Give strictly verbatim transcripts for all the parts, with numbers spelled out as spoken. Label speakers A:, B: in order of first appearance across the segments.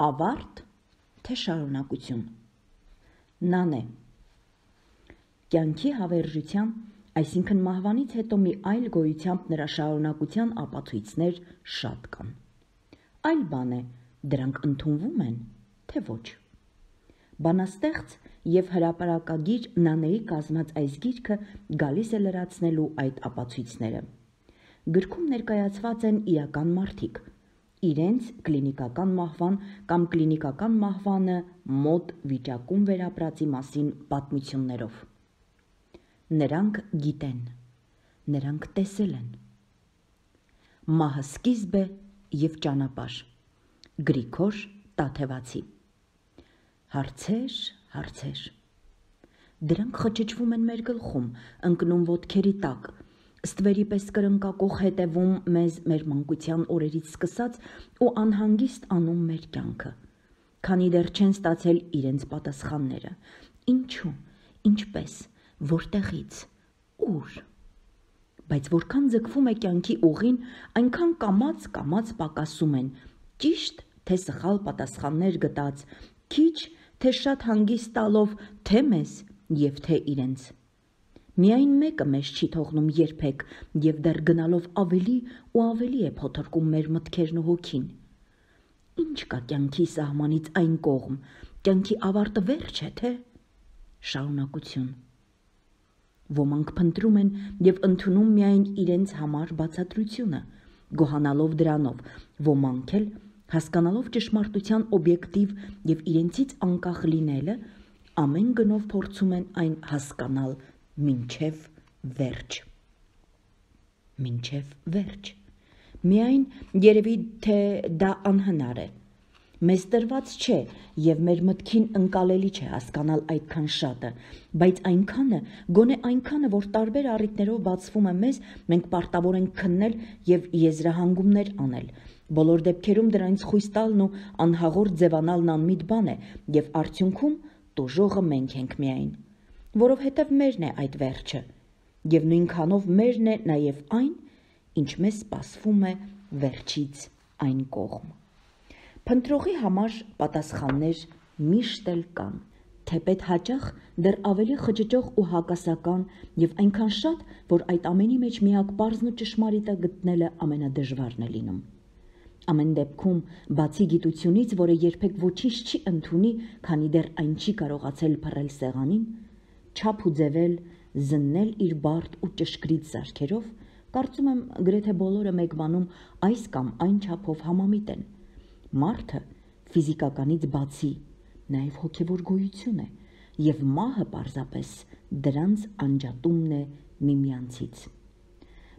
A: ավարտ, թե շարունակություն։ Նան է։ Կյանքի հավերժության, այսինքն մահվանից հետո մի այլ գոյությամբ նրա շարունակության ապացույցներ շատ կան։ Այլ բան է, դրանք ընդունվում են, թե ոչ։ Բանաստեղծ և հրապարակագիր Նանեի կազմած այս գիրքը գալիս է լրացնելու այդ ապացույցները։ Գրքում ներկայացված են իրական մարդիկ, իրենց կլինիկական մահվան կամ կլինիկական մահվանը մոտ վիճակում վերապրածի մասին պատմություններով։ Նրանք գիտեն, նրանք տեսել են։ Մահը սկիզբ է և ճանապարհ։ Գրիգոր Տաթևացի։ Հարցեր, հարցեր։ Դրանք խճճվում են մեր գլխում, ընկնում ոտքերի տակ, ստվերի պես կրնկակող հետևում մեզ մեր մանկության օրերից սկսած ու անհանգիստ անում մեր կյանքը, քանի դեռ չեն ստացել իրենց պատասխանները։ Ինչու, ինչպես, որտեղից, ուր։ Բայց որքան ձգվում է կյանքի ուղին, այնքան կամաց-կամաց պակասում են, ճիշտ թե սխալ պատասխաններ գտած, քիչ թե շատ հանգիստ տալով թե մեզ և թե իրենց։ Միայն մեկը մեզ չի թողնում երբեք և դեռ գնալով ավելի ու ավելի է փոթորկում մեր մտքերն ու հոգին։ Ինչ կա կյանքի սահմանից այն կողմ, կյանքի ավարտը վերջ է, թե շարունակություն։ Ոմանք փնտրում են և ընդունում միայն իրենց համար բացատրությունը, գոհանալով դրանով, ոմանք էլ, հասկանալով ճշմարտության օբյեկտիվ և իրենցից անկախ լինելը, ամեն գնով փորձում են այն հասկանալ մինչև վերջ։ Մինչև վերջ։ Միայն երևի թե դա անհնար է։ Մեզ տրված չէ և մեր մտքին ընկալելի չէ հասկանալ այդքան շատը, բայց այնքանը, գոնե այնքանը, որ տարբեր առիթներով բացվում է մեզ, մենք պարտավոր ենք քննել և եզրահանգումներ անել։ Բոլոր դեպքերում դրանից խույս տալն ու անհաղորդ ձևանալն անմիտ բան է, և արդյունքում տուժողը մենք ենք միայն, որովհետև մերն է այդ վերջը, և նույնքանով մերն է նաև այն, ինչ մեզ սպասվում է վերջից այն կողմ։ Փնտրողի համար պատասխաններ միշտ էլ կան, թեպետ հաճախ դեռ ավելի խճճող ու հակասական և այնքան շատ, որ այդ ամենի մեջ միակ պարզն ու ճշմարիտը գտնելը ամենադժվարն է լինում։ Ամեն դեպքում, բացի գիտությունից, որը երբեք ոչինչ չի ընդունի, քանի դեռ այն չի կարողացել փռել սեղանին, չափ ու ձևել, զննել իր բարդ ու ճշգրիտ զարքերով, կարծում եմ գրեթե բոլորը մեկ բանում այս կամ այն չափով համամիտ են։ Մարդը ֆիզիկականից բացի նաև հոգևոր գոյություն է, և մահը պարզապես դրանց անջատումն է միմյանցից։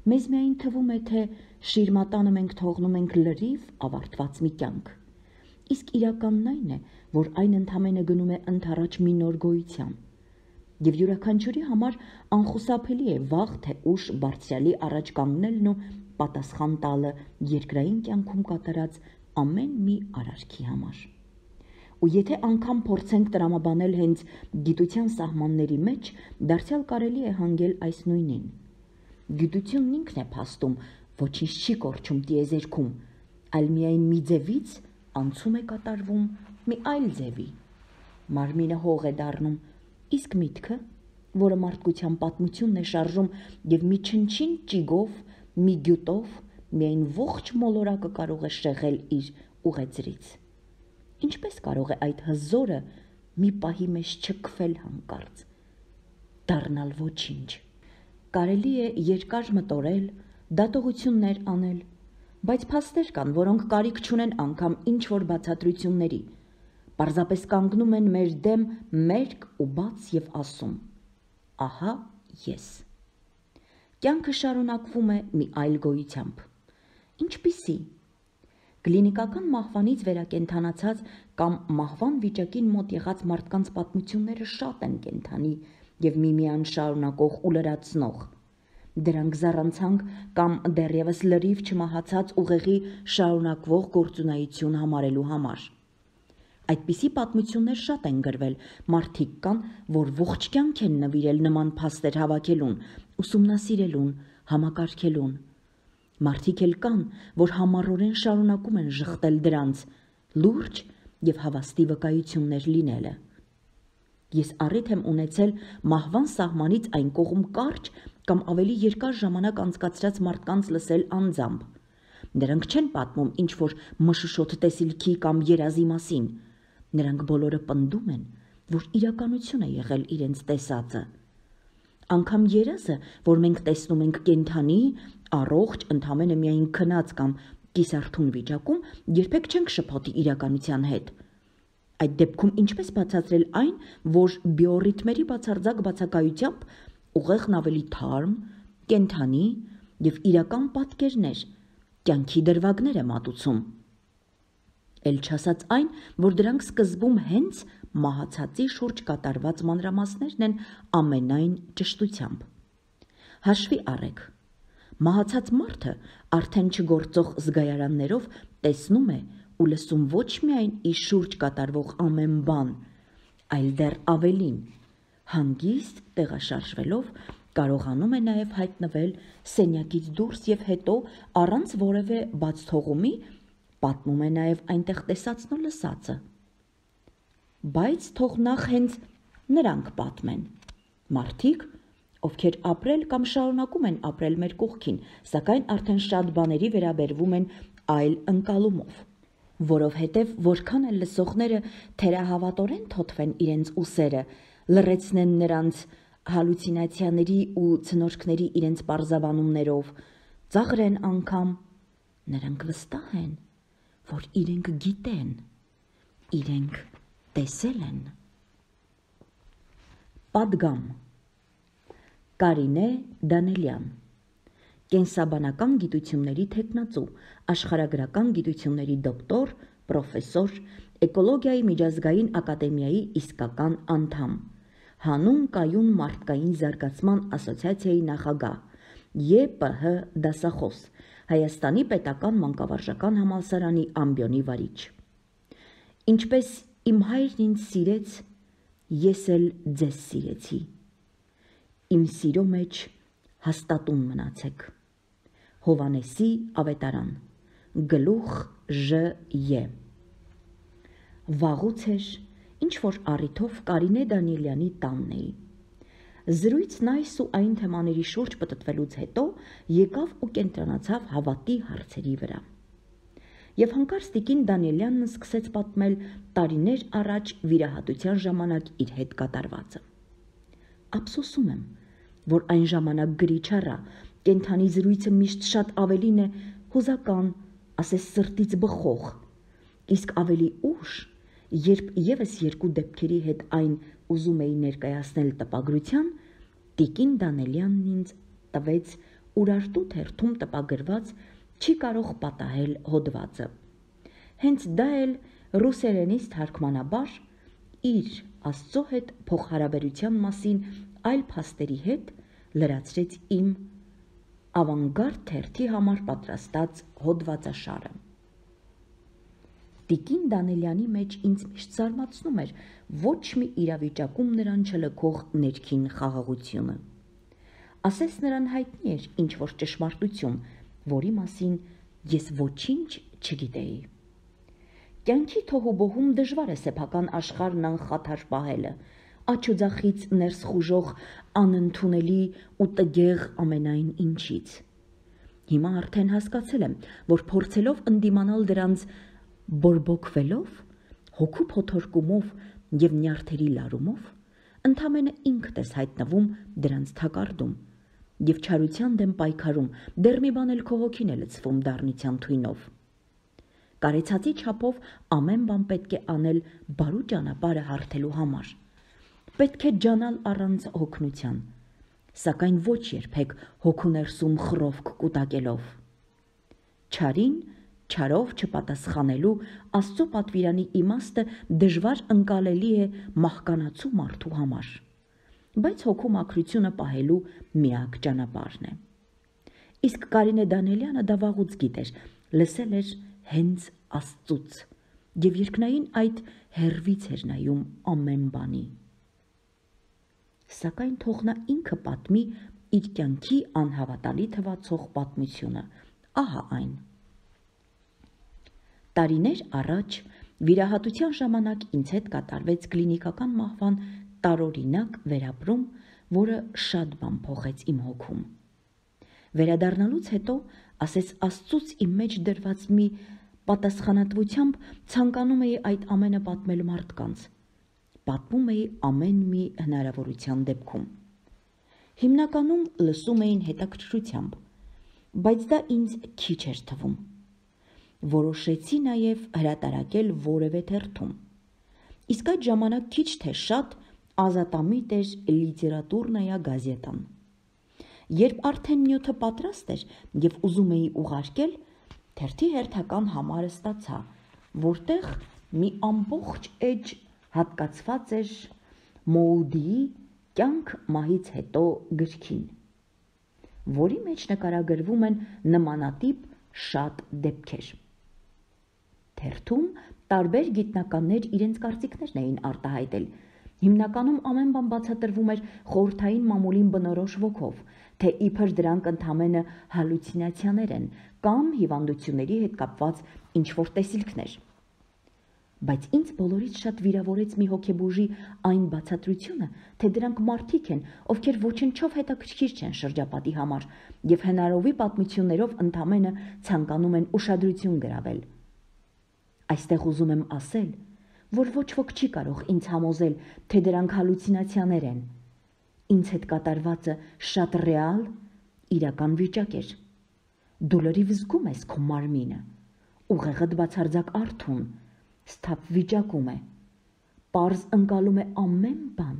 A: Մեզ միայն թվում է, թե շիրմատանը մենք թողնում ենք լրիվ ավարտված մի կյանք, իսկ իրականն այն է, որ այն ընդամենը գնում է ընդառաջ մի նոր գոյության, և յուրաքանչյուրի համար անխուսափելի է վաղ թե ուշ բարձրյալի առաջ կանգնելն ու պատասխան տալը երկրային կյանքում կատարած ամեն մի արարքի համար։ Ու եթե անգամ փորձենք տրամաբանել հենց գիտության սահմանների մեջ, դարձյալ կարելի է հանգել այս նույնին։ Գիտությունն ինքն է փաստում, ոչինչ չի կորչում տիեզերքում, այլ միայն մի ձևից անցում է կատարվում մի այլ ձևի։ Մարմինը հող է դառնում, իսկ միտքը, որը մարդկության պատմությունն է շարժում և մի չնչին ճիգով, մի գյուտով, միայն ողջ մոլորակը կարող է շեղել իր ուղեծրից։ Ինչպես կարող է այդ հզորը մի պահի մեջ չքվել հանկարծ, դառնալ ոչինչ։ Կարելի է երկար մտորել, դատողություններ անել, բայց փաստեր կան, որոնք կարիք չունեն անգամ ինչ-որ բացատրությունների, պարզապես կանգնում են մեր դեմ մերկ ու բաց և ասում. ահա ես։ Կյանքը շարունակվում է մի այլ գոյությամբ։ Ինչպիսի՞։ Կլինիկական մահվանից վերակենդանացած կամ մահվան վիճակին մոտ եղած մարդկանց պատմությունները շատ են կենդանի և միմիան շարունակող ու լրացնող։ Դրանք զառանցանք կամ դեռևս լրիվ չմահացած ուղեղի շարունակվող գործունեություն համարելու համար։ Այդպիսի պատմություններ շատ են գրվել, մարդիկ կան, որ ողջ կյանք են նվիրել նման փաստեր հավաքելուն, ուսումնասիրելուն, համակարգելուն։ Մարդիկ էլ կան, որ համառորեն շարունակում են ժխտել դրանց, լուրջ և հավաստի վկայություններ լինելը։ Ես առիթ եմ ունեցել մահվան սահմանից այն կողմ կարճ կամ ավելի երկար ժամանակ անցկացրած մարդկանց լսել անձամբ։ Նրանք չեն պատմում ինչ-որ մշուշոտ տեսիլքի կամ երազի մասին։ Նրանք բոլորը պնդում են, որ իրականություն է եղել իրենց տեսածը։ Անգամ երազը, որ մենք տեսնում ենք կենդանի, առողջ, ընդամենը միայն քնած կամ կիսարթուն վիճակում, երբեք չենք շփոթի իրականության հետ։ Այդ դեպքում ինչպես բացատրել այն, որ բիոռիթմերի բացարձակ բացակայությամբ ուղեղն ավելի թարմ, կենդանի և իրական պատկերներ, կյանքի դրվագներ է մատուցում։ Էլ չասած այն, որ դրանք սկզբում հենց մահացածի շուրջ կատարված մանրամասներն են ամենայն ճշտությամբ։ Հաշվի առեք, մահացած մարդը արդեն չգործող զգայարաններով տեսնում է ու լսում ոչ միայն իր շուրջ կատարվող ամեն բան, այլ դեռ ավելին, հանգիստ տեղաշարժվելով կարողանում է նաև հայտնվել սենյակից դուրս և հետո առանց որևէ բացթողումի պատմում է նաև այնտեղ տեսածն ու լսածը։ Բայց թող նախ հենց նրանք պատմեն, մարդիկ, ովքեր ապրել կամ շարունակում են ապրել մեր կողքին, սակայն արդեն շատ բաների վերաբերվում են այլ ընկալումով, որովհետև որքան էլ լսողները թերահավատորեն թոթվեն իրենց ուսերը, լռեցնեն նրանց հալուցինացիաների ու ցնորքների իրենց պարզաբանումներով, ծաղրեն անգամ, նրանք վստահ են, որ իրենք գիտեն, իրենք տեսել են։ Պատգամ Կարինե Դանելյան, կենսաբանական գիտությունների թեկնածու, աշխարհագրական գիտությունների դոկտոր, պրոֆեսոր, էկոլոգիայի միջազգային ակադեմիայի իսկական անդամ, հանուն կայուն մարդկային զարգացման ասոցիացիայի նախագահ, Ե Պ Հ դասախոս, Հայաստանի պետական մանկավարժական համալսարանի ամբիոնի վարիչ։ Ինչպես իմ հայրն ինձ սիրեց, ես էլ ձեզ սիրեցի։ Իմ սիրո մեջ հաստատուն մնացեք։ Հովանեսի ավետարան, գլուխ Ժ Ե։ Վաղուց էր, ինչ-որ առիթով Կարինե Դանիելյանի տանն էի։ Զրույցն այս ու այն թեմաների շուրջ պտտվելուց հետո եկավ ու կենտրոնացավ հավատի հարցերի վրա։ Եվ հանկարծ տիկին Դանիելյանն սկսեց պատմել տարիներ առաջ վիրահատության ժամանակ իր հետ կատարվածը։ Ափսոսում եմ, որ այն ժամանակ գրիչ առա, կենդանի զրույցը միշտ շատ ավելին է հուզական, ասես սրտից բխող, իսկ ավելի ուշ, երբ ևս երկու դեպքերի հետ այն ուզում էի ներկայացնել տպագրության, տիկին Դանելյանն ինձ տվեց Ուրարտու թերթում տպագրված «Չի կարող պատահել» հոդվածը։ Հենց դա էլ ռուսերենից թարգմանաբար իր Աստծո հետ փոխհարաբերության մասին այլ փաստերի հետ լրացրեց իմ ավանգարդ թերթի համար պատրաստած հոդվածաշարը։ Տիկին Դանելյանի մեջ ինձ միշտ զարմացնում էր ոչ մի իրավիճակում նրան չլքող ներքին խաղաղությունը։ Ասես նրան հայտնի էր ինչ-որ ճշմարտություն, որի մասին ես ոչինչ չգիտեի։ Կյանքի թոհուբոհում դժվար է սեփական աշխարհն անխաթար պահելը, աջ ու ձախից ներս խուժող անընդունելի ու տգեղ ամենայն ինչից։ Հիմա արդեն հասկացել եմ, որ փորձելով ընդդիմանալ դրանց բորբոքվելով, հոգու փոթորկումով և նյարդերի լարումով, ընդամենը ինքդ ես հայտնվում դրանց թակարդում և չարության դեմ պայքարում, դեռ մի բան էլ քո հոգին է լցվում դառնության թույնով։ Կարեցածի չափով ամեն բան պետք է անել բարու ճանապարհը հարթելու համար։ Պետք է ջանալ առանց հոգնության, սակայն ոչ երբեք հոգու ներսում խռովք կուտակելով։ Չարին չարով չպատասխանելու Աստծո պատվիրանի իմաստը դժվար ընկալելի է մահկանացու մարդու համար, բայց հոգու մաքրությունը պահելու միակ ճանապարհն է։ Իսկ Կարինե Դանելյանը դա վաղուց գիտեր, լսել էր հենց Աստծուց և երկնային այդ հեռվից էր նայում ամեն բանի։ Սակայն թող նա ինքը պատմի իր կյանքի անհավատալի թվացող պատմությունը, ահա այն։ Տարիներ առաջ Վիրահատության ժամանակ ինձ հետ կատարվեց կլինիկական մահվան տարօրինակ վերապրում, որը շատ բան փոխեց իմ հոգում։ Վերադառնալուց հետո, ասես Աստծուց իմ մեջ դրված մի պատասխանատվությամբ, ցանկանում էի այդ ամենը պատմել մարդկանց։ Պատմում էի ամեն մի հնարավորության դեպքում։ Հիմնականում լսում էին հետաքրքրությամբ, բայց դա ինձ քիչ էր թվում։ Որոշեցի նաև հրատարակել որևէ թերթում։ Իսկ այդ ժամանակ քիչ թե շատ ազատամիտ էր լիտերատուրնայա գազետան։ Երբ արդեն նյութը պատրաստ էր և ուզում էի ուղարկել, թերթի հերթական համարը ստացա, որտեղ մի ամբողջ էջ հատկացված էր Մոուդիի «Կյանք մահից հետո» գրքին, որի մեջ նկարագրվում են նմանատիպ շատ դեպքեր։ Թերթում տարբեր գիտնականներ իրենց կարծիքներն էին արտահայտել։ Հիմնականում ամեն բան բացատրվում էր խորհրդային մամուլին բնորոշ ոգով, թե իբր դրանք ընդամենը հալյուցինացիաներ են կամ հիվանդությունների հետ կապված ինչ-որ տեսիլքներ։ Բայց ինձ բոլորից շատ վիրավորեց մի հոգեբուժի այն բացատրությունը, թե դրանք մարդիկ են, ովքեր ոչնչով հետաքրքիր չեն շրջապատի համար և հնարովի պատմություններով ընդամենը ցանկանում են ուշադրություն գրավել։ Այստեղ ուզում եմ ասել, որ ոչ ոք չի կարող ինձ համոզել, թե դրանք հալյուցինացիաներ են։ Ինձ հետ կատարվածը շատ ռեալ, իրական վիճակ էր։ Դու լրիվ զգում ես քո մարմինը, ուղեղդ բացարձակ արթուն, սթափ վիճակում է, պարզ ընկալում է ամեն բան,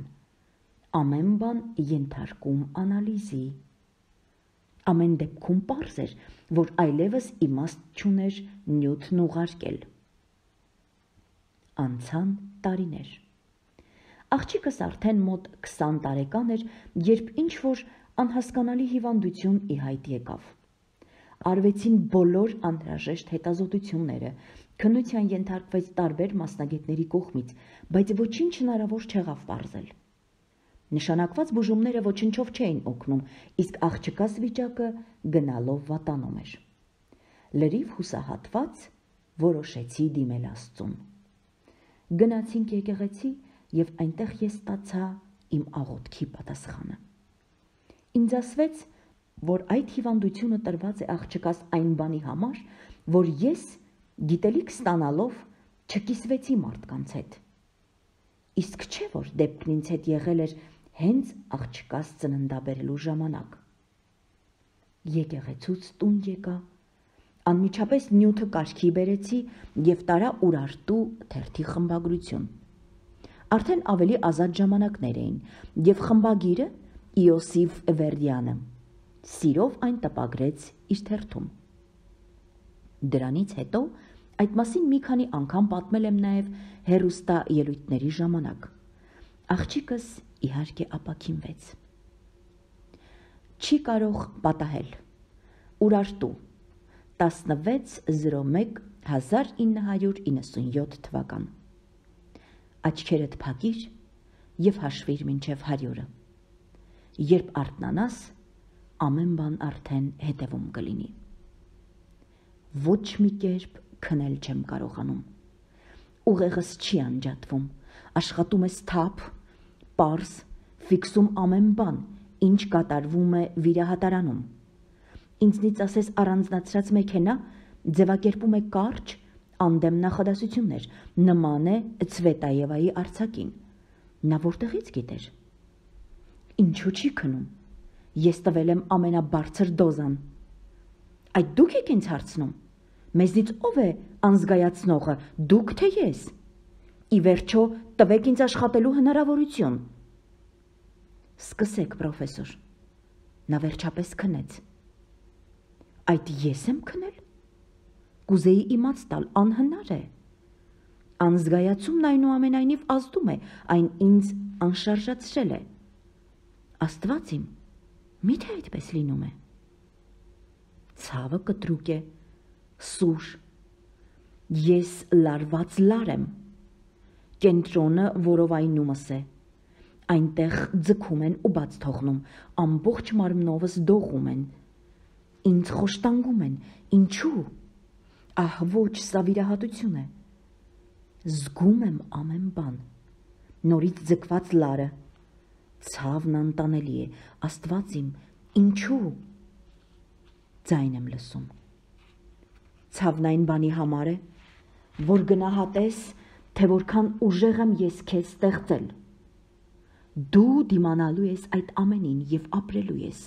A: ամեն բան ենթարկում անալիզի։ Ամեն դեպքում պարզ էր, որ այլևս իմաստ չուներ նյութն ուղարկել։ Անցան տարիներ։ Աղջիկս արդեն մոտ քսան տարեկան էր, երբ ինչ-որ անհասկանալի հիվանդություն ի հայտ եկավ։ Արվեցին բոլոր անհրաժեշտ հետազոտությունները, քննության ենթարկվեց տարբեր մասնագետների կողմից, բայց ոչինչ հնարավոր չեղավ պարզել։ Նշանակված բուժումները ոչնչով չէին օգնում, իսկ աղջկաս վիճակը գնալով վատանում էր։ Լրիվ հուսահատված որոշեցի դիմել Աստծուն։ Գնացինք եկեղեցի և այնտեղ ես ստացա իմ աղոթքի պատասխանը։ Ինձ ասվեց, որ այդ հիվանդությունը տրված է աղջկաս այն բանի համար, որ ես գիտելիք ստանալով չկիսվեցի մարդկանց հետ։ Իսկ չէ, որ դեպքն ինձ հետ եղել էր հենց աղջկաս ծննդաբերելու ժամանակ։ Եկեղեցուց տուն եկա, անմիջապես նյութը կարգի բերեցի և տարա Ուրարտու թերթի խմբագրություն։ Արդեն ավելի ազատ ժամանակներ էին, և խմբագիրը Իոսիֆ Վերդյանը սիրով այն տպագրեց իր թերթում։ Դրանից հետո այդ մասին մի քանի անգամ պատմել եմ նաև հեռուստաելույթների ժամանակ։ Աղջիկս իհարկե ապաքինվեց։ Չի կարող պատահել։ Ուրարտու տասնվեց զրոմեկ հազար ինը հարյուր իննսունյոթ թվական։ Աչքերդ փակիր և հաշվիր մինչև հարյուրը։ Երբ արթնանաս, ամեն բան արդեն հետևում կլինի։ Ոչ մի կերպ քնել չեմ կարողանում։ Ուղեղս չի անջատվում, աշխատում է սթափ, պարզ, ֆիքսում ամեն բան, ինչ կատարվում է վիրահատարանում։ Ինձնից ասես առանձնացրած մեքենա ձևակերպում է կարճ, անդեմ նախադասություններ, նման է Ցվետաևայի արձակին։ Նա որտեղից գիտեր։ Ինչու չի քնում։ Ես տվել եմ ամենաբարձր դոզան։ Այդ դուք եք ինձ հարցնում։ Մեզնից ով է անզգայացնողը, դուք թե ես։ Ի վերջո տվեք ինձ աշխատելու հնարավորություն։ Սկսեք, պրոֆեսոր։ Նա վերջապես քնեց։ Այդ ես եմ քնել։ Կուզեի իմաց տալ, անհնար է։ Անզգայացումն այնուամենայնիվ ազդում է, այն ինձ անշարժացրել է։ Աստված իմ, միթե այդպես լինում է։ Ցավը կտրուկ է, սուր։ Ես լարված լար եմ։ Կենտրոնը որովայնումս է։ Այնտեղ ձգում են ու բաց թողնում, ամբողջ մարմնովս դողում են։ Ինձ խոշտանգում են, ինչու։ Ահ, ոչ, սա վիրահատություն է։ Զգում եմ ամեն բան, նորից ձգված լարը, ցավն անտանելի է, Աստված իմ, ինչու՞։ Ձայն եմ լսում։ Ցավն այն բանի համար է, որ գնահատես, թե որքան ուժեղ եմ ես քեզ ստեղծել։ Դու դիմանալու ես այդ ամենին և ապրելու ես։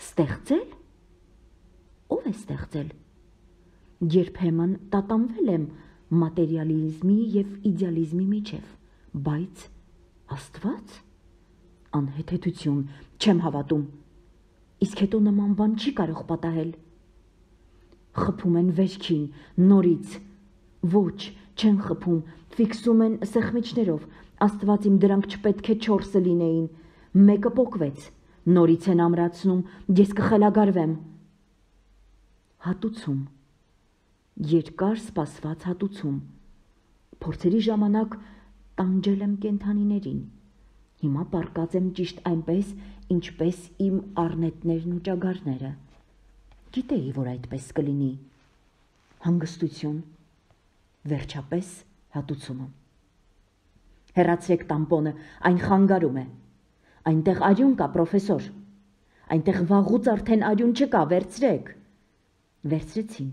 A: Ստեղծել։ Ո՞վ է ստեղծել։ Երբեմն տատանվել եմ մատերիալիզմի և իդեալիզմի միջև, բայց Աստված։ Անհեթեթություն, չեմ հավատում։ Իսկ հետո նման բան չի կարող պատահել։ Խփում են վերքին, նորից։ Ոչ, չեն խփում, ֆիքսում են սեղմիչներով։ Աստված իմ, դրանք չպետք է չորսը լինեին։ Մեկը պոկվեց, նորից են ամրացնում, ես կխելագարվեմ։ Հատուցում։ Երկար սպասված հատուցում։ Փորձերի ժամանակ տանջել եմ կենդանիներին։ Հիմա պառկած եմ ճիշտ այնպես, ինչպես իմ առնետներն ու ճագարները։ Գիտեի, որ այդպես կլինի։ Հանգստություն։ Վերջապես հատուցումը։ Հեռացրեք տամպոնը, այն խանգարում է։ Այնտեղ արյուն կա, պրոֆեսոր։ Այնտեղ վաղուց արդեն արյուն չկա, վերցրեք։ Վերցրեցին։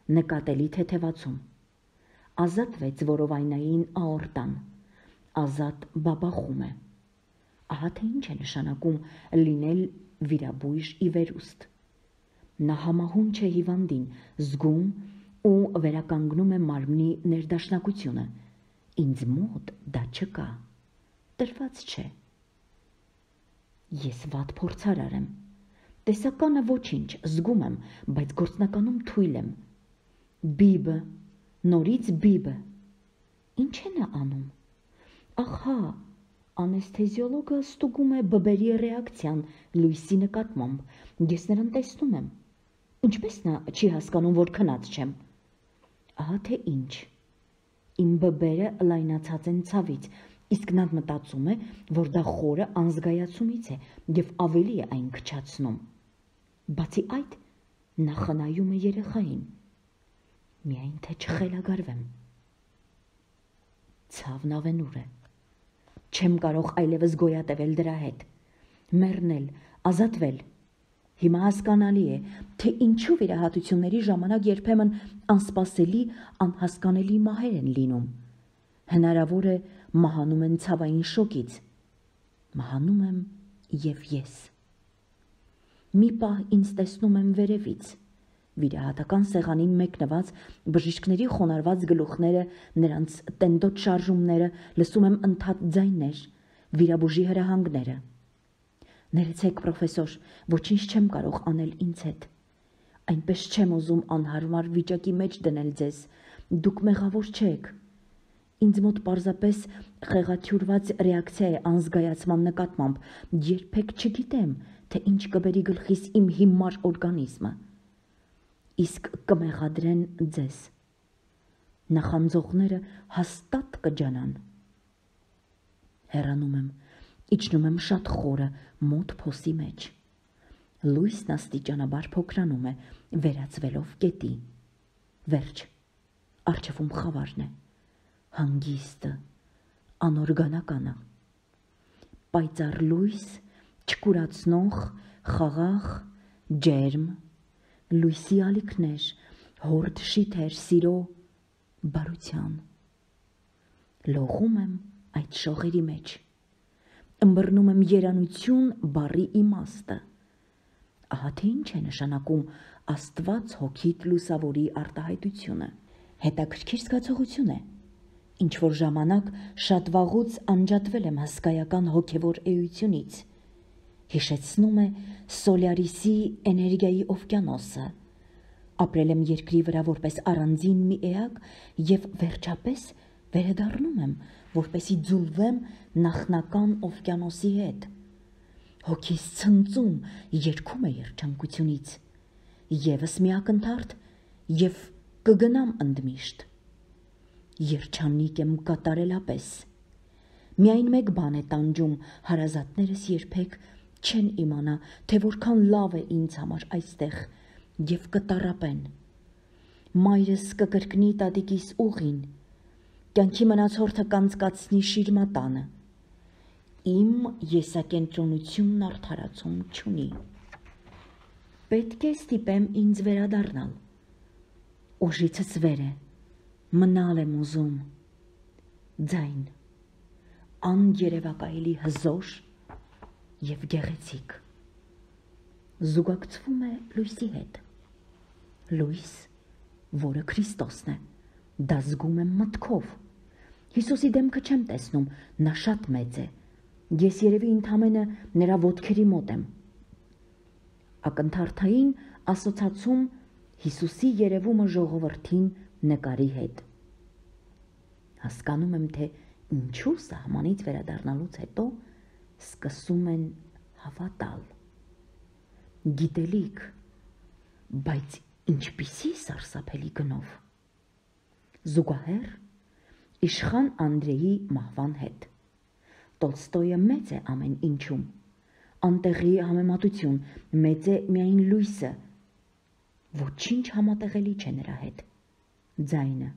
A: Նկատելի թեթևացում։ Ազատվեց որովայնային աորտան։ Ազատ բաբախում է։ Ահա թե ինչ է նշանակում լինել վիրաբույժ ի վերուստ։ Նա համահունչ է հիվանդին, զգում ու վերականգնում է մարմնի ներդաշնակությունը։ Ինձ մոտ դա չկա, տրված չէ։ Ես վատ փորձարար եմ։ Տեսականը ոչինչ, զգում եմ, բայց գործնականում թույլ եմ։ Բիբը, նորից բիբը։ Ինչ է նա անում։ Ահա, անեսթեզիոլոգը ստուգում է բբերի ռեակցիան լույսի նկատմամբ։ Ես նրան տեսնում եմ։ Ինչպես նա չի հասկանում, որ քնած չեմ։ Ահա թե ինչ։ Իմ բբերը լայնացած են ցավից, իսկ նա մտածում է, որ դա խորը անզգայացումից է և ավելի է այն քչացնում։ Բացի այդ, նա խնայում է երեխային։ Միայն թե չխելագարվեմ։ Ցավն ավենուր է։ Չեմ կարող այլևս գոյատևել դրա հետ։ Մեռնել, ազատվել։ Հիմա հասկանալի է, թե ինչու վիրահատությունների ժամանակ երբեմն անսպասելի, անհասկանալի մահեր են լինում։ Հնարավոր է մահանում են ցավային շոկից։ Մահանում եմ և ես։ Մի պահ ինձ տեսնում եմ վերևից։ Վիրահատական սեղանին մեկնված բժիշկների խոնարհված գլուխները, նրանց տենդոտ շարժումները, լսում եմ ընդհատ ձայներ, վիրաբուժի հրահանգները։ Ներեցեք, պրոֆեսոր, ոչինչ չեմ կարող անել ինձ հետ։ Այնպես չեմ ուզում անհարմար վիճակի մեջ դնել ձեզ, դուք մեղավոր չեք։ Ինձ մոտ պարզապես խեղաթյուրված ռեակցիա է անզգայացման նկատմամբ, երբեք չգիտեմ, թե ինչ կբերի գլխիս իմ հիմար օրգանիզմը։ Իսկ կմեղադրեն ձեզ։ Նախանձողները հաստատ կջանան։ Հեռանում եմ, իջնում եմ շատ խորը, մոտ փոսի մեջ։ Լույսն աստիճանաբար փոքրանում է, վերածվելով կետի։ Վերջ, առջևում խավարն է, հանգիստը, անօրգանականը։ Պայծառ լույս, չկուրացնող, խաղաղ, ջերմ, լույսի ալիքներ, հորդ շիթեր, սիրո, բարության։ Լողում եմ այդ շողերի մեջ։ Ըմբռնում եմ երանություն բառի իմաստը։ Ահա թե ինչ է նշանակում Աստված հոգիդ լուսավորի արտահայտությունը։ Հետաքրքիր զգացողություն է։ Ինչ որ ժամանակ շատ վաղուց անջատվել եմ հսկայական հոգևոր էությունից։ Հիշեցնում է Սոլյարիսի էներգիայի օվկիանոսը։ Ապրել եմ երկրի վրա որպես առանձին մի էակ և վերջապես վերադառնում եմ, որպեսզի ձուլվեմ նախնական օվկիանոսի հետ։ Հոգիս ցնծում, երգում է երջանկությունից։ Եվս մի ակնթարթ և կգնամ ընդմիշտ։ Երջանիկ եմ կատարելապես։ Միայն մեկ բան է տանջում, հարազատներս երբեք չեն իմանա, թե որքան լավ է ինձ համար այստեղ և կտառապեն։ Մայրս կկրկնի տատիկիս ուղին, կյանքի մնացորդը կանցկացնի շիրմատանը։ Իմ եսակենտրոնությունն արդարացում չունի։ Պետք է ստիպեմ ինձ վերադառնալ։ Ուժիցս վեր է, մնալ եմ ուզում։ Ձայն, անգերևակայելի հզոր և գեղեցիկ։ Զուգակցվում է լույսի հետ։ Լույս, որը Քրիստոսն է, դա զգում եմ մտքով։ Հիսուսի դեմքը չեմ տեսնում, նա շատ մեծ է։ Ես երևի ընդամենը նրա ոտքերի մոտ եմ։ Ակնթարթային ասոցացում Հիսուսի երևումը ժողովրդին նկարի հետ։ Հասկանում եմ, թե ինչու սահմանից վերադառնալուց հետո սկսում են հավատալ։ Գիտելիք, բայց ինչպիսի սարսափելի գնով։ Զուգահեռ իշխան Անդրեի մահվան հետ։ Տոլստոյը մեծ է ամեն ինչում։ Անտեղի համեմատություն, մեծ է միայն լույսը։ Ոչինչ համատեղելի չէ նրա հետ։ Ձայնը։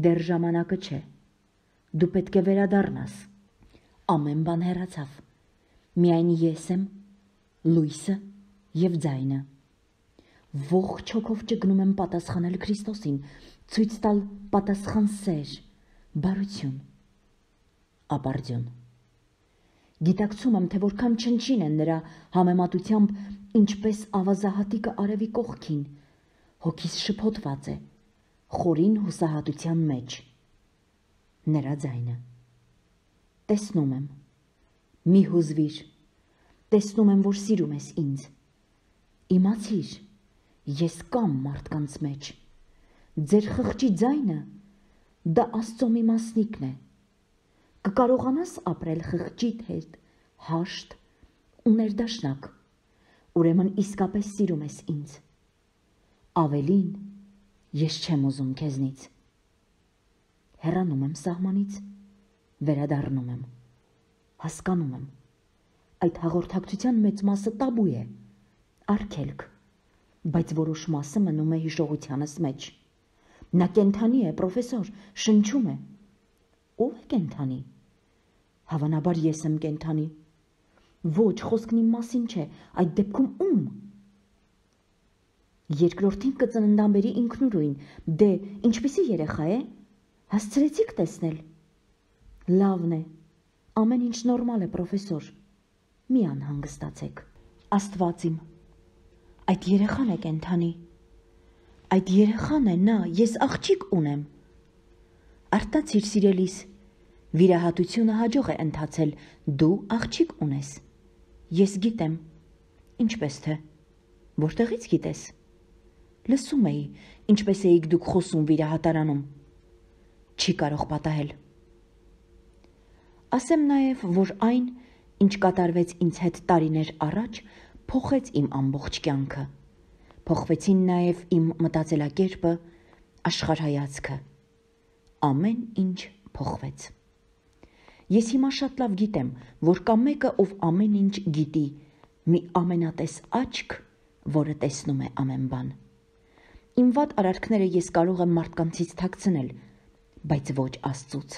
A: Դեռ ժամանակը չէ։ Դու պետք է վերադառնաս։ Ամեն բան հեռացավ։ Միայն ես եմ, լույսը և ձայնը։ Ողջ հոգով ճգնում եմ պատասխանել Քրիստոսին, ցույց տալ պատասխան սեր, բարություն, ապարդյուն։ Գիտակցում եմ, թե որքան չնչին են նրա համեմատությամբ, ինչպես ավազահատիկը արևի կողքին, հոգիս շփոթված է, խորին հուսահատության մեջ։ Նրա ձայնը։ Տեսնում եմ, մի հուզվիր, տեսնում եմ, որ սիրում ես ինձ։ Իմացիր, ես կամ մարդկանց մեջ։ Ձեր խղճի ձայնը, դա Աստծո մի մասնիկն է։ Կկարողանաս ապրել խղճիդ հետ, հաշտ ու ներդաշնակ, ուրեմն իսկապես սիրում ես ինձ։ Ավելին, ես չեմ ուզում քեզնից։ Հեռանում եմ սահմանից, վերադառնում եմ, հասկանում եմ, այդ հաղորդակցության մեծ մասը տաբու է, արգելք, բայց որոշ մասը մնում է հիշողությանս մեջ։ Նա կենդանի է, պրոֆեսոր, շնչում է։ Ո՞վ է կենդանի։ Հավանաբար ես եմ կենդանի։ Ոչ, խոսքն իմ մասին չէ, այդ դեպքում ում։ Երկրորդին կծննդամբերի ինքնուրույն, դե, ինչպիսի երեխա է, հասցրեցիք տեսնել։ Լավն է, ամեն ինչ նորմալ է, պրոֆեսոր, մի անհանգստացեք։ Աստված իմ, այդ երեխան է կենդանի, այդ երեխան է նա, ես աղջիկ ունեմ։ Արտացիր սիրելիս, վիրահատությունը հաջող է ընթացել, դու աղջիկ ունես։ Ես գիտեմ, ինչպես թե, որտեղից գիտես։ Լսում էի, ինչպես էիք դուք խոսում վիրահատարանում։ Չի կարող պատահել։ Ասեմ նաև, որ այն, ինչ կատարվեց ինձ հետ տարիներ առաջ, փոխեց իմ ամբողջ կյանքը։ Փոխվեցին նաև իմ մտածելակերպը, աշխարհայացքը։ Ամեն ինչ փոխվեց։ Ես հիմա շատ լավ գիտեմ, որ կա մեկը, ով ամեն ինչ գիտի, մի ամենատես աչք, որը տեսնում է ամեն բան։ Իմ վատ արարքները ես կարող եմ մարդկանցից թաքցնել, բայց ոչ Աստծուց։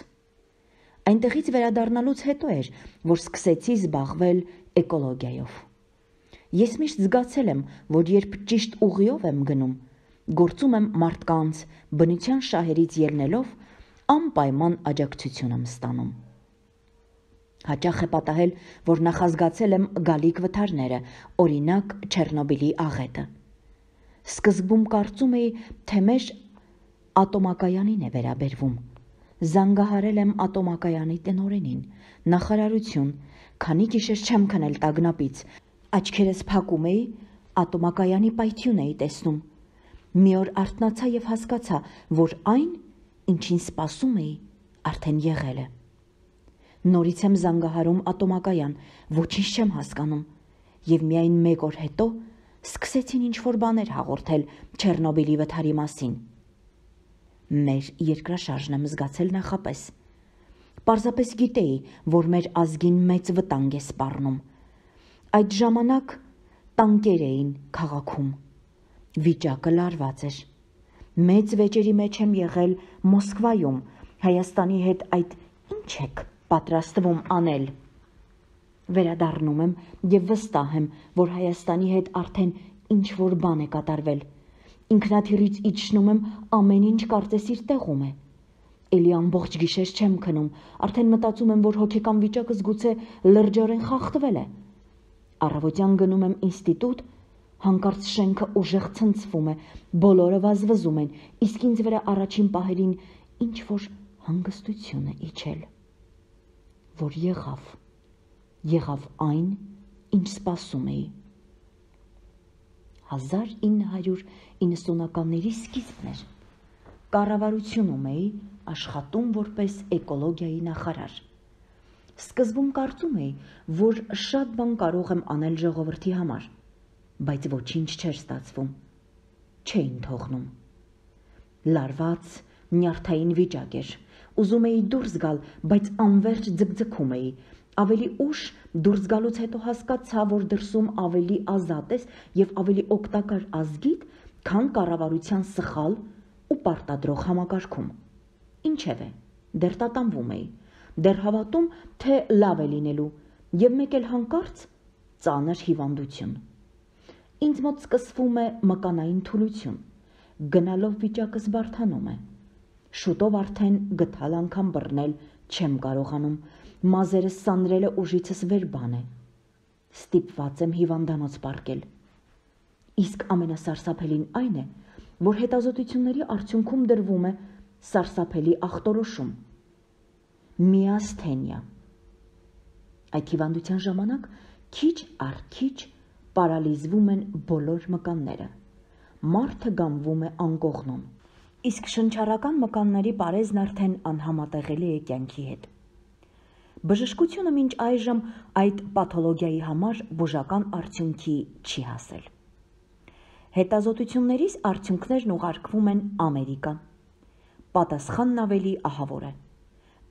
A: Այնտեղից վերադառնալուց հետո էր, որ սկսեցի զբաղվել էկոլոգիայով։ Ես միշտ զգացել եմ, որ երբ ճիշտ ուղիով եմ գնում, գործում եմ մարդկանց, բնության շահերից ելնելով, անպայման աջակցություն եմ ստանում։ Հաճախ է պատահել, որ նախազգացել եմ գալիք վթարները, օրինակ Չեռնոբիլի աղետը։ Սկզբում կարծում էի, թե մեր ատոմակայանին է վերաբերվում։ Զանգահարել եմ ատոմակայանի տնօրենին, նախարարություն, քանի գիշեր չեմ քնել տագնապից, աչքերս փակում էի, ատոմակայանի պայթյուն էի տեսնում։ Մի օր արթնացա և հասկացա, որ այն, ինչին սպասում էի, արդեն եղել է։ Նորից եմ զանգահարում ատոմակայան, ոչինչ չեմ հասկանում, և միայն մեկ օր հետո սկսեցին ինչ-որ բաներ հաղորդել Չեռնոբիլի վթարի մասին։ Մեր երկրաշարժն եմ զգացել նախապես։ Պարզապես գիտեի, որ մեր ազգին մեծ վտանգ է սպառնում։ Այդ ժամանակ տանկեր էին քաղաքում։ Վիճակը լարված էր։ Մեծ վեճերի մեջ եմ եղել Մոսկվայում, Հայաստանի հետ այդ ինչ եք պատրաստվում անել։ Վերադառնում եմ եւ վստահ եմ, որ Հայաստանի հետ արդեն ինչ որ բան է կատարվել։ Ինքնաթիռից իջնում եմ, ամեն ինչ կարծես իր տեղում է։ Էլի ամբողջ գիշեր չեմ քնում, արդեն մտածում եմ, որ հոգեկան վիճակս գուցե լրջորեն խախտվել է։ Առավոտյան գնում եմ ինստիտուտ, հանկարծ շենքը ուժեղ ցնցվում է, բոլորը վազվզում են, իսկ ինձ վրա առաջին պահերին ինչ որ հանգստություն է իջել։ Որ եղավ, եղավ այն, ինչ սպասում էի։ հազար ինը հարյուր իննսունականների սկիզբն էր։ Կառավարությունում էի աշխատում որպես էկոլոգիայի նախարար։ Սկզբում կարծում էի, որ շատ բան կարող եմ անել ժողովրդի համար, բայց ոչինչ չէր ստացվում, չէին թողնում։ Լարված, նյարդային վիճակ էր, ուզում էի դուրս գալ, բայց անվերջ ձգձգում էի, ավելի ուշ դուրս գալուց հետո հասկացա, որ դրսում ավելի ազատ ես և ավելի օգտակար ազգիդ, քան կառավարության սխալ ու պարտադրող համակարգում։ Ինչևէ, դեռ տատանվում էի, դեռ հավատում, թե լավ է լինելու, և մեկ էլ հանկարծ ծանր հիվանդություն։ Ինձ մոտ սկսվում է մկանային թուլություն, գնալով վիճակս բարդանում է։ Շուտով արդեն գթալ անգամ բռնել չեմ կարողանում, մազերս սանրելը ուժիցս վեր բան է։ Ստիպված եմ հիվանդանոց պառկել։ Իսկ ամենասարսափելին այն է, որ հետազոտությունների արդյունքում դրվում է սարսափելի ախտորոշում՝ միասթենիա։ Այդ հիվանդության ժամանակ քիչ առ քիչ պարալիզվում են բոլոր մկանները, մարդը գանվում է անկողնում, իսկ շնչառական մկանների պարեզն արդեն անհամատեղելի է կյանքի հետ։ Բժշկությունը մինչ այժմ այդ պաթոլոգիայի համար բուժական արդյունքի չի հասել։ Հետազոտություններիս արդյունքներն ուղարկվում են Ամերիկա։ Պատասխանն ավելի ահավոր է։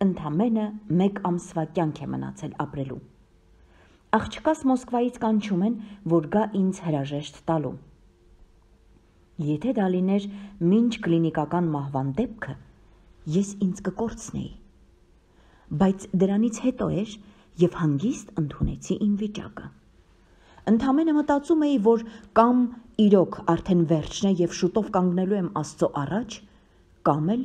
A: Ընդամենը մեկ ամսվա կյանք է մնացել ապրելու։ Աղջկաս Մոսկվայից կանչում են, որ գա ինձ հրաժեշտ տալու։ Եթե դա լիներ մինչ կլինիկական մահվան դեպքը, ես ինձ կկորցնեի։ Բայց դրանից հետո էր և հանգիստ ընդունեցի իմ վիճակը։ Ընդամենը մտածում էի, որ կամ իրոք արդեն վերջն է և շուտով կանգնելու եմ Աստծո առաջ, կամ էլ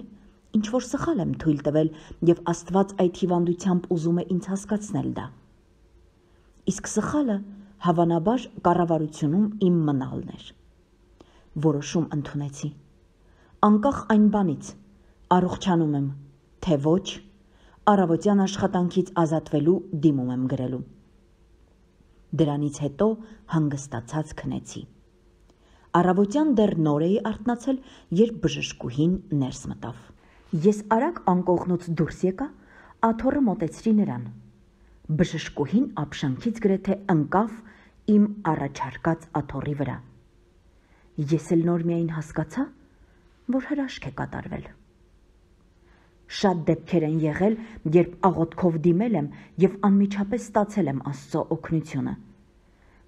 A: ինչ-որ սխալ եմ թույլ տվել և Աստված այդ հիվանդությամբ ուզում է ինձ հասկացնել դա։ Իսկ սխալը հավանաբար կառավարությունում իմ մնալն էր։ Որոշում ընդունեցի։ Անկախ այն բանից, առողջանում եմ, թե ոչ, առավոտյան աշխատանքից ազատվելու դիմում եմ գրելու։ Դրանից հետո հանգստացած քնեցի։ Առավոտյան դեռ նոր էի արթնացել, երբ բժշկուհին ներս մտավ։ Ես արագ անկողնուց դուրս եկա, աթոռը մոտեցրի նրան։ Բժշկուհին ապշանքից գրեթե ընկավ իմ առաջարկած աթոռի վրա։ Ես էլ նոր միայն հասկացա, որ հրաշք է կատարվել։ Շատ դեպքեր են եղել, երբ աղոթքով դիմել եմ և անմիջապես ստացել եմ Աստծո օգնությունը։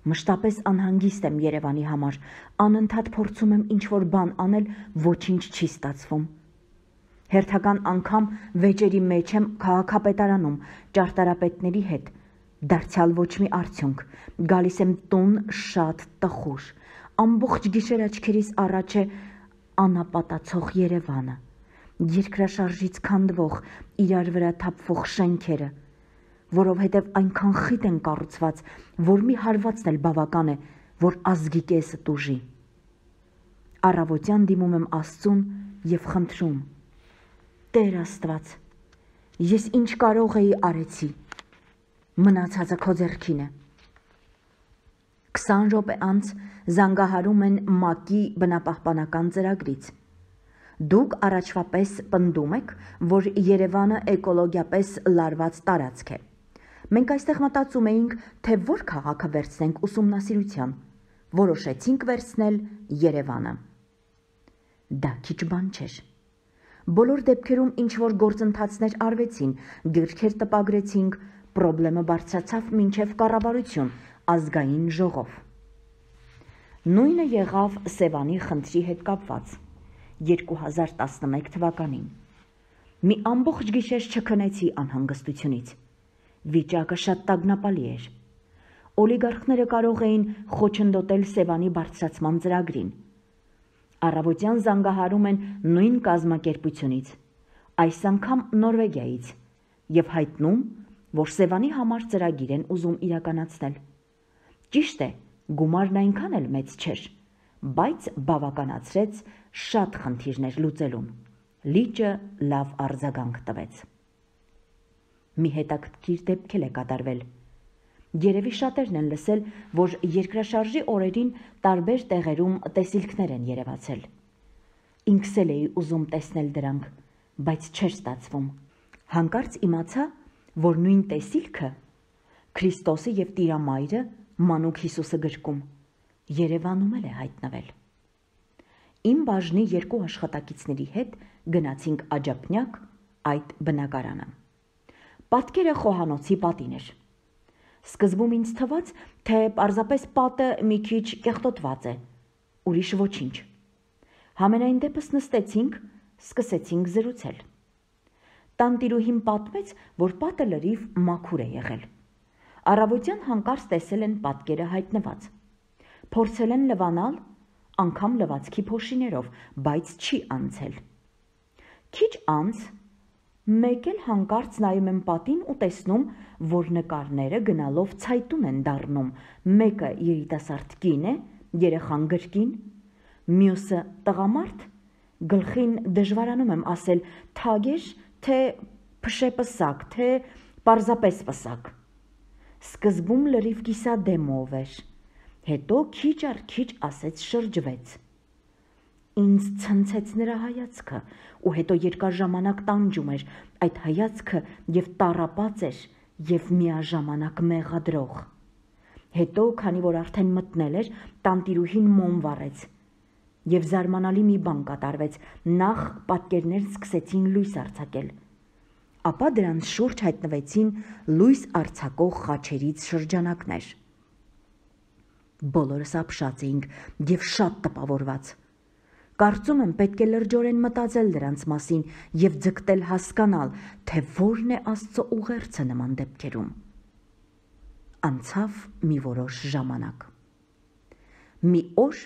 A: Մշտապես անհանգիստ եմ Երևանի համար, անընդհատ փորձում եմ ինչ-որ բան անել, ոչինչ չի ստացվում։ Հերթական անգամ վեճերի մեջ եմ քաղաքապետարանում ճարտարապետների հետ, դարձյալ ոչ մի արդյունք, գալիս եմ տուն շատ տխուր, ամբողջ գիշեր աչքերիս առաջ է անապատացող Երևանը, երկրաշարժից քանդվող, իրար վրա թափվող շենքերը, որովհետև այնքան խիտ են կառուցված, որ մի հարվածն էլ բավական է, որ ազգի կեսը տուժի։ Առավոտյան դիմում եմ Աստծուն և խնդրում. Տեր Աստված, ես ինչ կարող էի արեցի, մնացածը քո ձեռքին է։ Քսան րոպե անց զանգահարում են ՄԱԿ-ի բնապահպանական ծրագրից։ Դուք առաջվա պես պնդում եք, որ Երևանը էկոլոգիապես լարված տարածք է։ Մենք այստեղ մտածում էինք, թե որ քաղաքը վերցնենք ուսումնասիրության, որոշեցինք վերցնել Երևանը։ Դա քիչ բան չէր։ Բոլոր դեպքերում ինչ-որ գործընթացներ արվեցին, գրքեր տպագրեցինք, պրոբլեմը բարձրացավ մինչև կառավարություն, ազգային ժողով։ Նույնը եղավ Սևանի խնդրի հետ կապված երկու հազար տասնմեկ թվականին։ Մի ամբողջ գիշեր չքնեցի անհանգստությունից։ Վիճակը շատ տագնապալի էր։ Օլիգարխները կարող էին խոչընդոտել Սևանի բարձրացման ծրագրին։ Առավոտյան զանգահարում են նույն կազմակերպությունից, այս անգամ Նորվեգիայից, եւ հայտնում, որ Սևանի համար ծրագիր են ուզում իրականացնել։ Ճիշտ է, գումարն այնքան էլ մեծ չէր, բայց բավականացրեց շատ խնդիրներ լուծելուն։ Լիճը լավ արձագանք տվեց։ Մի հետաքրքիր դեպք է կատարվել։ Երևի շատերն են լսել, որ երկրաշարժի օրերին տարբեր տեղերում տեսիլքներ են երևացել։ Ինքս էլ էի ուզում տեսնել դրանք, բայց չէր ստացվում։ Հանկարծ իմացա, որ նույն տեսիլքը Քրիստոսի եւ Տիրամայրը Մանուկ Հիսուսը գրքում Երևանում էլ է հայտնվել։ Իմ բաժնի երկու աշխատակիցների հետ գնացինք աջափնյակ այդ բնակարանը։ Պատկերը խոհանոցի պատին էր։ Սկզբում ինձ թվաց, թե պարզապես պատը մի քիչ կեղտոտված է, ուրիշ ոչինչ։ Համենայն դեպս նստեցինք, սկսեցինք զրուցել։ Տանտիրուհին պատմեց, որ պատը լրիվ մաքուր է եղել։ Առավոտյան հանկարծ տեսել են պատկերը հայտնված։ Փորձել են լվանալ, անգամ լվացքի փոշիներով, բայց չի անցել։ Քիչ անց մեկ էլ հանկարծ նայում եմ պատին ու տեսնում, որ նկարները գնալով ցայտուն են դառնում, մեկը երիտասարդ կին է, երեխան գրկին, մյուսը տղամարդ, գլխին դժվարանում եմ ասել թագեր, թե փշեպսակ, թե պարզապես պսակ։ Սկզբում լրիվ կիսադեմով էր, հետո քիչ առ քիչ ասեց շրջվեց։ Ինձ ցնցեց նրա հայացքը ու հետո երկար ժամանակ տանջում էր այդ հայացքը եւ տառապած էր եւ միաժամանակ մեղադրող։ Հետո, քանի որ արդեն մտնել էր, տանտիրուհին մոմ վառեց եւ զարմանալի մի բան կատարվեց, նախ պատկերներն սկսեցին լույս արձակել, ապա դրանց շուրջ հայտնվեցին լույս արձակող խաչերից շրջանակներ։ Բոլորս ապշած էինք եւ շատ տպավորված։ Կարծում եմ պետք է լրջորեն մտածել դրանց մասին եւ ձգտել հասկանալ, թե որն է Աստծո ուղերձը նման դեպքերում։ Անցավ մի որոշ ժամանակ։ Մի օր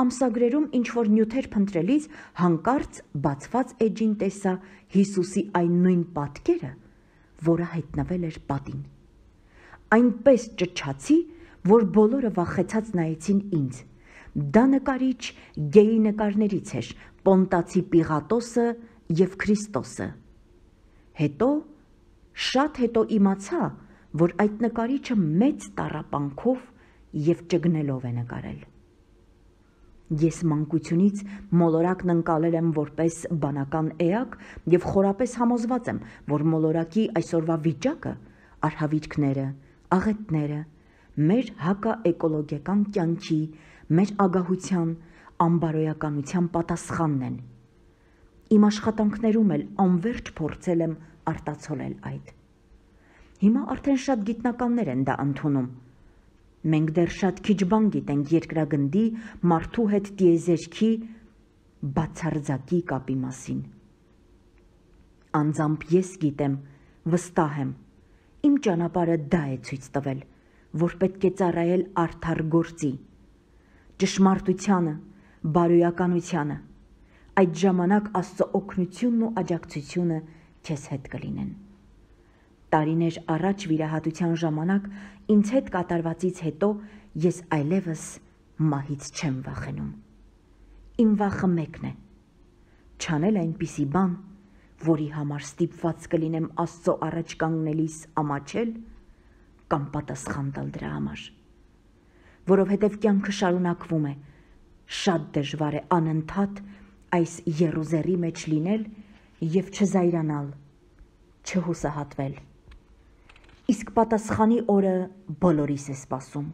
A: ամսագրերում ինչ-որ նյութեր փնտրելիս հանկարծ բացված էջին տեսա Հիսուսի այն նույն պատկերը, որը հայտնվել էր պատին։ Այնպես ճչացի, որ բոլորը վախեցած նայեցին ինձ։ Դա նկարիչ գեյի նկարներից էր, Պոնտացի Պիղատոսը եւ Քրիստոսը։ Հետո, շատ հետո իմացա, որ այդ նկարիչը մեծ տառապանքով եւ ճգնելով է նկարել։ Ես մանկությունից մոլորակն ընկալել եմ որպես բանական էակ եւ խորապես համոզված եմ, որ մոլորակի այսօրվա վիճակը, արհավիրքները, աղետները, մեր հակաէկոլոգիական կյանքի, մեր ագահության, անբարոյականության պատասխանն են։ Իմ աշխատանքներում էլ անվերջ փորձել եմ արտացոլել այդ։ Հիմա արդեն շատ գիտնականներ են դա ընդունում։ Մենք դեռ շատ քիչ բան գիտենք երկրագնդի, մարդու հետ տիեզերքի, բացարձակի կապի մասին։ Անձամբ ես գիտեմ, վստահ եմ, իմ ճանապարհը դա է ցույց տվել, որ պետք է ծառայել արդար գործի, ճշմարտությանը, բարոյականությանը, այդ ժամանակ Աստծո օգնությունն ու աջակցությունը քեզ հետ կլինեն։ Տարիներ առաջ վիրահատության ժամանակ ինձ հետ կատարվածից հետո ես այլևս մահից չեմ վախենում։ Իմ վախը մեկն է՝ չանել այնպիսի բան, որի համար ստիպված կլինեմ Աստծո առաջ կանգնելիս ամաչել կամ պատասխան տալ դրա համար։ Որովհետև կյանքը շարունակվում է, շատ դժվար է անընդհատ այս եռուզեռի մեջ լինել եւ չզայրանալ, չհուսահատվել։ Իսկ պատասխանի օրը բոլորիս է սպասում։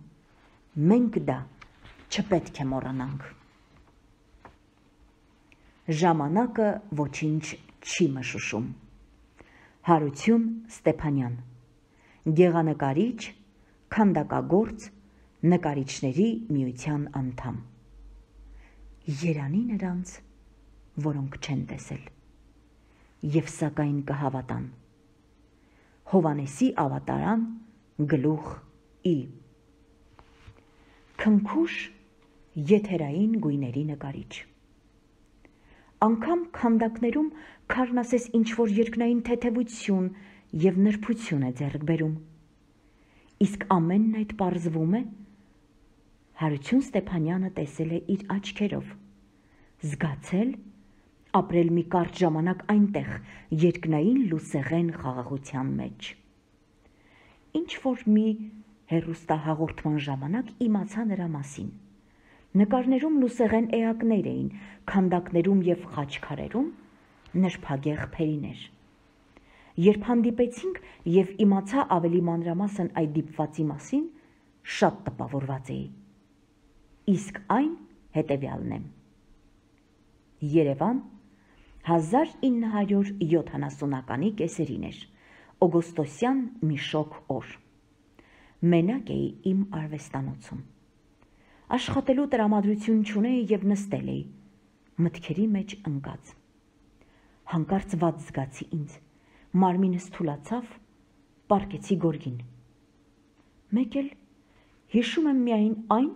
A: Մենք դա չպետք է մոռանանք։ Ժամանակը ոչինչ չի մշուշում։ Հարություն Ստեփանյան, գեղանկարիչ, քանդակագործ, նկարիչների միության անդամ։ Երանի նրանց, որոնք չեն տեսել։ եւ սակայն կհավատան։ Հովանեսի ավատարան գլուխ ի Քնքուշ եթերային գույների նկարիչ։ Անգամ քանդակներում քարն ասես ինչ-որ երկնային թեթևություն եւ նրբություն է ձեռք բերում։ Իսկ ամենն այդ պարզվում է Հարություն Ստեփանյանը տեսել է իր աչքերով, զգացել, ապրել մի կարճ ժամանակ այնտեղ երկնային լուսեղեն խաղաղության մեջ։ Ինչ որ մի հեռուստահաղորդման ժամանակ իմացա նրա մասին։ Նկարներում լուսեղեն էակներ էին, քանդակներում եւ խաչքարերում նրբագեղ փերիներ։ Երբ հանդիպեցինք եւ իմացա ավելի մանրամասն այդ դիպվածի մասին, շատ տպավորված էի։ Իսկ այն հետեւյալն է։ Երևան հազար ինը հարյուր յոթանասունականի կեսերին էր, օգոստոսյան մի շոգ օր։ Մենակ էի իմ արվեստանոցում։ Աշխատելու տրամադրություն չունեի եւ նստել էի, մտքերի մեջ ընկած։ Հանկարծ վատ զգացի ինձ, մարմինս թուլացավ, պառկեցի գորգին։ Մեկ էլ հիշում եմ միայն այն,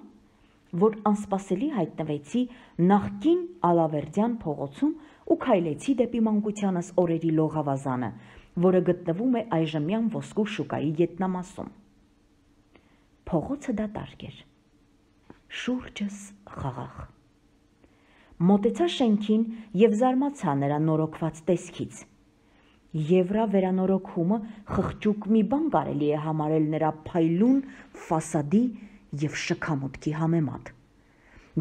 A: որ անսպասելի հայտնվեցի նախկին Ալավերդյան փողոցում ու քայլեցի դեպի մանկությանս օրերի լողավազանը, որը գտնվում է այժմյան Ոսկու շուկայի ետնամասում։ Փողոցը դատարկ էր, շուրջս խաղաղ։ Մոտեցա շենքին եւ զարմացա նրա նորոգված տեսքից։ Եվրա վերանորոգումը խղճուկ մի բան կարելի է համարել նրա փայլուն ֆասադի եւ շքամուտքի համեմատ։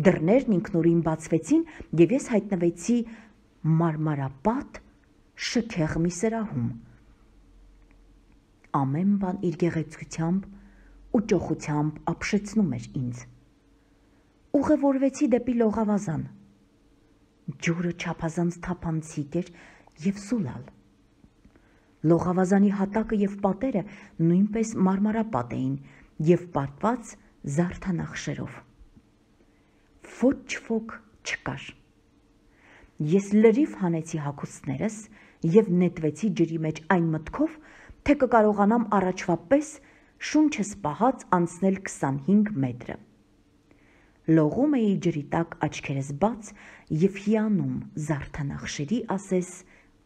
A: Դռներն ինքնուրույն բացվեցին եւ ես հայտնվեցի մարմարապատ շքեղ մի սրահում։ Ամեն բան իր գեղեցկությամբ ու ճոխությամբ ապշեցնում էր ինձ։ Ուղևորվեցի դեպի լողավազան։ Ջուրը չափազանց թափանցիկ էր եւ սուլալ։ Լողավազանի հատակը եւ պատերը նույնպես մարմարապատ էին եւ պատված զարդանախշերով։ Ոչ ոք չկար։ Ես լրիվ հանեցի հագուստներս եւ նետվեցի ջրի մեջ այն մտքով, թե կկարողանամ առաջվա պես շունչս պահած անցնել քսանհինգ մետրը։ Լողում էի ջրի տակ աչքերս բաց եւ հիանում զարդանախշերի ասես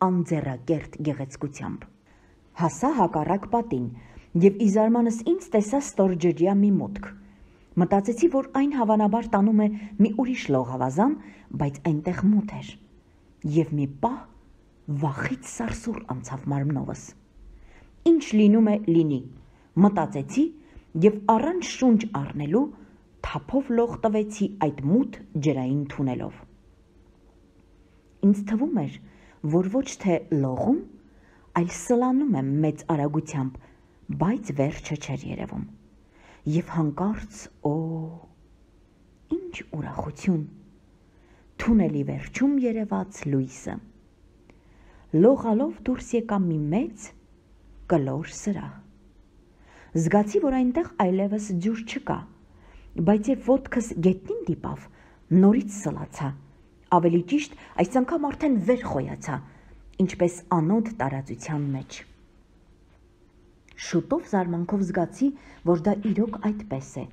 A: անձեռակերտ գեղեցկությամբ։ Հասա հակառակ պատին եւ ի զարմանս ինձ տեսա ստորջրյա մի մուտք։ Մտածեցի, որ այն հավանաբար տանում է մի ուրիշ լողավազան, բայց այնտեղ մութ էր։ Եվ մի պահ վախից սարսուռ անցավ մարմնովս։ Ինչ լինում է լինի, մտածեցի եւ առանց շունչ առնելու թափով լող տվեցի այդ մութ ջրային թունելով։ Ինձ թվում էր, որ ոչ թե լողում, այլ սլանում եմ մեծ արագությամբ, բայց վերջը չէր երևում։ Եվ հանկարծ, օ, ինչ ուրախություն, թունելի վերջում երևաց լույսը։ Լողալով դուրս եկա մի մեծ կլոր սրահ։ Զգացի, որ այնտեղ այլևս ջուր չկա, բայց երբ ոտքս գետնին դիպավ, նորից սլացա, ավելի ճիշտ այս անգամ արդեն վեր խոյացա, ինչպես անոտ տարածության մեջ։ Շուտով զարմանքով զգացի, որ դա իրոք այդպես է,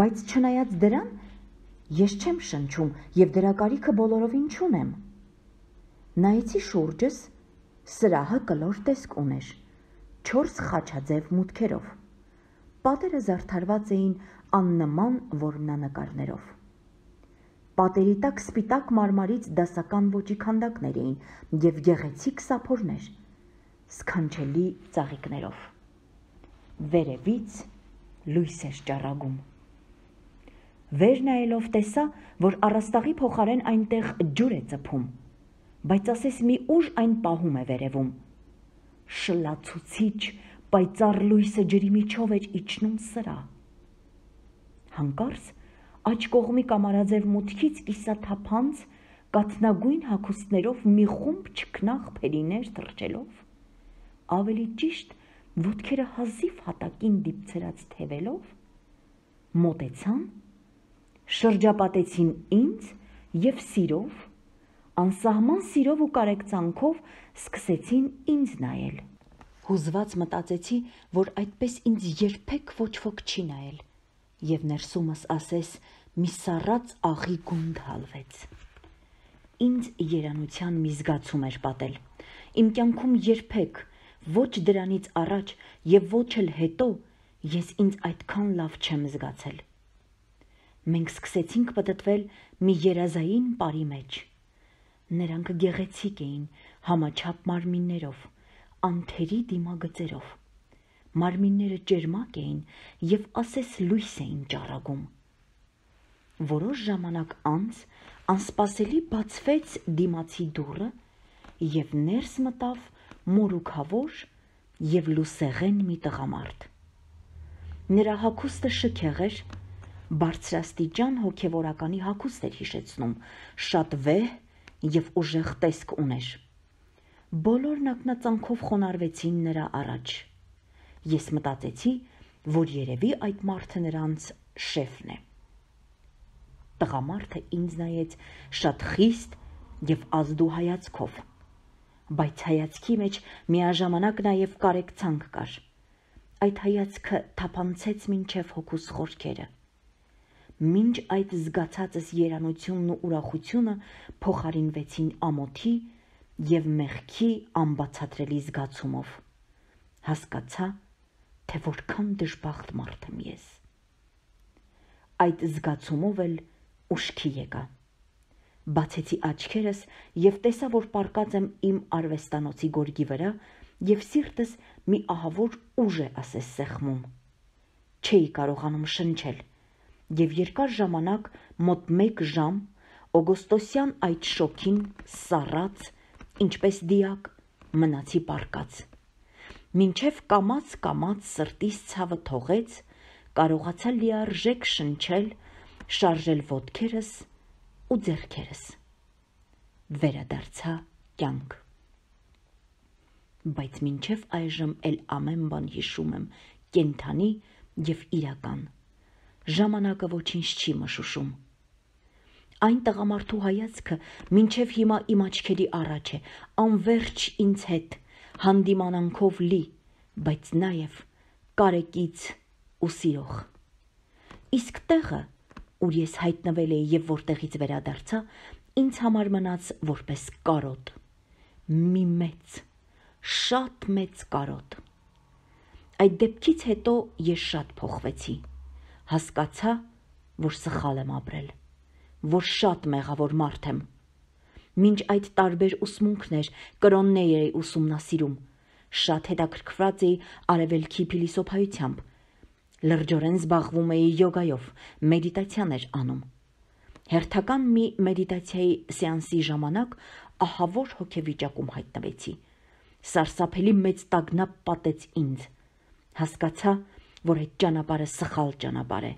A: բայց չնայած դրան, ես չեմ շնչում եւ դրա կարիքը բոլորովին չունեմ։ Նայեցի շուրջս, սրահը կլոր տեսք ուներ, չորս խաչաձև մուտքերով։ Պատերը զարդարված էին աննման որմնանկարներով։ Պատերի տակ սպիտակ մարմարից դասական ոճի քանդակներ էին եւ գեղեցիկ սափորներ, սքանչելի ծաղիկներով։ Վերևից լույս էր ճառագում։ Վեր նայելով տեսա, որ առաստաղի փոխարեն այնտեղ ջուր է ծփում, բայց ասես մի ուժ այն պահում է վերևում։ Շլացուցիչ, պայծառ լույսը ջրի միջով էր իջնում սրա։ Հանկարծ աջ կողմի կամարաձև մուտքից կիսաթափանց կաթնագույն հագուստներով մի խումբ չքնաղ փերիներ թռչելով, ավելի ճիշտ ոտքերը հազիվ հատակին դիպցրած թևելով, մոտեցան, շրջապատեցին ինձ եւ սիրով, անսահման սիրով ու կարեկցանքով սկսեցին ինձ նայել։ Հուզված մտածեցի, որ այդպես ինձ երբեք ոչ ոք չի նայել, եւ ներսումս ասես մի սառած աղի գունդ հալվեց։ Ինձ երանության մի զգացում էր պատել։ Իմ կյանքում երբեք, ոչ դրանից առաջ եւ ոչ էլ հետո, ես ինձ այդքան լավ չեմ զգացել։ Մենք սկսեցինք պտտվել մի երազային պարի մեջ։ Նրանք գեղեցիկ էին, համաչափ մարմիններով, անթերի դիմագծերով։ Մարմինները ջերմակ էին եւ ասես լույս էին ճառագում։ Որոշ ժամանակ անց անսպասելի բացվեց դիմացի դուռը եւ ներս մտավ մորուքավոր եւ լուսեղեն մի տղամարդ։ Նրա հագուստը շքեղ էր, բարձրաստիճան հոգեվորականի հագուստ էր հիշեցնում, շատ վեհ եւ ուժեղ տեսք ուներ։ Բոլորն ակնածանքով խոնարհվեցին նրա առաջ։ Ես մտածեցի, որ երևի այդ մարդը նրանց շեֆն է։ Տղամարդը ինձ նայեց շատ խիստ եւ ազդու հայացքով, բայց հայացքի մեջ միաժամանակ նաեւ կարեկցանք կար։ Այդ հայացքը թափանցեց մինչև հոգուս խորքերը։ Մինչ այդ զգացածս երանությունն ու ուրախությունը փոխարինվեցին ամոթի եւ մեղքի անբացատրելի զգացումով։ Հասկացա, թե որքան դժբախտ մարդ եմ ես։ Այդ զգացումով էլ ուշքի եկա։ Բացեցի աչքերս եւ տեսա, որ պառկած եմ իմ արվեստանոցի գորգի վրա եւ սիրտս մի ահավոր ուժ է ասես սեղմում։ Չէի կարողանում շնչել եւ երկար ժամանակ, մոտ մեկ ժամ, օգոստոսյան այդ շոգին սառած, ինչպես դիակ, մնացի պառկած։ Մինչև կամաց-կամաց սրտիս ցավը թողեց, կարողացա լիարժեք շնչել, շարժել ոտքերս ու ձեռքերս։ Վերադարձա կյանք։ Բայց մինչև այժմ էլ ամեն բան հիշում եմ կենդանի եւ իրական։ Ժամանակը ոչինչ չի մշուշում։ Այն տղամարդու հայացքը մինչև հիմա իմ աչքերի առաջ է, անվերջ ինձ հետ, հանդիմանանքով լի, բայց նաեւ կարեկից ու սիրող։ Իսկ տեղը, ուր ես հայտնվել էի եւ որտեղից վերադարձա, ինձ համար մնաց որպես կարոտ։ Մի մեծ, շատ մեծ կարոտ։ Այդ դեպքից հետո ես շատ փոխվեցի։ Հասկացա, որ սխալ եմ ապրել, որ շատ մեղավոր մարդ եմ։ Մինչ այդ տարբեր ուսմունքներ, կրոններ էի ուսումնասիրում, շատ հետաքրքրված էի արևելքի փիլիսոփայությամբ, լրջորեն զբաղվում էի յոգայով, մեդիտացիաներ անում։ Հերթական մի մեդիտացիայի սեանսի ժամանակ ահավոր հոգեվիճակում հայտնվեցի։ Սարսափելի մեծ տագնապ պատեց ինձ։ Հասկացա, որ այդ ճանապարհը սխալ ճանապարհ է։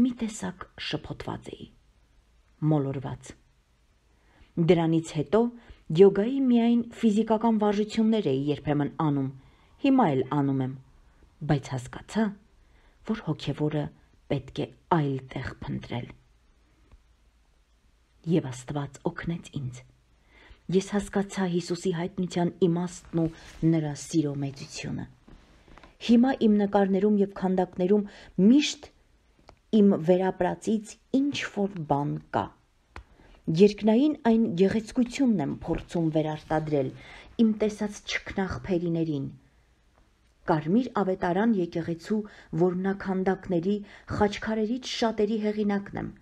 A: Մի տեսակ շփոթված էի, մոլորված։ Դրանից հետո յոգայի միայն ֆիզիկական վարժություններ էի երբեմն անում, հիմա էլ անում եմ, բայց հասկացա, որ հոգևորը պետք է այլ տեղ փնտրել։ Եվ Աստված օգնեց ինձ։ Ես հասկացա Հիսուսի հայտնության իմաստն ու նրա սիրո մեծությունը։ Հիմա իմ նկարներում եւ քանդակներում միշտ իմ վերապրածից ինչ որ բան կա։ Երկնային այն գեղեցկությունն եմ փորձում վերարտադրել իմ տեսած չքնաղբերիներին։ Կարմիր ավետարան եկեղեցու որմնաքանդակների խաչքարերից շատերի հեղինակն եմ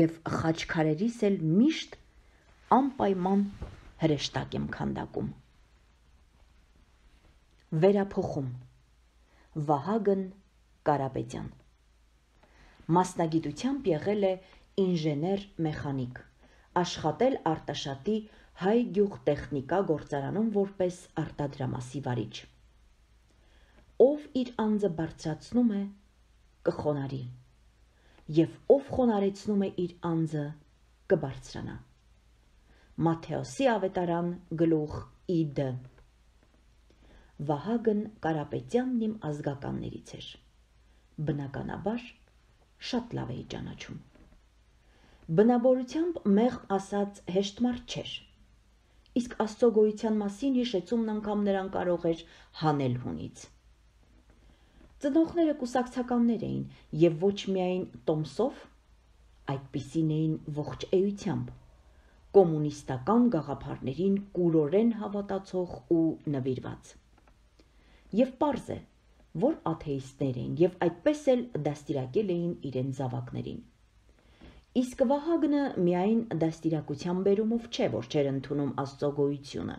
A: եւ խաչքարերիս էլ միշտ անպայման հրեշտակ եմ քանդակում։ Վերափոխում Վահագն Կարապետյան Մասնագիտությամբ եղել է ինժեներ-մեխանիկ, աշխատել Արտաշատի Հայ գյուղտեխնիկա գործարանում որպես արտադրամասի վարիչ։ Ով իր անձը բարձրացնում է, կխոնարհի, եւ ով խոնարհեցնում է իր անձը, կբարձրանա։ Մատթեոսի ավետարան գլուխ իդ։ Վահագն Կարապետյանն իմ ազգականներից էր։ Բնականաբար շատ լավ էի ճանաչում։ Բնավորությամբ մեղմ ասած հեշտ մարդ չէր, իսկ Աստծո գոյության մասին հիշեցումն անգամ նրան կարող էր հանել հունից։ Ծնողները կուսակցականներ էին և ոչ միայն տոմսով, այդպիսին էին ողջ էությամբ, կոմունիստական գաղափարներին կուրորեն հավատացող ու նվիրված։ Եվ պարզ է, որ աթեիստներ էին և այդպես էլ դաստիարակել էին իրենց զավակներին։ Իսկ Վահագնը միայն դաստիարակության բերումով չէ, որ չէր ընդունում Աստծո գոյությունը։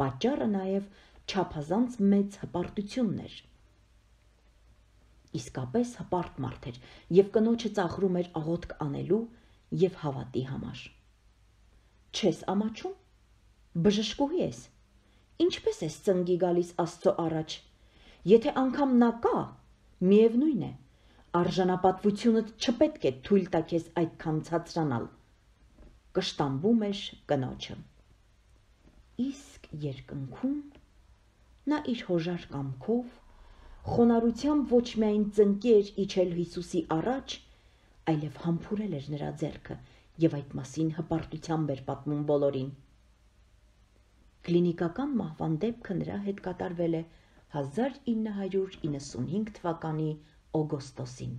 A: Պատճառը նաև չափազանց մեծ հպարտությունն էր։ Իսկապես հպարտ մարդ էր և կնոջը ծաղրում էր աղոթք անելու և հավատի համար։ Չես ամաչում, բժշկուհի ես, ինչպես ես ծնկի գալիս Աստծո առաջ, եթե անգամ նա կա, միևնույն է, արժանապատվությունդ չպետք է թույլ տա քեզ այդքան ցածրանալ, կշտամբում էր կնոջը։ Իսկ երկնքում նա իր հոժար կամքով խոնարհությամբ ոչ միայն ծնկի էր իջել Հիսուսի առաջ, այլև համբուրել էր նրա ձեռքը և այդ մասին հպարտությամբ էր պատմում բոլորին։ Կլինիկական մահվան դեպքը նրա հետ կատարվել է հազար ինը հարյուր իննսունհինգ թվականի օգոստոսին։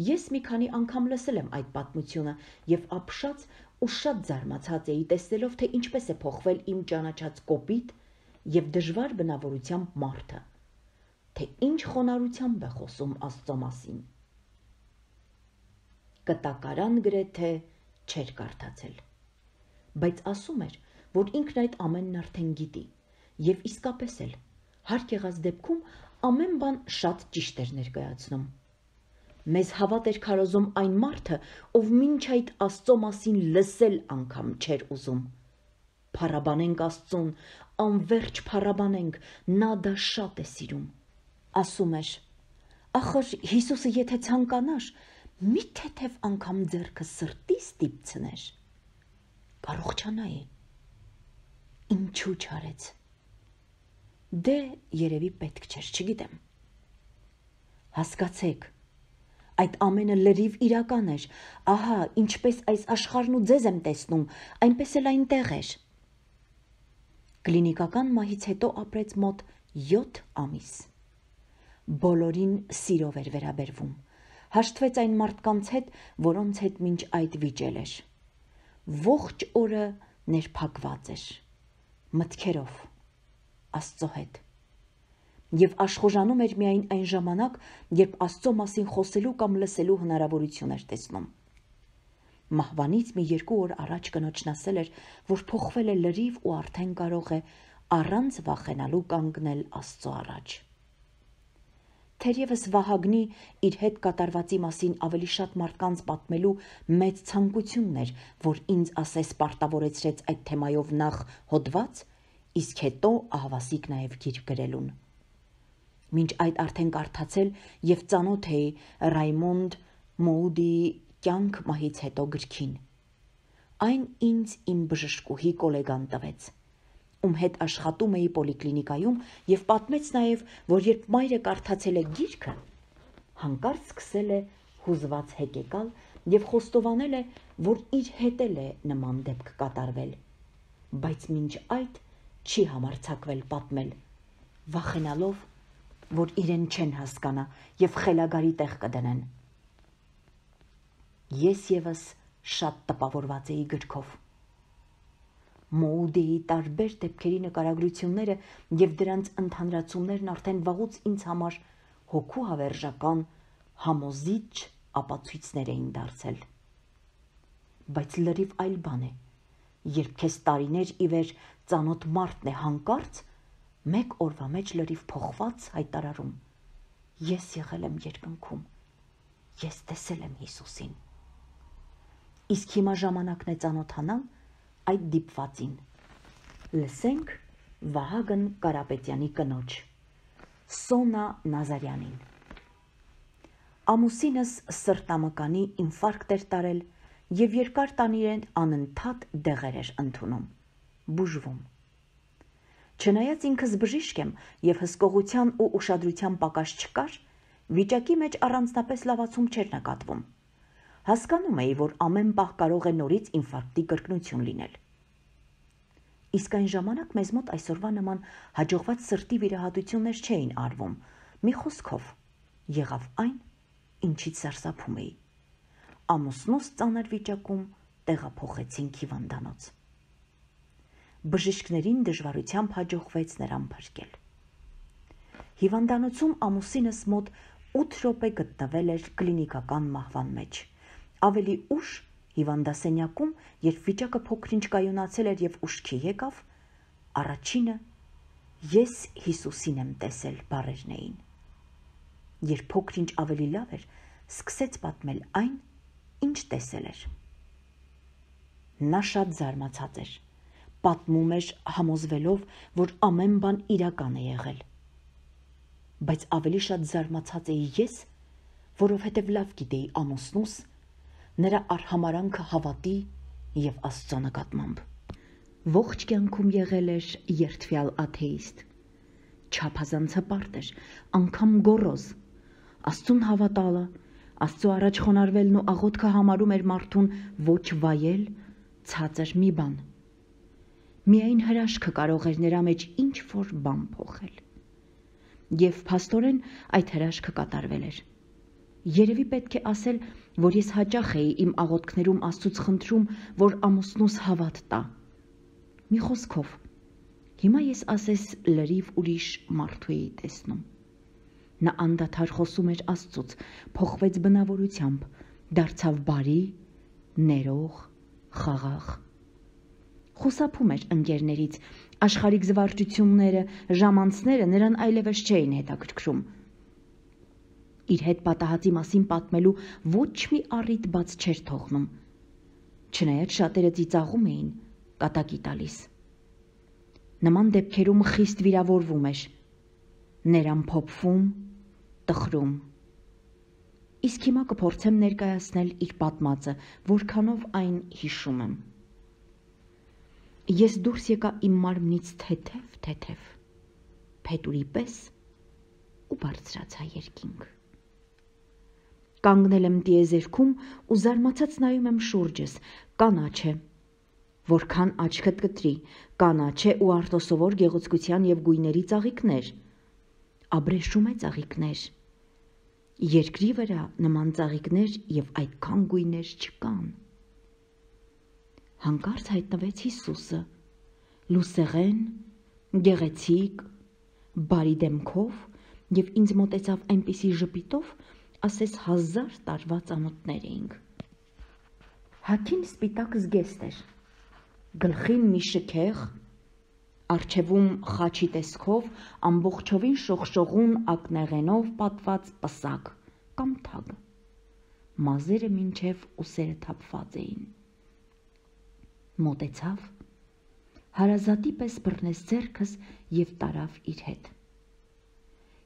A: Ես մի քանի անգամ լսել եմ այդ պատմությունը և ապշած ու շատ զարմացած էի տեսնելով, թե ինչպես է փոխվել իմ ճանաչած կոպիտ և դժվար բնավորությամբ մարդը, թե ինչ խոնարհությամբ է խոսում Աստծո մասին։ Կտակարան գրեթե չէր կարդացել, բայց ասում էր, որ ինքն այդ ամենն արդեն գիտի և իսկապես էլ, հարկ եղած դեպքում ամեն բան շատ ճիշտ էր ներկայացնում։ Մեզ հավատ էր քարոզում այն մարդը, ով մինչ այդ Աստծո մասին լսել անգամ չէր ուզում։ Փառաբանենք Աստծուն, անվերջ փառաբանենք, նա դա շատ է սիրում։ Ասում էր. ախր Հիսուսը եթե ցանկանար, մի թեթև անգամ ձեռքը սրտի ստիպցներ, կարողանայի։ Ինչու չարեց։ Դե երևի պետք չէր, չգիտեմ։ Հասկացեք, այդ ամենը լրիվ իրական էր, ահա ինչպես այս աշխարհն ու ձեզ եմ տեսնում, այնպես էլ այնտեղ էր։ Կլինիկական մահից հետո ապրեց մոտ յոթ ամիս։ Բոլորին սիրով էր վերաբերվում, հաշտվեց այն մարդկանց հետ, որոնց հետ մինչ այդ վիճել էր։ Ողջ օրը ներփակված էր, մտքերով, Աստծո հետ։ Եվ աշխուժանում էր միայն այն ժամանակ, երբ Աստծո մասին խոսելու կամ լսելու հնարավորություն էր տեսնում։ Մահվանից մի երկու օր առաջ կնոջն ասել էր, որ փոխվել է լրիվ ու արդեն կարող է առանց վախենալու կանգնել Աստծո առաջ։ Թերևս Վահագնի իր հետ կատարվածի մասին ավելի շատ մարդկանց պատմելու մեծ ցանկությունն էր, որ ինձ ասես պարտավորեցրեց այդ թեմայով նախ հոդված, իսկ հետո ահավասիկ նաև գիրք գրելուն։ Մինչ այդ արդեն կարդացել և ծանոթ էի Ռայմոնդ Մոուդիի «Կյանք մահից հետո» գրքին։ Այն ինձ իմ բժշկուհի կոլեգան տվեց, ում հետ աշխատում էի պոլիկլինիկայում և պատմեց նաև, որ երբ մայրը կարդացել է գիրքը, հանկարծ սկսել է հուզված հեկեկալ և խոստովանել է, որ իր հետ էլ է նման դեպք կատարվել, բայց մինչ այդ չի համարձակվել պատմել, վախենալով, որ իրեն չեն հասկանա և խելագարի տեղ կդնեն։ Ես ևս շատ տպավորված էի գրքով։ Մոուդիի տարբեր դեպքերի նկարագրությունները և դրանց ընդհանրացումներն արդեն վաղուց ինձ համար հոգու հավերժական, համոզիչ ապացույցներ էին դարձել։ Բայց լրիվ այլ բան է, երբ քեզ տարիներ ի վեր ծանոթ մարդն է հանկարծ մեկ օրվա մեջ լրիվ փոխված հայտարարում. ես եղել եմ երկնքում, ես տեսել եմ Հիսուսին։ Իսկ հիմա ժամանակն է ծանոթանալ այդ դիպվածին։ Լսենք Վահագն Կարապետյանի կնոջ, Սոնա Նազարյանին։ Ամուսինս սրտամկանի ինֆարկտ էր տարել և երկար տանիրեն անընդհատ դեղեր էր ընդունում, բուժվում։ Չնայած ինքս բժիշկ եմ և հսկողության ու ուշադրության պակաս չկար, վիճակի մեջ առանձնապես լավացում չէր նկատվում։ Հասկանում էի, որ ամեն պահ կարող է նորից ինֆարկտի կրկնություն լինել։ Իսկ այն ժամանակ մեզ մոտ այսօրվա նման հաջողված սրտի վիրահատություններ չէին արվում։ Մի խոսքով, եղավ այն, ինչից սարսափում էի։ Ամուսնուս ծանր վիճակում տեղափոխեցինք հիվանդանոց։ Բժիշկներին դժվարությամբ հաջողվեց նրան փրկել։ Հիվանդանոցում ամուսինս մոտ ութ րոպե գտնվել էր կլինիկական մահվան մեջ։ Ավելի ուշ հիվանդասենյակում, երբ վիճակը փոքր-ինչ կայունացել էր եւ ուշքի եկավ, առաջինը «Ես Հիսուսին եմ տեսել» բառերն էին։ Երբ փոքր-ինչ ավելի լավ էր, սկսեց պատմել այն, ինչ տեսել էր։ Նա շատ զարմացած էր, պատմում էր համոզվելով, որ ամեն բան իրական է եղել։ Բայց ավելի շատ զարմացած էի ես, որովհետև լավ գիտեի ամուսնուս նրա արհամարանքը հավատի և Աստծո նկատմամբ։ Ողջ կյանքում եղել էր երդվյալ աթեիստ, չափազանց հպարտ էր, անգամ գոռոզ, Աստծուն հավատալը, Աստծո առաջ խոնարհվելն ու աղոթքը համարում էր մարդուն ոչ վայել, ցածր մի բան։ Միայն հրաշքը կարող էր նրա մեջ ինչ-որ բան փոխել։ Եվ փաստորեն այդ հրաշքը կատարվել էր։ Երևի պետք է ասել, որ ես հաճախ էի իմ աղոթքներում Աստծուց խնդրում, որ ամուսնուս հավատ տա։ Մի խոսքով, հիմա ես ասես լրիվ ուրիշ մարդու էի տեսնում։ Նա անդադար խոսում էր Աստծուց, փոխվեց բնավորությամբ, դարձավ բարի, ներող, խաղաղ։ Խուսափում էր ընկերներից, աշխարհիկ զվարճությունները, ժամանցները նրան այլևս չէին հետաքրքրում։ Իր հետ պատահածի մասին պատմելու ոչ մի առիթ բաց չէր թողնում, չնայած շատերը ծիծաղում էին, կատակի տալիս։ Նման դեպքերում խիստ վիրավորվում էր, ներան փոփվում, տխրում։ Իսկ հիմա կփորձեմ ներկայացնել իր պատմածը, որքանով այն հիշում եմ։ Ես դուրս եկա իմ մարմնից թեթև-թեթև, փետուրի պես ու բարձրացա երկինք։ Կանգնել եմ տիեզերքում ու զարմացած նայում եմ շուրջս, կանաչ է, որքան աչքդ կտրի, կանաչ է ու արտոսովոր գեղեցկության և գույների ծաղիկներ, աբրեշում է ծաղիկներ, երկրի վրա նման ծաղիկներ և այդքան գույներ չկան։ Հանկարծ հայտնվեց Հիսուսը, լուսեղեն, գեղեցիկ, բարի դեմքով և ինձ մոտեցավ այնպիսի ժպիտով, ասես հազար տարվա ծանոթներ էինք։ Հագին սպիտակ զգեստ էր, գլխին մի շքեղ, առջևում խաչի տեսքով ամբողջովին շողշողուն ակնեղենով պատված պսակ կամ թագ, մազերը մինչև ուսերը թափված էին։ Մոտեցավ, հարազատի պես բռնեց ձեռքս և տարավ իր հետ։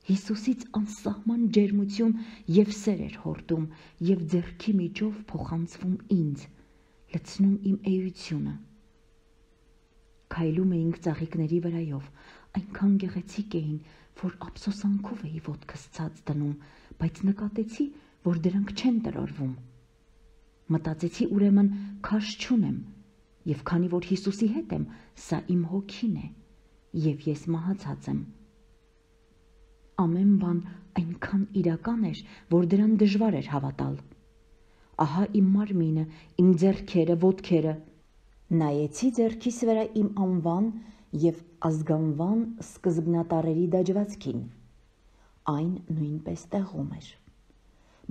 A: Հիսուսից անսահման ջերմություն և սեր էր հորդում և ձեռքի միջով փոխանցվում ինձ, լցնում իմ էությունը։ Քայլում էինք ծաղիկների վրայով, այնքան գեղեցիկ էին, որ ափսոսանքով էի ոտքս ցած դնում, բայց նկատեցի, որ դրանք չեն տրորվում։ Մտածեցի ուրեմն քաշ չունեմ, և քանի որ Հիսուսի հետ եմ, սա իմ հոգին է, և ես մահացած եմ։ Ամեն բան այնքան իրական էր, որ դրան դժվար էր հավատալ։ Ահա իմ մարմինը, իմ ձեռքերը, ոտքերը։ Նայեցի ձեռքիս վրա իմ անվան և ազգանվան սկզբնատառերի դաջվածքին։ Այն նույնպես տեղում էր։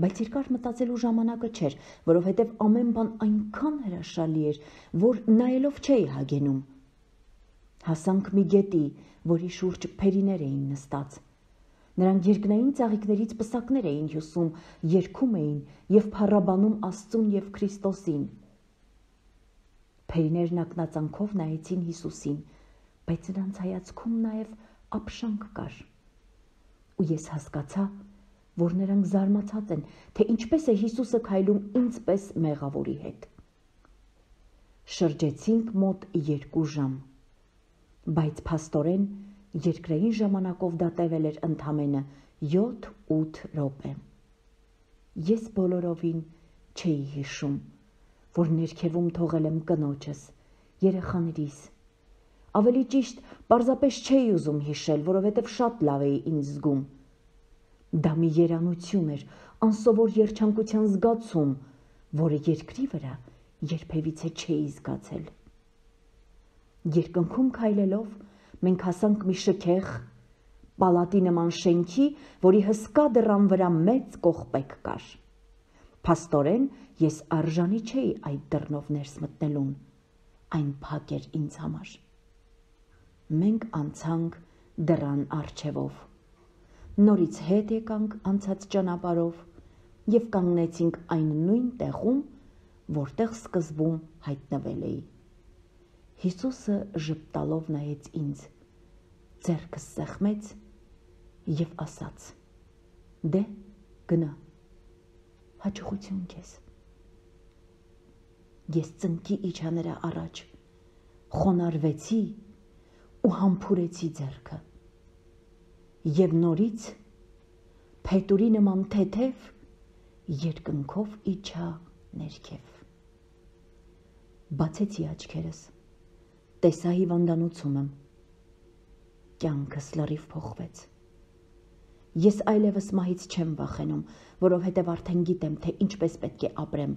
A: Բայց երկար մտածելու ժամանակը չէր, որովհետև ամեն բան այնքան հրաշալի էր, որ նայելով չէի հագենում։ Հասանք մի գետի, որի շուրջ փերիներ էին նստած։ Նրանք երկնային ծաղիկներից պսակներ էին հյուսում, երգում էին և փառաբանում Աստծուն և Քրիստոսին։ Փերիներն ակնածանքով նայեցին Հիսուսին, բայց նրանց հայացքում նաև ապշանք կար։ Ու ես հասկացա, որ նրանք զարմացած են, թե ինչպես է Հիսուսը քայլում ինձ պես մեղավորի հետ։ Շրջեցինք մոտ երկու ժամ, բայց փաստորեն երկրային ժամանակով դա տևել էր ընդամենը յոթ-ութ րոպե։ Ես բոլորովին չէի հիշում, որ ներքևում թողել եմ կնոջս, երեխաներիս։ Ավելի ճիշտ, պարզապես չէի ուզում հիշել, որովհետև շատ լավ էի ինձ զգում։ Դա մի երանություն էր, անսովոր երջանկության զգացում, որը երկրի վրա երբևիցե չէի զգացել։ Երկնքում քայլելով մենք հասանք մի շքեղ, պալատի նման շենքի, որի հսկա դռան վրա մեծ կողպեկ կար։ Փաստորեն ես արժանի չէի այդ դռնով ներս մտնելուն, այն փակ էր ինձ համար։ Մենք անցանք դռան առջևով, նորից հետ եկանք անցած ճանապարհով և կանգնեցինք այն նույն տեղում, որտեղ սկզբում հայտնվել էի։ Հիսուսը ժպտալով նայեց ինձ, ձեռքս սեղմեց և ասաց. «Դե, գնա, հաջողություն քեզ»։ Ես ծնկի իջա նրա առաջ, խոնարհվեցի ու համբուրեցի ձեռքը, և նորից փետուրի նման թեթև երկնքով իջա ներքև։ Բացեցի աչքերս, տեսա հիվանդանոցումս, կյանքս լրիվ փոխվեց։ Ես այլևս մահից չեմ վախենում, որովհետև արդեն գիտեմ, թե ինչպես պետք է ապրեմ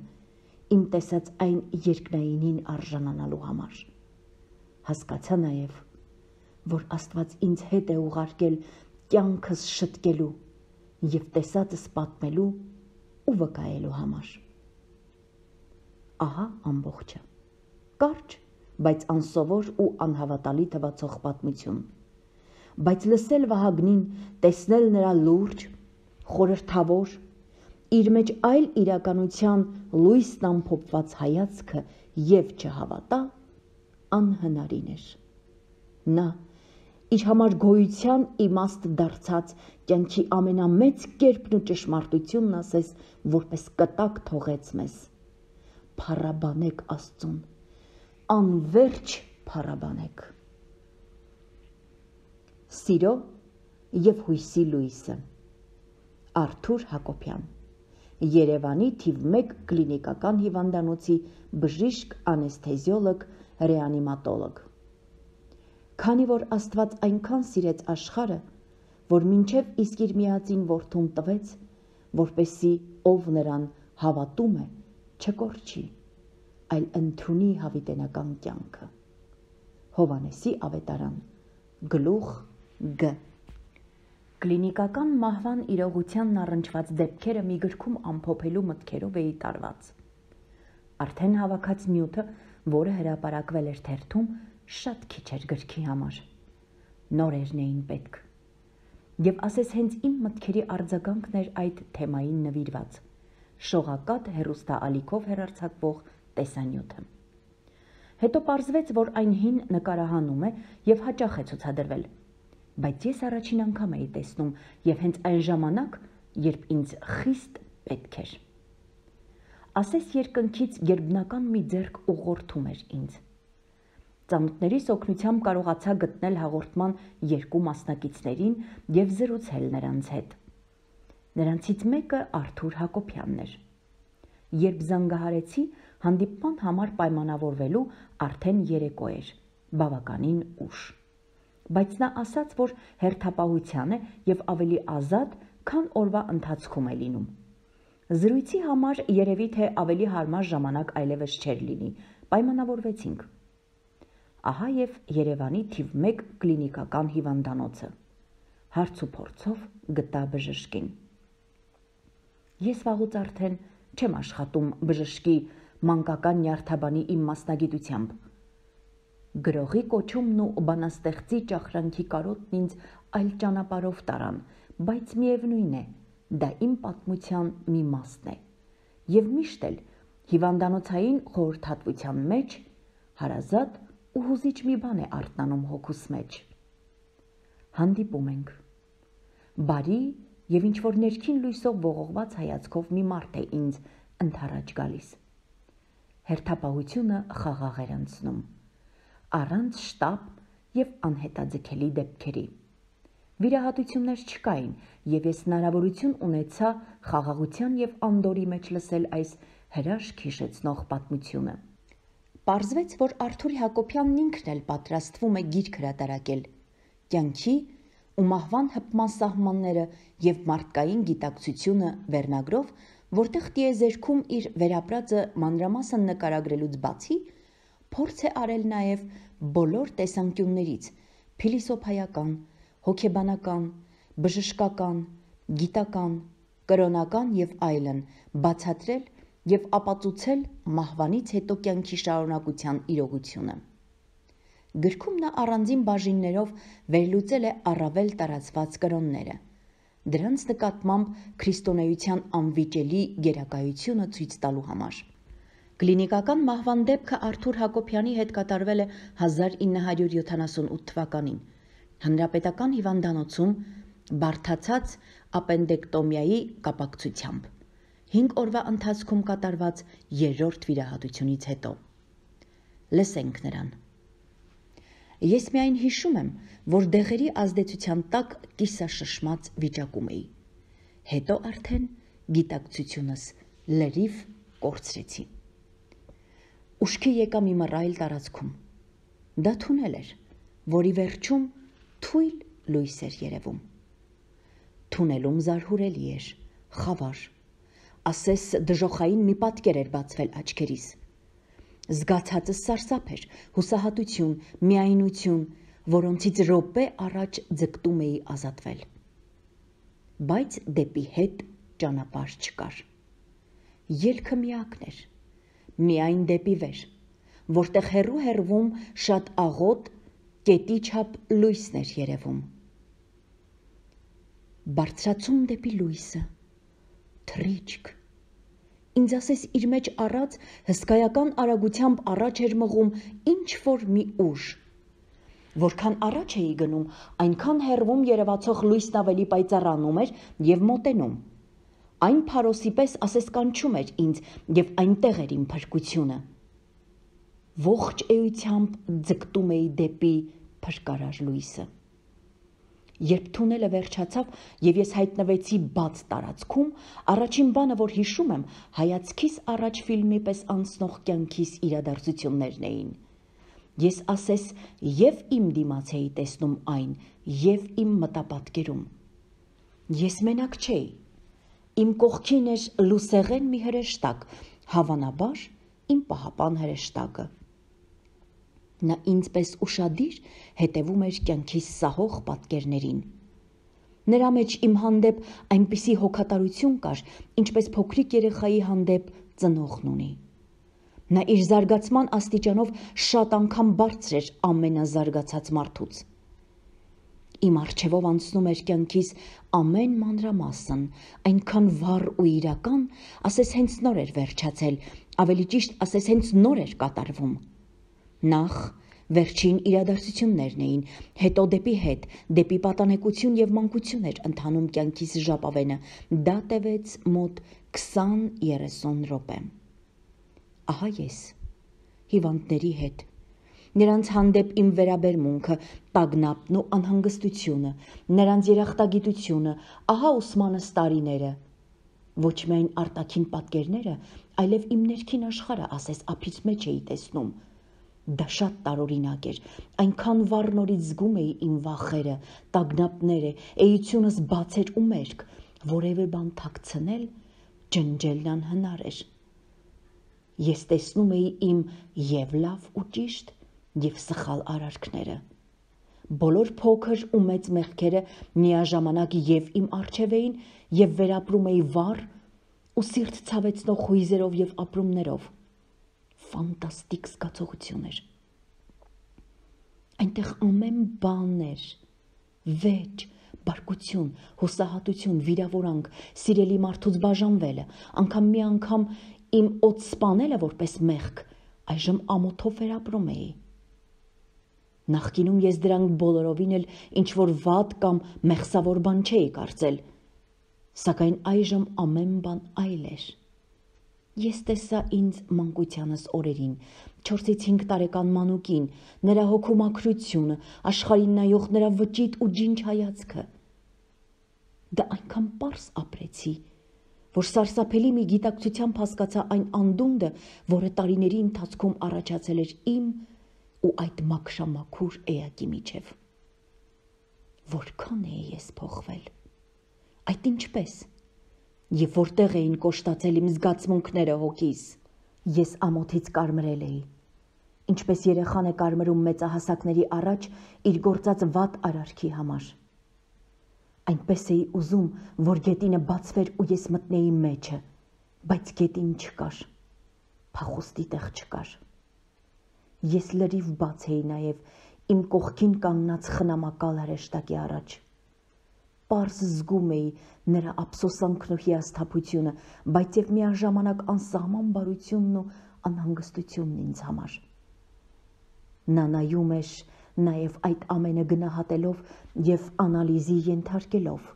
A: իմ տեսած այն երկնայինին արժանանալու համար։ Հասկացա նաև, որ Աստված ինձ հետ է ուղարկել կյանքս շտկելու և տեսածս պատմելու ու վկայելու համար։ Ահա ամբողջը, կարճ, բայց անսովոր ու անհավատալի թվացող պատմություն, բայց լսել Վահագնին, տեսնել նրա լուրջ, խորհրդավոր, իր մեջ այլ իրականության լույսն ամփոփված հայացքը և չհավատա անհնարին էր։ Նա իր համար գոյության իմաստ դարձած կյանքի ամենամեծ կերպն ու ճշմարտությունն ասես որպես կտակ թողեց մեզ։ Փառաբանեք Աստծուն, անվերջ փառաբանեք։ Սիրո և հույսի լույսը, Արթուր Հակոբյան, Երևանի թիվ մեկ կլինիկական հիվանդանոցի բժիշկ, անեսթեզիոլոգ, ռեանիմատոլոգ։ Քանի որ Աստված այնքան սիրեց աշխարհը, որ մինչև իսկ իր միածին որդուն տվեց, որպեսզի ով նրան հավատում է, չկորչի, այլ ընդունի հավիտենական կյանքը։ Հովհաննեսի ավետարան, գլուխ Գ։ Կլինիկական մահվան իրողությանն առնչված դեպքերը մի գրքում ամփոփելու մտքերով էի տարված։ Արդեն հավաքած նյութը, որը հրապարակվել էր թերթում, շատ քիչ էր գրքի համար։ Նորերն էին պետք։ Եվ ասես հենց իմ մտքերի արձագանքն էր այդ թեմային նվիրված, շողակաթ հեռուստաալիքով հեռարձակվող տեսանյութը։ Հետո պարզվեց, որ այն հին նկարահանում է և հաճախ է ցուցադրվել, բայց ես առաջին անգամ էի տեսնում և հենց այն ժամանակ, երբ ինձ խիստ պետք էր։ Ասես երկնքից գերբնական մի ձեռք ուղղորդում էր ինձ։ Ծանոթներիս օգնությամբ կարողացա գտնել հաղորդման երկու մասնակիցներին և զրուցել նրանց հետ։ Նրանցից մեկը Արթուր Հակոբյանն էր։ Երբ զանգահարեցի, հանդիպման համար պայմանավորվելու արդեն երեկո էր, բավականին ուշ։ Բայց նա ասաց, որ հերթապահության է և ավելի ազատ, քան օրվա ընթացքում է լինում։ Զրույցի համար երևի թե ավելի հարմար ժամանակ այլևս չէր լինի, պայմանավորվեցինք։ Ահա և Երևանի թիվ մեկ կլինիկական հիվանդանոցը։ Հարց ու փորձով գտա բժշկին։ Ես վաղուց արդեն չեմ աշխատում բժշկի մանկական նյարդաբանի իմ մասնագիտությամբ։ Գրողի կոչումն ու բանաստեղծի ճախրանքի կարոտն ինձ այլ ճանապարհով տարան, բայց միևնույն է, դա իմ պատմության մի մասն է, և միշտ էլ հիվանդանոցային խորհրդատվության մեջ հարազատ ու հուզիչ մի բան է արթնանում հոգուս մեջ։ Հանդիպում ենք։ Բարի և ինչ-որ ներքին լույսով ողողված հայացքով մի մարդ է ինձ ընդառաջ գալիս։ Հերթապահությունը խաղաղ էր անցնում, առանց շտապ և անհետաձգելի դեպքերի։ Վիրահատություններ չկային, և ես հնարավորություն ունեցա խաղաղության և անդորրի մեջ լսել այս հրաշք հիշեցնող պատմությունը։ Պարզվեց, որ Արթուր Հակոբյանն ինքն էլ պատրաստվում է գիրք հրատարակել «Կյանքի ու մահվան հպման սահմանները և մարդկային գիտակցությունը» վերնագրով, որտեղ տիեզերքում իր վերապրածը մանրամասն նկարագրելուց բացի, փորձ է արել նաև բոլոր տեսանկյուններից՝ փիլիսոփայական, հոգեբանական, բժշկական, գիտական, կրոնական և այլն, բացատրել և ապացուցել մահվանից հետո կյանքի շարունակության իրողությունը։ Գրքում նա առանձին բաժիններով վերլուծել է առավել տարածված կրոնները, դրանց նկատմամբ քրիստոնեության անվիճելի գերակայությունը ցույց տալու համար։ Կլինիկական մահվան դեպքը Արթուր Հակոբյանի հետ կատարվել է հազար ինը հարյուր յոթանասունութ թվականին Հանրապետական հիվանդանոցում բարդացած ապենդեկտոմիայի կապակցությամբ, հինգ օրվա ընթացքում կատարված երրորդ վիրահատությունից հետո։ Լսենք նրան։ Ես միայն հիշում եմ, որ դեղերի ազդեցության տակ կիսաշշմած վիճակում էի։ Հետո արդեն գիտակցությունս լրիվ կորցրեցի։ Ուշքի եկա մի մռայլ տարածքում։ Դա թունել էր, որի վերջում թույլ լույս էր երևում։ Թունելում զարհուրելի էր, խավար, ասես դժոխային մի պատկեր էր բացվել աչքերիս։ Զգացածս սարսափ էր, հուսահատություն, միայնություն, որոնցից րոպե առաջ ձգտում էի ազատվել։ Բայց դեպի հետ ճանապարհ չկար։ Ելքը միակն էր, միայն դեպի վեր, որտեղ հեռու-հեռվում շատ աղոտ, կետի չափ լույսն էր երևում։ Բարձրացում դեպի լույսը, թռիչք, ինձ ասես իր մեջ առած հսկայական արագությամբ առաջ էր մղում ինչ-որ մի ուժ։ Որքան առաջ էի գնում, այնքան հեռվում երևացող լույսն ավելի պայծառանում էր և մոտենում։ Այն փարոսի պես ասես կանչում էր ինձ և այնտեղ էր իմ փրկությունը։ Ողջ էությամբ ձգտում էի դեպի փրկարար լույսը։ Երբ թունելը վերջացավ և ես հայտնվեցի բաց տարածքում, առաջին բանը, որ հիշում եմ, հայացքիս առաջ ֆիլմի պես անցնող կյանքիս իրադարձություններն էին։ Ես ասես և իմ դիմաց էի տեսնում այն, և իմ մտապատկերում։ Ես մենակ չէի։ Իմ կողքին էր լուսեղեն մի հրեշտակ, հավանաբար իմ պահապան հրեշտակը։ Նա ինձ պես ուշադիր հետևում էր կյանքիս սահող պատկերներին։ Նրա մեջ իմ հանդեպ այնպիսի հոգատարություն կար, ինչպես փոքրիկ երեխայի հանդեպ ծնողն ունի։ Նա իր զարգացման աստիճանով շատ անգամ բարձր էր ամենազարգացած մարդուց։ Իմ առջևով անցնում էր կյանքիս ամեն մանրամասն, այնքան վառ ու իրական, ասես հենց նոր էր վերջացել, ավելի ճիշտ ասես հենց նոր էր կատարվում։ Նախ վերջին իրադարձություններն էին, հետո դեպի հետ, դեպի պատանեկություն և մանկություն էր ընթանում կյանքիս ժապավենը, դա տևեց մոտ քսան-երեսուն րոպե։ Ահա ես, հիվանդների հետ, նրանց հանդեպ իմ վերաբերմունքը, տագնապն ու անհանգստությունը, նրանց երախտագիտությունը, ահա ուսմանս տարիները, ոչ միայն արտաքին պատկերները, այլև իմ ներքին աշխարհը ասես ափից մեջ էի տեսնում։ Դա շատ տարօրինակ էր, այնքան վառ նորից զգում էի իմ վախերը, տագնապները, էությունս բաց էր ու մերկ, որևէ բան թաքցնել, ջնջելն անհնար էր։ Ես տեսնում էի իմ և լավ ու ճիշտ, և սխալ արարքները։ Բոլոր փոքր ու մեծ մեղքերը միաժամանակ և իմ առջև էին, և վերապրում էի վառ ու սիրտ ցավեցնող հույզերով և ապրումներով։ Ֆանտաստիկ զգացողություն էր։ Այնտեղ ամեն բան էր՝ վեճ, բարկություն, հուսահատություն, վիրավորանք, սիրելի մարդուց բաժանվելը, անգամ մի անգամ իմ օդ սպանելը որպես մեղք, այժմ ամոթով վերապրում էի։ Նախկինում ես դրանք բոլորովին էլ ինչ-որ վատ կամ մեղսավոր բան չէի կարծել, սակայն այժմ ամեն բան այլ էր։ Ես տեսա ինձ մանկությանս օրերին, չորսից հինգ տարեկան մանուկին, նրա հոգու մաքրությունը, աշխարհին նայող նրա վճիտ ու ջինջ հայացքը։ Դա այնքան պարզ ապրեցի, որ սարսափելի մի գիտակցությամբ հասկացա այն անդունդը, որը տարիների ընթացքում առաջացել էր իմ ու այդ մաքրամաքուր էակի միջև։ Որքան էի ես փոխվել, այդ ինչպես, և որտեղ էին կոշտացել իմ զգացմունքները հոգիս, ես ամոթից կարմրել էի, ինչպես երեխան է կարմրում մեծահասակների առաջ իր գործած վատ արարքի համար։ Այնպես էի ուզում, որ գետինը բացվեր ու ես մտնեի մեջը, բայց գետին չկար, փախուստի տեղ չկար։ Ես լրիվ բաց էի նաև իմ կողքին կանգնած խնամակալ հրեշտակի առաջ։ Պարզ զգում էի նրա ափսոսանքն ու հիասթափությունը, բայց և միաժամանակ անսահման բարությունն ու անհանգստությունն ինձ համար։ Նա նայում էր նաև այդ ամենը գնահատելով և անալիզի ենթարկելով։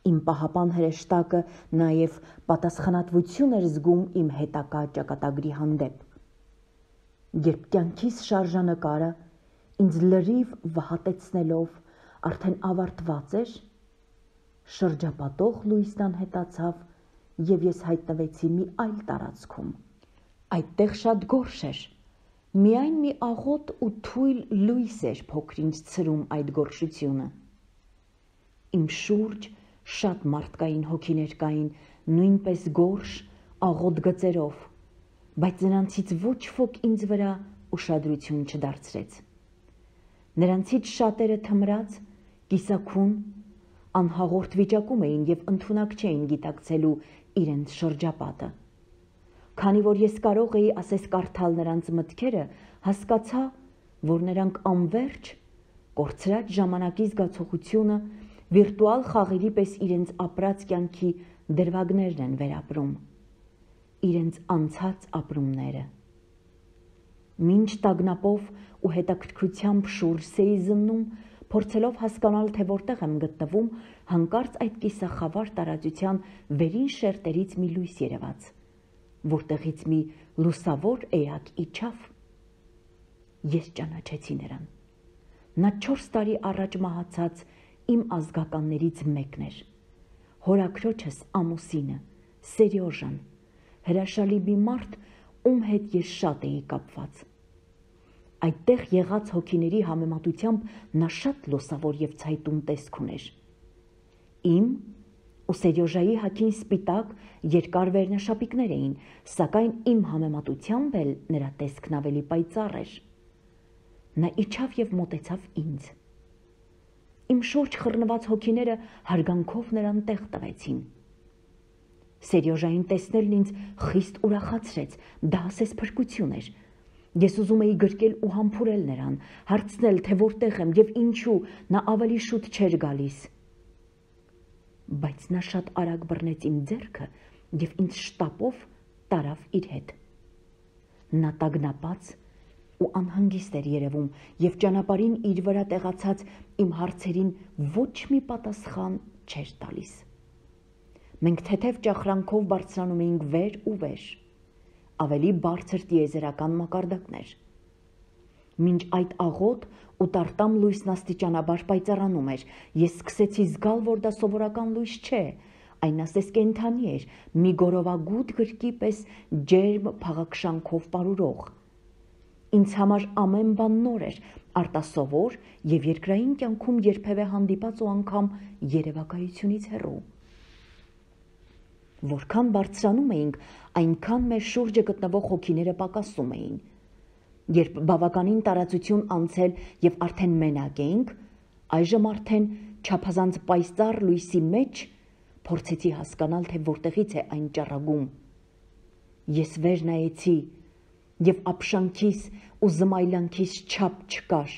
A: Իմ պահապան հրեշտակը նաև պատասխանատվություն էր զգում իմ հետագա ճակատագրի հանդեպ։ Երբ կյանքիս շարժանկարը ինձ լրիվ վհատեցնելով արդեն ավարտված էր, շրջապատող լույսն անհետացավ և ես հայտնվեցի մի այլ տարածքում։ Այդտեղ շատ գորշ էր, միայն մի աղոտ ու թույլ լույս էր փոքր-ինչ ցրում այդ գորշությունը։ Իմ շուրջ շատ մարդկային հոգիներ կային, նույնպես գորշ, աղոտ գծերով, բայց նրանցից ոչ ոք ինձ վրա ուշադրություն չդարձրեց։ Նրանցից շատերը թմրած, կիսաքուն, անհաղորդ վիճակում էին և ընդունակ չէին գիտակցելու իրենց շրջապատը։ Քանի որ ես կարող էի ասես կարդալ նրանց մտքերը, հասկացա, որ նրանք անվերջ, կորցրած ժամանակի զգացողությունը վիրտուալ խաղերի պես իրենց ապրած կյանքի դրվագներն են վերապրում, իրենց անցած ապրումները։ Մինչ տագնապով ու հետաքրքրությամբ շուրջս էի զննում, փորձելով հասկանալ, թե որտեղ եմ գտնվում, հանկարծ այդ կիսախավար տարածության վերին շերտերից մի լույս երևաց, որտեղից մի լուսավոր էակ իջավ։ Ես ճանաչեցի նրան։ Նա չորս տարի առաջ մահացած իմ ազգականներից մեկն էր։ Հորաքրոջս ամուսինը, Սերյոժան, հրաշալի մի մարդ, ում հետ ես շատ էի կապված։ Այդտեղ եղած հոգիների համեմատությամբ նա շատ լուսավոր և ցայտուն տեսք ուներ։ Իմ ու Սերյոժայի հագին սպիտակ, երկար վերնաշապիկներ էին, սակայն իմ համեմատությամբ էլ նրա տեսքն ավելի պայծառ էր։ Նա իջավ և մոտեցավ ինձ։ Իմ շուրջ խռնված հոգիները հարգանքով նրան տեղ տվեցին։ Սերյոժային տեսնելն ինձ խիստ ուրախացրեց, դա ասես փրկություն էր։ Ես ուզում էի գրկել ու համբուրել նրան, հարցնել, թե որտեղ եմ և ինչու նա ավելի շուտ չէր գալիս։ Բայց նա շատ արագ բռնեց իմ ձեռքը և ինձ շտապով տարավ իր հետ։ Նա տագնապած ու անհանգիստ էր երևում և ճանապարհին իր վրա տեղացած իմ հարցերին ոչ մի պատասխան չէր տալիս։ Մենք թեթև ճախրանքով բարձրանում էինք վեր ու վեր, ավելի բարձր տիեզերական մակարդակներ։ Մինչ այդ աղոտ ու տարտամ լույսն աստիճանաբար պայծառանում էր, ես սկսեցի զգալ, որ դա սովորական լույս չէ, այն ասես կենդանի էր, մի գորովագութ գրկի պես ջերմ փաղաքշանքով պարուրող։ Ինձ համար ամեն բան նոր էր, արտասովոր և երկրային կյանքում երբևէ հանդիպած ու անգամ երևակայությունից հեռու։ Որքան բարձրանում էինք, այնքան մեր շուրջը գտնվող հոգիները պակասում էին։ Երբ բավականին տարածություն անցել և արդեն մենակ էինք, այժմ արդեն չափազանց պայծառ լույսի մեջ փորձեցի հասկանալ, թե որտեղից է այն ճառագում։ Ես վեր նայեցի և ապշանքիս ու զմայլանքիս չափ չկար։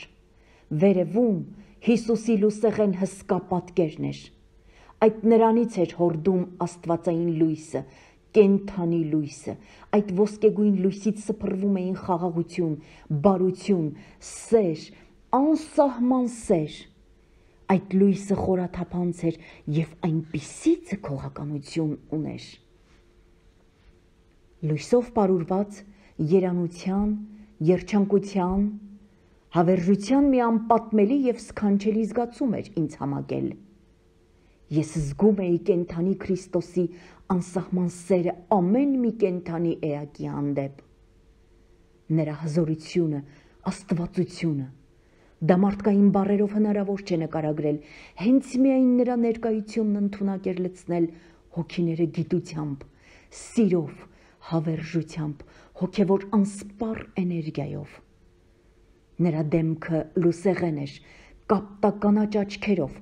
A: Վերևում Հիսուսի լուսեղեն հսկա պատկերն էր։ Այդ նրանից էր հորդում աստվածային լույսը, կենդանի լույսը, այդ ոսկեգույն լույսից սփռվում էին խաղաղություն, բարություն, սեր, անսահման սեր։ Այդ լույսը խորաթափանց էր և այնպիսի ձգողականություն ուներ։ Լույսով պարուրված երանության, երջանկության, հավերժության մի անպատմելի և սքանչելի զգացում էր ինձ համակել։ Ես զգում էի կենդանի Քրիստոսի անսահման սերը ամեն մի կենդանի էակի հանդեպ։ Նրա հզորությունը, աստվածությունը, դա մարդկային բառերով հնարավոր չէ նկարագրել, հենց միայն նրա ներկայությունն ընդունակ էր լցնել հոգիները գիտությամբ, սիրով, հավերժությամբ, հոգևոր անսպառ էներգիայով։ Նրա դեմքը լուսեղեն էր, կապտականաչ աչքերով,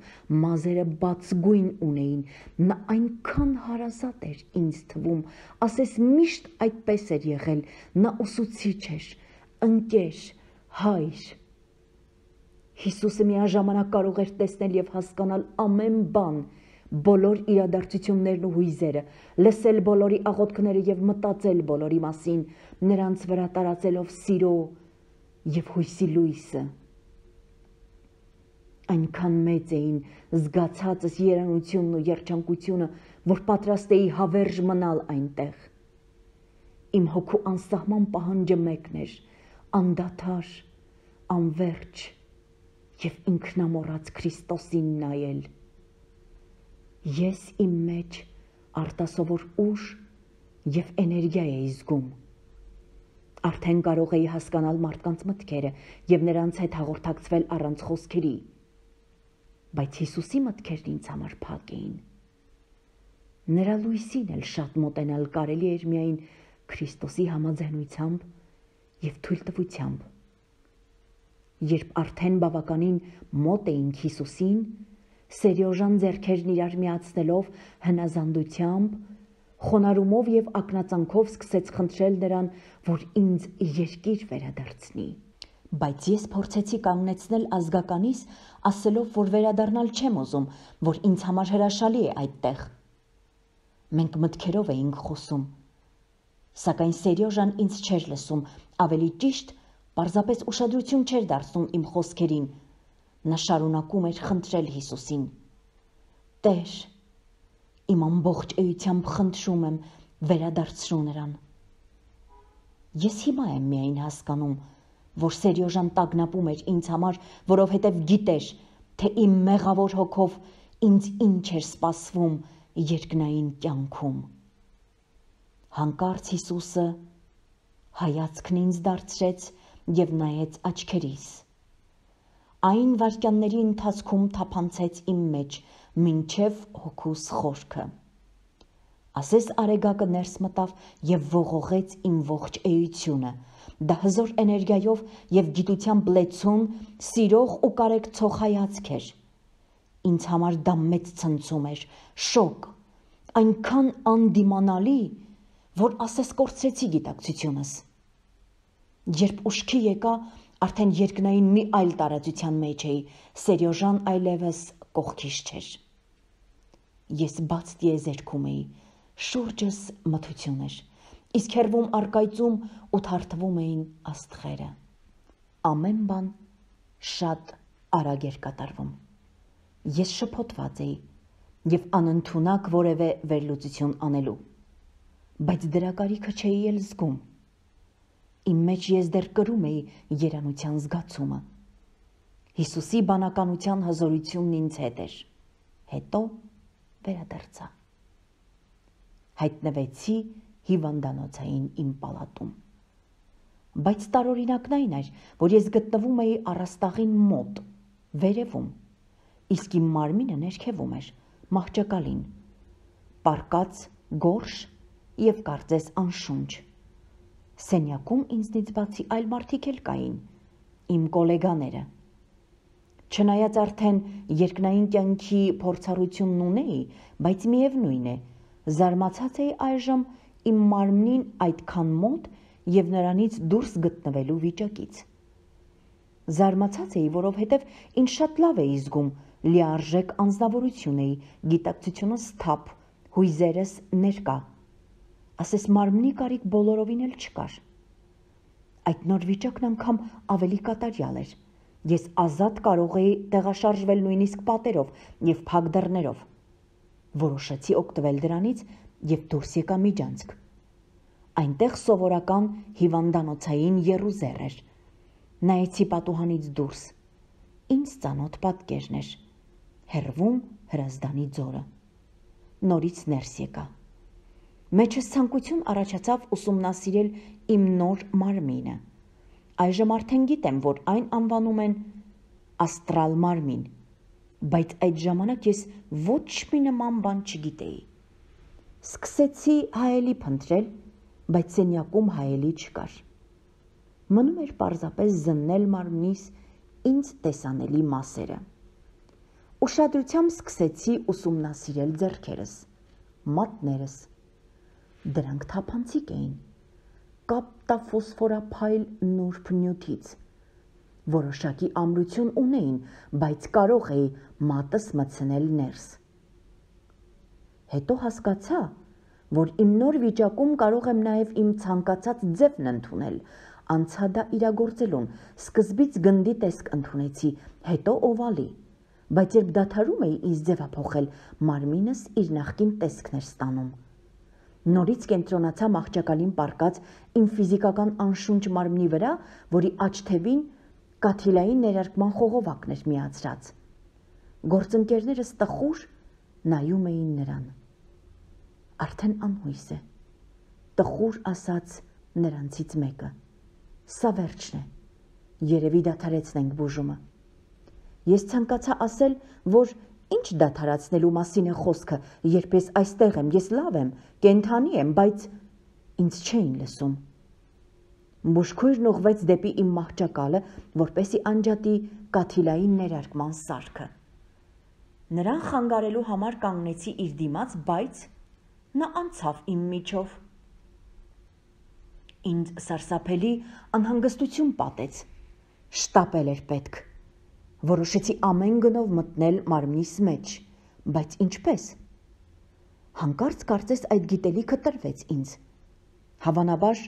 A: մազերը բացգույն ունեին, նա այնքան հարազատ էր ինձ թվում, ասես միշտ այդպես էր եղել, նա ուսուցիչ էր, ընկեր, հայր։ Հիսուսը միաժամանակ կարող էր տեսնել և հասկանալ ամեն բան, բոլոր իրադարձություններն ու հույզերը, լսել բոլորի աղոթքները և մտածել բոլորի մասին, նրանց վրա տարածելով սիրո և հույսի լույսը։ Այնքան մեծ էին զգացածս երանությունն ու երջանկությունը, որ պատրաստ էի հավերժ մնալ այնտեղ։ Իմ հոգու անսահման պահանջը մեկն էր՝ անդադար, անվերջ և ինքնամոռաց Քրիստոսին նայել։ Ես իմ մեջ արտասովոր ուժ և էներգիա էի զգում։ Արդեն կարող էի հասկանալ մարդկանց մտքերը և նրանց հետ հաղորդակցվել առանց խոսքերի, բայց Հիսուսի մտքերն ինձ համար փակ էին։ Նրա լույսին էլ շատ մոտենալ կարելի էր միայն Քրիստոսի համաձայնությամբ և թույլտվությամբ։ Երբ արդեն բավականին մոտ էինք Հիսուսին, Սերյոժան ձեռքերն իրար միացնելով հնազանդությամբ, խոնարհումով և ակնածանքով սկսեց խնդրել նրան, որ ինձ երկիր վերադարձնի։ Բայց ես փորձեցի կանգնեցնել ազգականիս, ասելով, որ վերադառնալ չեմ ուզում, որ ինձ համար հրաշալի է այդտեղ։ Մենք մտքերով էինք խոսում, սակայն Սերյոժան ինձ չէր լսում, ավելի ճիշտ, պարզապես ուշադրություն չէր դարձնում իմ խոսքերին։ Նա շարունակում էր խնդրել Հիսուսին. «Տեր, իմ ամբողջ էությամբ խնդրում եմ, վերադարձրու նրան»։ Ես հիմա եմ միայն հասկանում, որ Սերյոժան տագնապում էր ինձ համար, որովհետև գիտեր, թե իմ մեղավոր հոգով ինձ ինչ էր սպասվում երկնային կյանքում։ Հանկարծ Հիսուսը հայացքն ինձ դարձրեց և նայեց աչքերիս։ Այն վայրկյանների ընթացքում թափանցեց իմ մեջ մինչև հոգուս խորքը։ Ասես արեգակը ներս մտավ և ողողեց իմ ողջ էությունը, դա հզոր էներգիայով և գիտությամբ լեցուն, սիրող ու կարեկցող հայացք էր։ Ինձ համար դա մեծ ցնցում էր, շոկ, այնքան անդիմանալի, որ ասես կորցրեցի գիտակցությունս։ Երբ ուշքի եկա, արդեն երկնային մի այլ տարածության մեջ էի, Սերյոժան այլևս կողքիս չէր։ Ես բաց տիեզերքում էի, շուրջս մթություն էր, իսկ հեռվում առկայծում ու թարթվում էին աստղերը։ Ամեն բան շատ արագ էր կատարվում։ Ես շփոթված էի և անընդունակ որևէ վերլուծություն անելու, բայց դրա կարիքը չէի էլ զգում։ Իմ մեջ ես դեռ կրում էի երանության զգացումը։ Հիսուսի բանականության հզորությունն ինձ հետ էր։ Հետո վերադարձա։ Հայտնվեցի հիվանդանոցային իմ պալատում։ Բայց տարօրինակն այն էր, որ ես գտնվում էի առաստաղին մոտ, վերևում, իսկ իմ մարմինը ներքևում էր, մահճակալին, պառկած գորշ և կարծես անշունչ։ Սենյակում ինձնից բացի այլ մարդիկ էլ կային, իմ կոլեգաները։ Չնայած արդեն երկնային կյանքի փորձառությունն ունեի, բայց միևնույն է, զարմացած էի այժմ իմ մարմնին այդքան մոտ և նրանից դուրս գտնվելու վիճակից։ Զարմացած էի, որովհետև ինձ շատ լավ էի զգում, լիարժեք անձնավորություն էի, գիտակցությունս թափ, հույզերս ներկա, ասես մարմնի կարիք բոլորովին էլ չկար։ Այդ նոր վիճակն անգամ ավելի կատարյալ էր։ Ես ազատ կարող էի տեղաշարժվել նույնիսկ պատերով և փակ դռներով։ Որոշեցի օգտվել դրանից և դուրս եկա միջանցք։ Այնտեղ սովորական հիվանդանոցային եռուզեռ էր։ Նայեցի պատուհանից դուրս։ Ինձ ծանոթ պատկերն էր։ հեռվում Հրազդանի ձորը։ Նորից ներս եկա։ Մեջս ցանկություն առաջացավ ուսումնասիրել իմ նոր մարմինը։ Այժմ արդեն գիտեմ, որ այն անվանում են աստրալ մարմին, բայց այդ ժամանակ ես ոչ մի նման բան չգիտեի։ Սկսեցի հայելի փնտրել, բայց սենյակում հայելի չկար։ Մնում էր պարզապես զննել մարմնիս ինձ տեսանելի մասերը։ Ուշադրությամբ սկսեցի ուսումնասիրել ձեռքերս, մատներս։ Դրանք թափանցիկ էին, կապտաֆոսֆորափայլ նուրբ նյութից։ Որոշակի ամրություն ունեին, բայց կարող էի մատս մտցնել ներս։ Հետո հասկացա, որ իմ նոր վիճակում կարող եմ նաև իմ ցանկացած ձևն ընդունել, անցա դա իրագործելուն, սկզբից գնդի տեսք ընդունեցի, հետո օվալի, բայց երբ դադարում էի ինձ ձևափոխել, մարմինս իր նախկին տեսքն էր ստանում։ Նորից կենտրոնացա մահճակալին պառկած իմ ֆիզիկական անշունչ մարմնի վրա, որի աջ թևին կաթիլային ներարկման խողովակն էր միացրած։ Գործընկերներս տխուր նայում էին նրան։ Արդեն անհույս է, տխուր ասաց նրանցից մեկը։ Սա վերջն է, երևի դադարեցնենք բուժումը։ Ես ցանկացա ասել, որ ինչ դադարացնելու մասին է խոսքը, երբ ես այստեղ եմ, ես լավ եմ, կենդանի եմ, բայց ինձ չէին լսում։ Բուժքույրն ուղղվեց դեպի իմ մահճակալը, որպեսզի անջատի կաթիլային ներարկման սարքը։ Նրան խանգարելու համար կանգնեցի իր դիմաց, բայց նա անցավ իմ միջով։ Ինձ սարսափելի անհանգստություն պատեց, շտապել էր պետք։ Որոշեցի ամեն գնով մտնել մարմնիս մեջ, բայց ինչպես։ Հանկարծ կարծես այդ գիտելիքը տրվեց ինձ։ Հավանաբար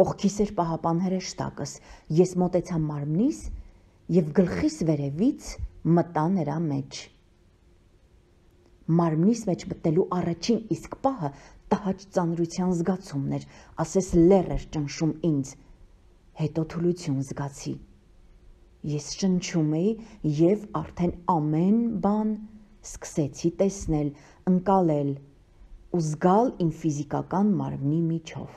A: կողքիս էր պահապան հրեշտակս, ես մոտեցա մարմնիս և գլխիս վերևից մտա նրա մեջ։ Մարմնիս մեջ մտնելու առաջին իսկ պահը տհաճ ծանրության զգացումն էր, ասես լեռ էր ճնշում ինձ, հետո թուլություն զգացի։ Ես շնչում էի և արդեն ամեն բան սկսեցի տեսնել, ընկալել ու զգալ իմ ֆիզիկական մարմնի միջով։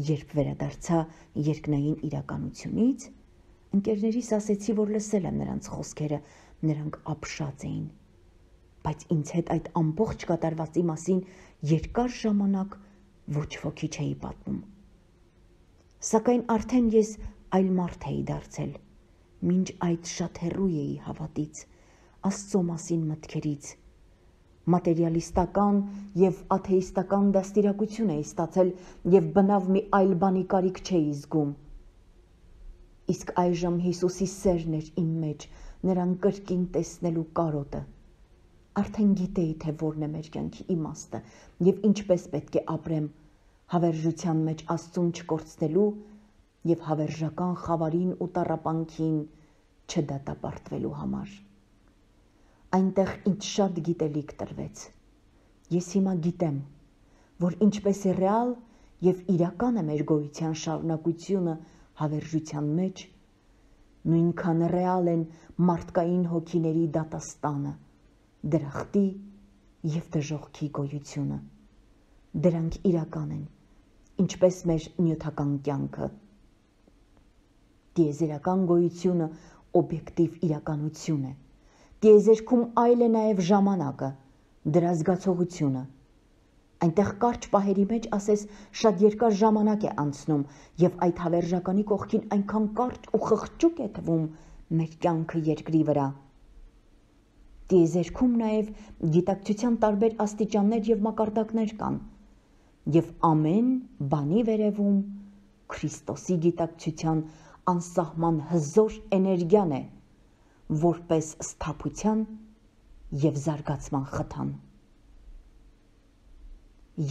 A: Երբ վերադարձա երկնային իրականությունից, ընկերներիս ասեցի, որ լսել եմ նրանց խոսքերը, նրանք ապշած էին, բայց ինձ հետ այդ ամբողջ կատարվածի մասին երկար ժամանակ ոչ ոքի չէի պատմում։ Սակայն արդեն ես այլ մարդ էի դարձել, մինչ այդ շատ հեռու էի հավատից, Աստծո մասին մտքերից, մատերիալիստական և աթեիստական դաստիարակություն էի ստացել և բնավ մի այլ բանի կարիք չէի զգում։ Իսկ այժմ Հիսուսի սերն էր իմ մեջ, նրան կրկին տեսնելու կարոտը։ Արդեն գիտեի, թե որն է մեր կյանքի իմաստը և ինչպես պետք է ապրեմ, հավերժության մեջ Աստծուն չկորցնելու և հավերժական խավարին ու տառապանքին չդատապարտվելու համար։ Այնտեղ ինձ շատ գիտելիք տրվեց։ Ես հիմա գիտեմ, որ ինչպես է ռեալ և իրական է մեր գոյության շարունակությունը հավերժության մեջ, նույնքան ռեալ են մարդկային հոգիների դատաստանը, դրախտի և դժոխքի գոյությունը։ Դրանք իրական են, ինչպես մեր նյութական կյանքը։ Տիեզերական գոյությունը օբյեկտիվ իրականություն է։ Տիեզերքում այլ է նաև ժամանակը, դրա զգացողությունը։ Այնտեղ կարճ պահերի մեջ ասես շատ երկար ժամանակ է անցնում և այդ հավերժականի կողքին այնքան կարճ ու խղճուկ է թվում մեր կյանքը երկրի վրա։ Տիեզերքում նաև գիտակցության տարբեր աստիճաններ և մակարդակներ կան, և ամեն բանի վերևում Քրիստոսի գիտակցության անսահման հզոր էներգիան է, որպես սթափության և զարգացման խթան։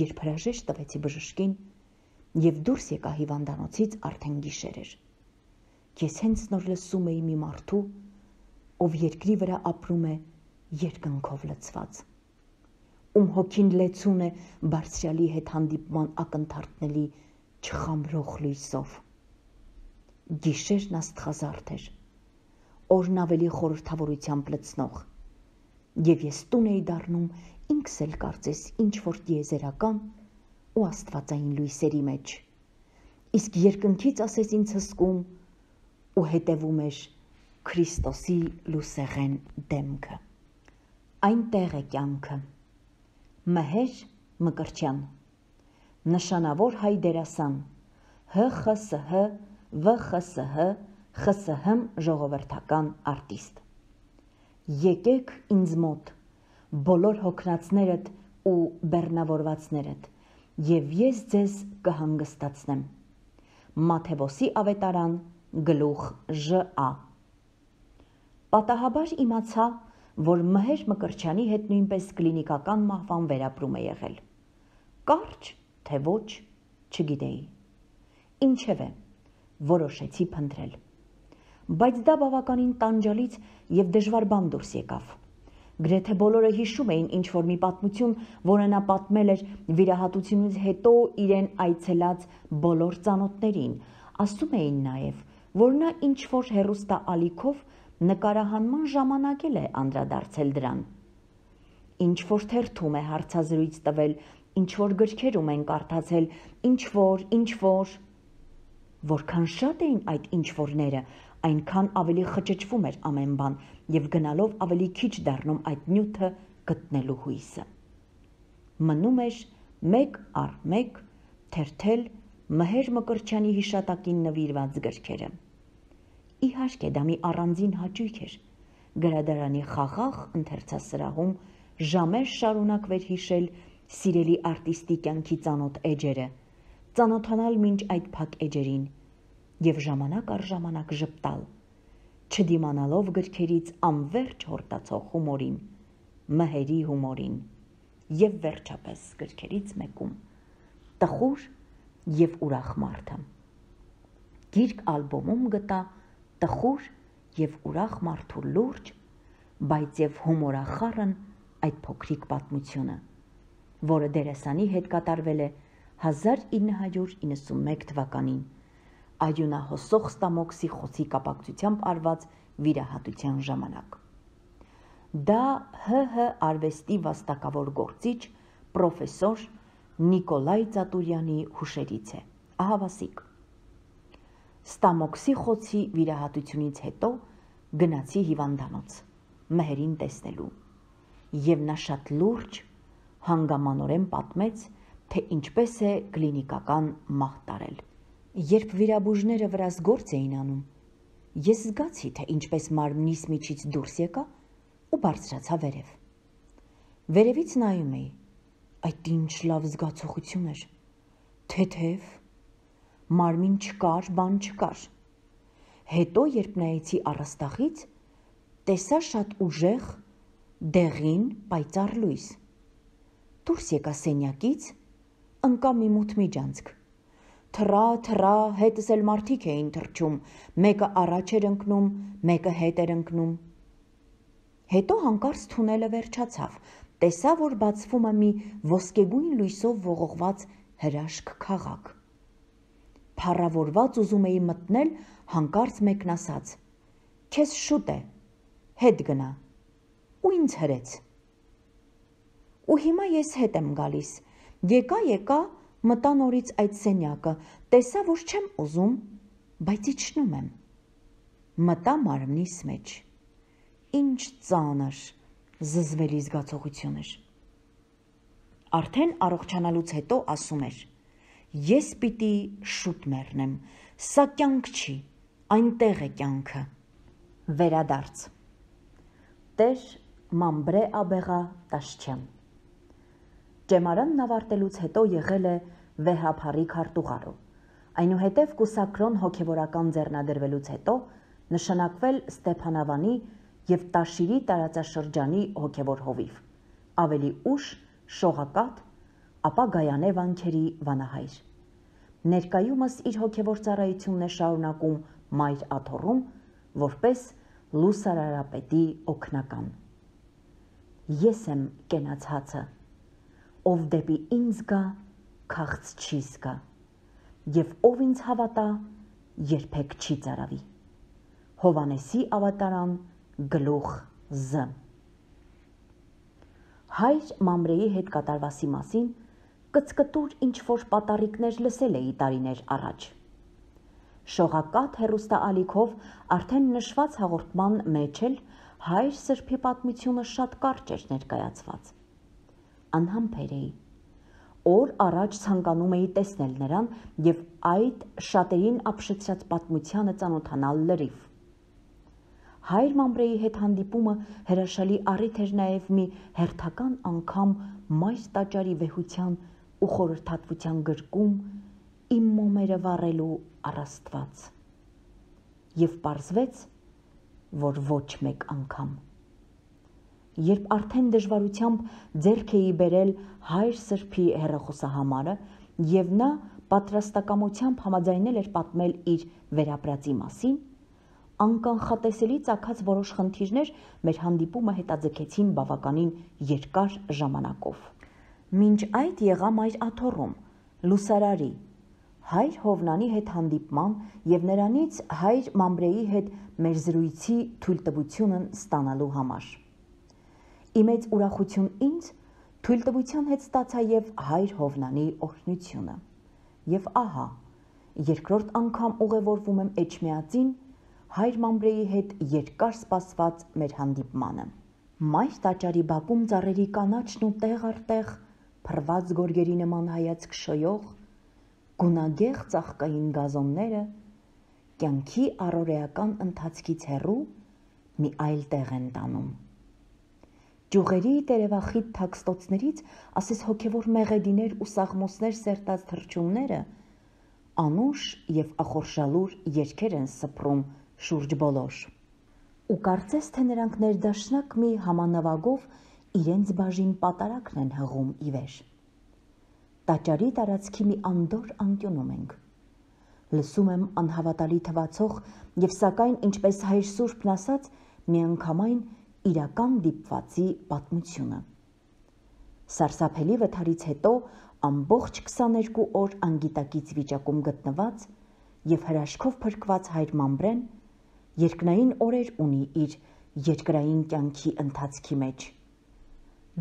A: Երբ հրաժեշտ տվեցի բժշկին և դուրս եկա հիվանդանոցից, արդեն գիշեր էր։ Ես հենց նոր լսում էի մի մարդու, ով երկրի վրա ապրում է երկնքով լցված, ում հոգին լեցուն է Բարձրյալի հետ հանդիպման ակնթարթների չխամրող լույսով։ Գիշերն աստղազարդ էր, օրն ավելի խորհրդավորությամբ լցնող։ Եվ ես տուն էի դառնում ինքս էլ կարծես ինչ-որ տիեզերական ու աստվածային լույսերի մեջ, իսկ երկնքից ասես ինձ հսկում ու հետևում էր Քրիստոսի լուսեղեն դեմքը։ Այնտեղ է կյանքը։ Մհեր Մկրտչյան, նշանավոր հայ դերասան, Հ Խ Ս Հ V Խ Ս Հ Խ Ս Հ ժողովրդական արտիստ։ Եկեք ինձ մոտ, բոլոր հոգնածներդ ու բեռնավորվածներդ, և ես ձեզ կհանգստացնեմ։ Մաթեոսի ավետարան, գլուխ Ժ Ա։ Պատահաբար իմացա, որ Մհեր Մկրտչյանի հետ նույնպես կլինիկական մահվան վերապրում է եղել։ Կարճ, թե ոչ, չգիտեի։ Ինչևէ, որոշեցի փնտրել։ Բայց դա բավականին տանջալից և դժվար բան դուրս եկավ։ Գրեթե բոլորը հիշում էին ինչ-որ մի պատմություն, որը նա պատմել էր վիրահատությունից հետո իրեն այցելած բոլոր ծանոթներին, ասում էին նաև, որ նա ինչ-որ հեռուստաալիքով նկարահանման ժամանակ էլ է անդրադարձել դրան։ Ինչ-որ թերթում է հարցազրույց տվել, ինչ-որ գրքերում են կարդացել, ինչ-որ, ինչ-որ։ Որքան շատ էին այդ ինչ-որները, այնքան ավելի խճճվում էր ամեն բան և գնալով ավելի քիչ դառնում այդ նյութը գտնելու հույսը։ Մնում էր մեկ առ մեկ թերթել Մհեր Մկրտչյանի հիշատակին նվիրված գրքերը։ Իհարկե դա մի առանձին հաճույք էր գրադարանի խաղաղ ընթերցասրահում ժամեր շարունակվեր հիշել սիրելի արտիստի կյանքի ծանոթ էջերը, ծանոթանալ մինչ այդ փակ էջերին և ժամանակ առ ժամանակ ժպտալ, չդիմանալով գրքերից անվերջ հորդացող հումորին, Մհերի հումորին, և վերջապես գրքերից մեկում տխուր և ուրախ մարդը։ Գիրք ալբոմում գտա տխուր և ուրախ մարդու լուրջ, բայց և հումորախառն այդ փոքրիկ պատմությունը, որը դերասանի հետ կատարվել է հազար ինը հարյուր իննսունմեկ թվականին արյունահոսող ստամոքսի խոցի կապակցությամբ արված վիրահատության ժամանակ։ Դա Հ Հ արվեստի վաստակավոր գործիչ պրոֆեսոր Նիկոլայ Ծատուրյանի հուշերից է, ահավասիկ։ Ստամոքսի խոցի վիրահատությունից հետո գնացի հիվանդանոց Մհերին տեսնելու, և նա շատ լուրջ, հանգամանորեն պատմեց, թե ինչպես է կլինիկական մահ տարել։ Երբ վիրաբույժները վրաս գործ էին անում, ես զգացի, թե ինչպես մարմնիս միջից դուրս եկա ու բարձրացա վերև։ Վերևից նայում էի, այդ ինչ լավ զգացողություն էր, թեթև, մարմին չկար, բան չկար։ Հետո, երբ նայեցի առաստաղից, տեսա շատ ուժեղ, դեղին, պայծառ լույս։ Դուրս եկա սենյակից, ընկա մի մութ միջանցք։ Թռա, թռա, հետս էլ մարդիկ էին թռչում, մեկը առաջ էր ընկնում, մեկը հետ էր ընկնում։ Հետո հանկարծ թունելը վերջացավ, տեսա, որ բացվում է մի ոսկեգույն լույսով ողողված հրաշք քաղաք։ Փառավորված ուզում էի մտնել, հանկարծ մեկն ասաց. «Քեզ շուտ է, հետ գնա», ու ինձ հրեց։ Ու հիմա ես հետ եմ գալիս, եկա, եկա, մտա նորից այդ սենյակը, տեսա, որ չեմ ուզում, բայց իջնում եմ։ Մտա մարմնիս մեջ։ Ինչ ծանր, զզվելի զգացողություն էր։ Արդեն առողջանալուց հետո ասում էր. «Ես պիտի շուտ մեռնեմ, սա կյանք չի, այնտեղ է կյանքը»։ Վերադարձ։ Տեր Մամբրե Աբեղա Տաշչյան։ Ճեմարանն ավարտելուց հետո եղել է վեհափառի քարտուղարու, այնուհետև կուսակրոն հոգևորական ձեռնադրվելուց հետո նշանակվել Ստեփանավանի և Տաշիրի տարածաշրջանի հոգևոր հովիվ, ավելի ուշ շողակաթ, ապա Գայանե վանքերի վանահայր։ Ներկայումս իր հոգևոր ծառայությունն է շարունակում Մայր Աթոռում, որպես լուսարարապետի օգնական։ Ես եմ կենաց հացը, ով դեպի ինձ գա, քաղց չի զգա, և ով ինձ հավատա, երբեք չի ծարավի։ Հովանեսի ավատարան գլուխ Զ։ Հայր Մամրեի հետ կատարվածի մասին կծկտուր ինչ-որ պատառիկներ լսել էի տարիներ առաջ։ Շողակաթ հեռուստաալիքով արդեն նշված հաղորդման մեջ էլ հայր Սրբի պատմությունը շատ կարճ էր ներկայացված։ Անհամբեր էի։ Օր առաջ ցանկանում էի տեսնել նրան և այդ շատերին ապշեցրած պատմությանը ծանոթանալ լրիվ։ Հայր Մամրեի հետ հանդիպումը հրաշալի առիթ էր նաև մի հերթական անգամ մայր տաճարի վեհության ու խորհրդատվության գրկում իմ մոմերը վառելու առ Աստված։ Եվ պարզվեց, որ ոչ մեկ անգամ։ Երբ արդեն դժվարությամբ ձեռք էի բերել հայր Սրբի հեռախոսահամարը և նա պատրաստակամությամբ համաձայնել էր պատմել իր վերապրածի մասին, անկանխատեսելի ծագած որոշ խնդիրներ մեր հանդիպումը հետաձգեցին բավականին երկար ժամանակով։ Մինչ այդ եղա մայր աթոռում, լուսարարի, հայր Հովնանի հետ հանդիպման և նրանից հայր Մամրեի հետ մեր զրույցի թույլտվությունն ստանալու համար։ Ի մեծ ուրախություն ինձ թույլտվության հետ ստացա և հայր Հովնանի օրհնությունը։ Եվ ահա, երկրորդ անգամ ուղևորվում եմ Էջմիածին հայր Մամրեի հետ երկար սպասված մեր հանդիպմանը։ Մայր տաճարի բակում ծառերի կանաչն ու տեղ առ տեղ փռված գորգերի նման հայացք շոյող, գունագեղ ծաղկային գազոնները կյանքի առօրեական ընթացքից հեռու մի այլ տեղ են տանում։ Ճյուղերի տերևախիտ թաքստոցներից ասես հոգևոր մեղեդիներ ու սաղմոսներ սերտած թռչունները անուշ և ախորժալուր երգեր են սփռում շուրջ բոլոր։ Ու կարծես թե նրանք ներդաշնակ մի համանվագով իրենց բաժին պատարագն են հղում ի վեր։ Տաճարի տարածքի մի անդոր անկյունում ենք։ Լսում եմ անհավատալի թվացող և սակայն, ինչպես հայր Սուրբն ասաց, միանգամայն իրական դիպվածի պատմությունը։ Սարսափելի վթարից հետո ամբողջ քսաներկու օր անգիտակից վիճակում գտնված և հրաշքով փրկված հայր Մամրեն երկնային օրեր ունի իր երկրային կյանքի ընթացքի մեջ։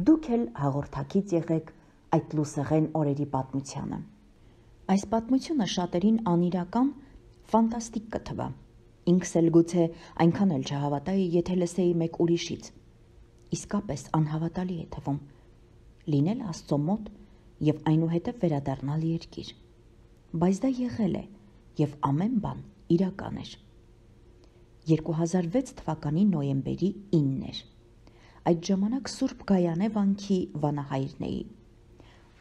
A: Դուք էլ հաղորդակից եղեք այդ լուսեղեն օրերի պատմությանը։ Այս պատմությունը շատերին անիրական, ֆանտաստիկ կթվա։ Ինքս էլ գուցե այնքան էլ չհավատայի, եթե լսեի մեկ ուրիշից։ Իսկապես անհավատալի է թվում։ Լինել Աստծո մոտ և այնուհետև վերադառնալ երկիր։ Բայց դա եղել է և ամեն բան իրական էր։ երկու հազար վեց թվականի նոյեմբերի ինն էր։ Այդ ժամանակ Սուրբ Գայանե վանքի վանահայրն էի։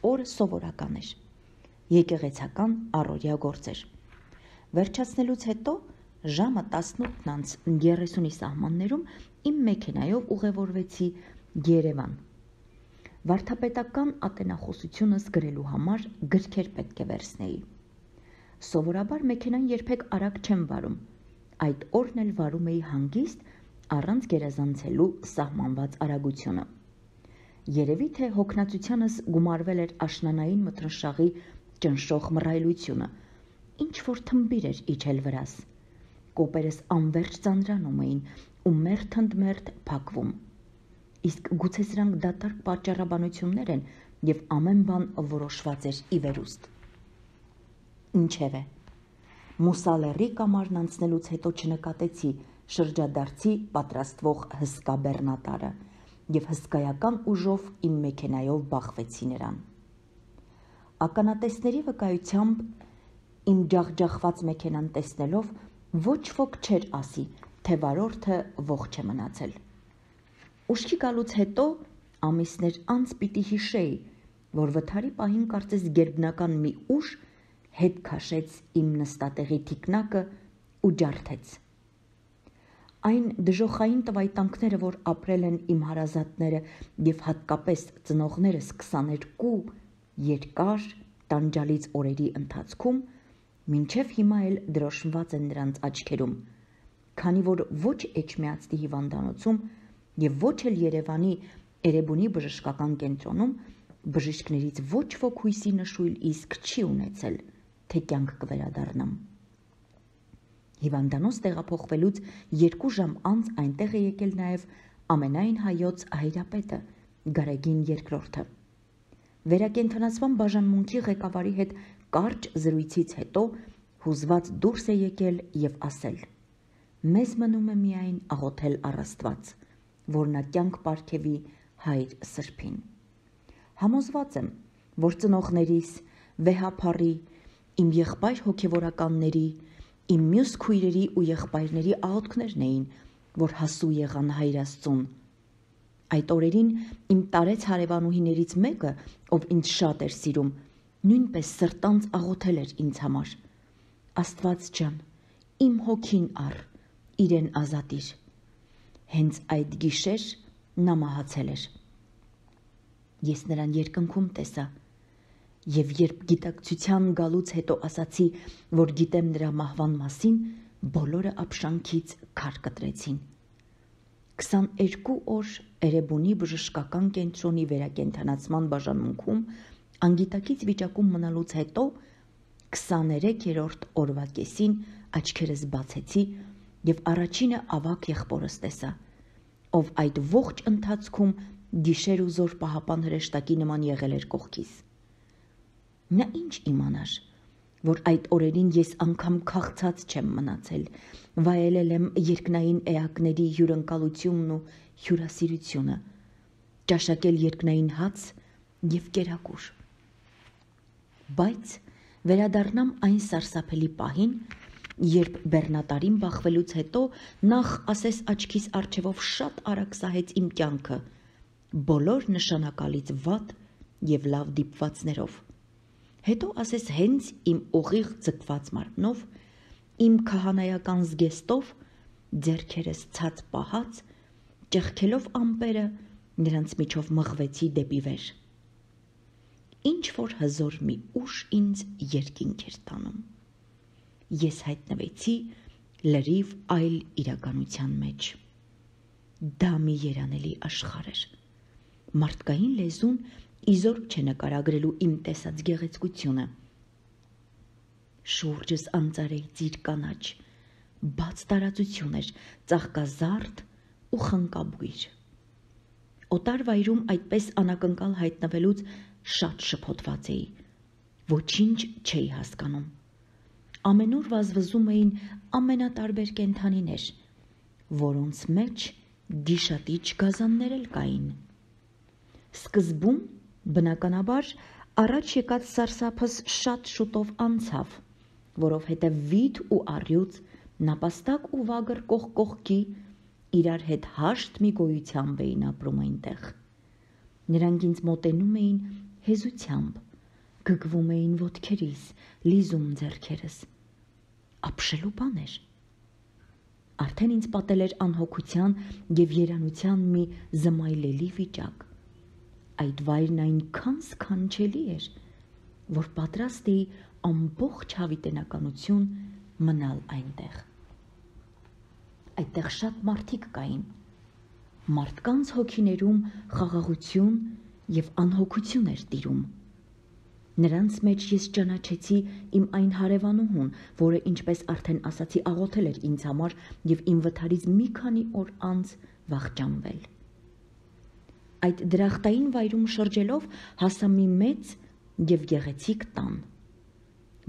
A: Օրը սովորական էր։ Եկեղեցական առօրյա գործեր։ Վերջացնելուց հետո ժամը տասնութն անց երեսունի սահմաններում իմ մեքենայով ուղևորվեցի Երևան։ Վարդապետական ատենախոսությունս գրելու համար գրքեր պետք է վերցնեի։ Սովորաբար մեքենան երբեք արագ չեմ վարում։ Այդ օրն էլ վարում էի հանգիստ, առանց գերազանցելու սահմանված արագությունը։ Երևի թե հոգնածությանս գումարվել էր աշնանային մթնշաղի ճնշող մռայլությունը, ինչ-որ թմբիր էր իջել վրաս։ Կոպերս անվերջ ծանրանում էին ու մերթ ընդ մերթ փակվում։ Իսկ գուցե սրանք դատարկ պատճառաբանություններ են և ամեն բան որոշված էր ի վերուստ։ Ինչևէ, Մուսալեռի կամարն անցնելուց հետո չնկատեցի շրջադարձի պատրաստվող հսկա բեռնատարը և հսկայական ուժով իմ մեքենայով բախվեցի նրան։ Ականատեսների վկայությամբ իմ ջախջախված մեքենան տեսնելով ոչ ոք չէր ասի, թե վարորդը ողջ է մնացել։ Ուշքի գալուց հետո ամիսներ անց պիտի հիշեի, որ վթարի պահին կարծես գերբնական մի ուժ հետ քաշեց իմ նստատեղի թիկնակը ու ջարդեց։ Այն դժոխային տվայտանքները, որ ապրել են իմ հարազատները և հատկապես ծնողներս քսաներկու երկար տանջալից օրերի ընթացքում, մինչև հիմա էլ դրոշմված են նրանց աչքերում, քանի որ ոչ Էջմիածնի հիվանդանոցում և ոչ էլ Երևանի Էրեբունի բժշկական կենտրոնում բժիշկներից ոչ ոք հույսի նշույլ իսկ չի ունեցել, թե կյանք կվերադառնամ։ Հիվանդանոց տեղափոխվելուց երկու ժամ անց այնտեղ է եկել նաև ամենայն հայոց հայրապետը, Գարեգին երկրորդը։ Վերակենդանացման բաժանմունքի ղեկավարի հետ կարճ զրույցից հետո հուզված դուրս է եկել եւ ասել. «Մեզ մնում է միայն աղոթել առ Աստված, որ նա կյանք պարգևի հայր Սրբին։ Համոզված եմ, որ ծնողներիս, վեհափառի, իմ եղբայր հոգևորականների, իմ մյուս քույրերի ու եղբայրների աղոթքներն էին, որ հասու եղան հայր Աստծուն։ Այդ օրերին իմ տարեց հարևանուհիներից մեկը, ով ինձ շատ էր սիրում, նույնպես սրտանց աղոթել էր ինձ համար. Աստված ջան, իմ հոգին առ, իրեն ազատիր։ Հենց այդ գիշեր նա մահացել էր։ Ես նրան երկնքում տեսա եւ երբ գիտակցության գալուց հետո ասացի, որ գիտեմ նրա մահվան մասին, բոլորը ապշանքից քար կտրեցին։ քսաներկու օր Էրեբունի բժշկական կենտրոնի վերակենդանացման բաժանմունքում անգիտակից վիճակում մնալուց հետո քսաներեքերորդ օրվա կեսին աչքերս բացեցի եւ առաջինը ավագ եղբորս տեսա, ով այդ ողջ ընթացքում գիշեր ու զոր պահապան հրեշտակի նման եղել էր կողքիս։ Նա ինչ իմանար, որ այդ օրերին ես անգամ քաղցած չեմ մնացել, վայելել եմ երկնային էակների հյուրընկալությունն ու հյուրասիրությունը, ճաշակել երկնային հաց եւ կերակուր։ Բայց վերադառնամ այն սարսափելի պահին, երբ բեռնատարին բախվելուց հետո նախ ասես աչքիս առջևով շատ արագ սահեց իմ կյանքը, բոլոր նշանակալից վատ եւ լավ դիպվածներով։ Հետո ասես հենց իմ ուղիղ ձգված մարմնով, իմ քահանայական զգեստով, ձեռքերս ցած պահած, ճեղքելով ամպերը, նրանց միջով մղվեցի դեպի վեր։ Ինչ որ հզոր մի ուժ ինձ երկինք էր տանում։ Ես հայտնվեցի լրիվ այլ իրականության մեջ։ Դա մի երանելի աշխարհ էր։ Մարդկային լեզուն իզոր չէ նկարագրելու իմ տեսած գեղեցկությունը։ Շուրջս անծարեի ծիր կանաչ, բաց տարածություն էր, ծաղկազարդ ու խնկաբույր։ Օտար վայրում այդպես անակնկալ հայտնվելուց շատ շփոթված էի, ոչինչ չէի հասկանում։ Ամենուր վազվզում էին ամենատարբեր կենդանիներ, որոնց մեջ գիշատիչ գազաններ էլ կային։ Սկզբում, բնականաբար, առաջ եկած սարսափս շատ շուտով անցավ, որովհետև վիթ ու առյուծ, նապաստակ ու վագր կողք կողքի իրար հետ հաշտ մի գոյությամբ էին ապրում այնտեղ։ Նրանք ինձ մոտենում էին հեզությամբ, գգվում էին ոտքերիս, լիզում ձեռքերս։ Ապշելու բան էր։ Արդեն ինձ պատել էր անհոգության եւ երանության մի զմայլելի վիճակ։ Այդ վայրն այնքան սքանչելի էր, որ պատրաստ էի ամբողջ հավիտենականություն մնալ այնտեղ։ Այդտեղ շատ մարդիկ կային։ Մարդկանց հոգիներում խաղաղություն եւ անհոգություն էր տիրում։ Նրանց մեջ ես ճանաչեցի իմ այն հարևանուհուն, որը, ինչպես արդեն ասացի, աղոթել էր ինձ համար եւ իմ վթարից մի քանի օր անց վախճանվել։ Այդ դրախտային վայրում շրջելով հասա մի մեծ եւ գեղեցիկ տան։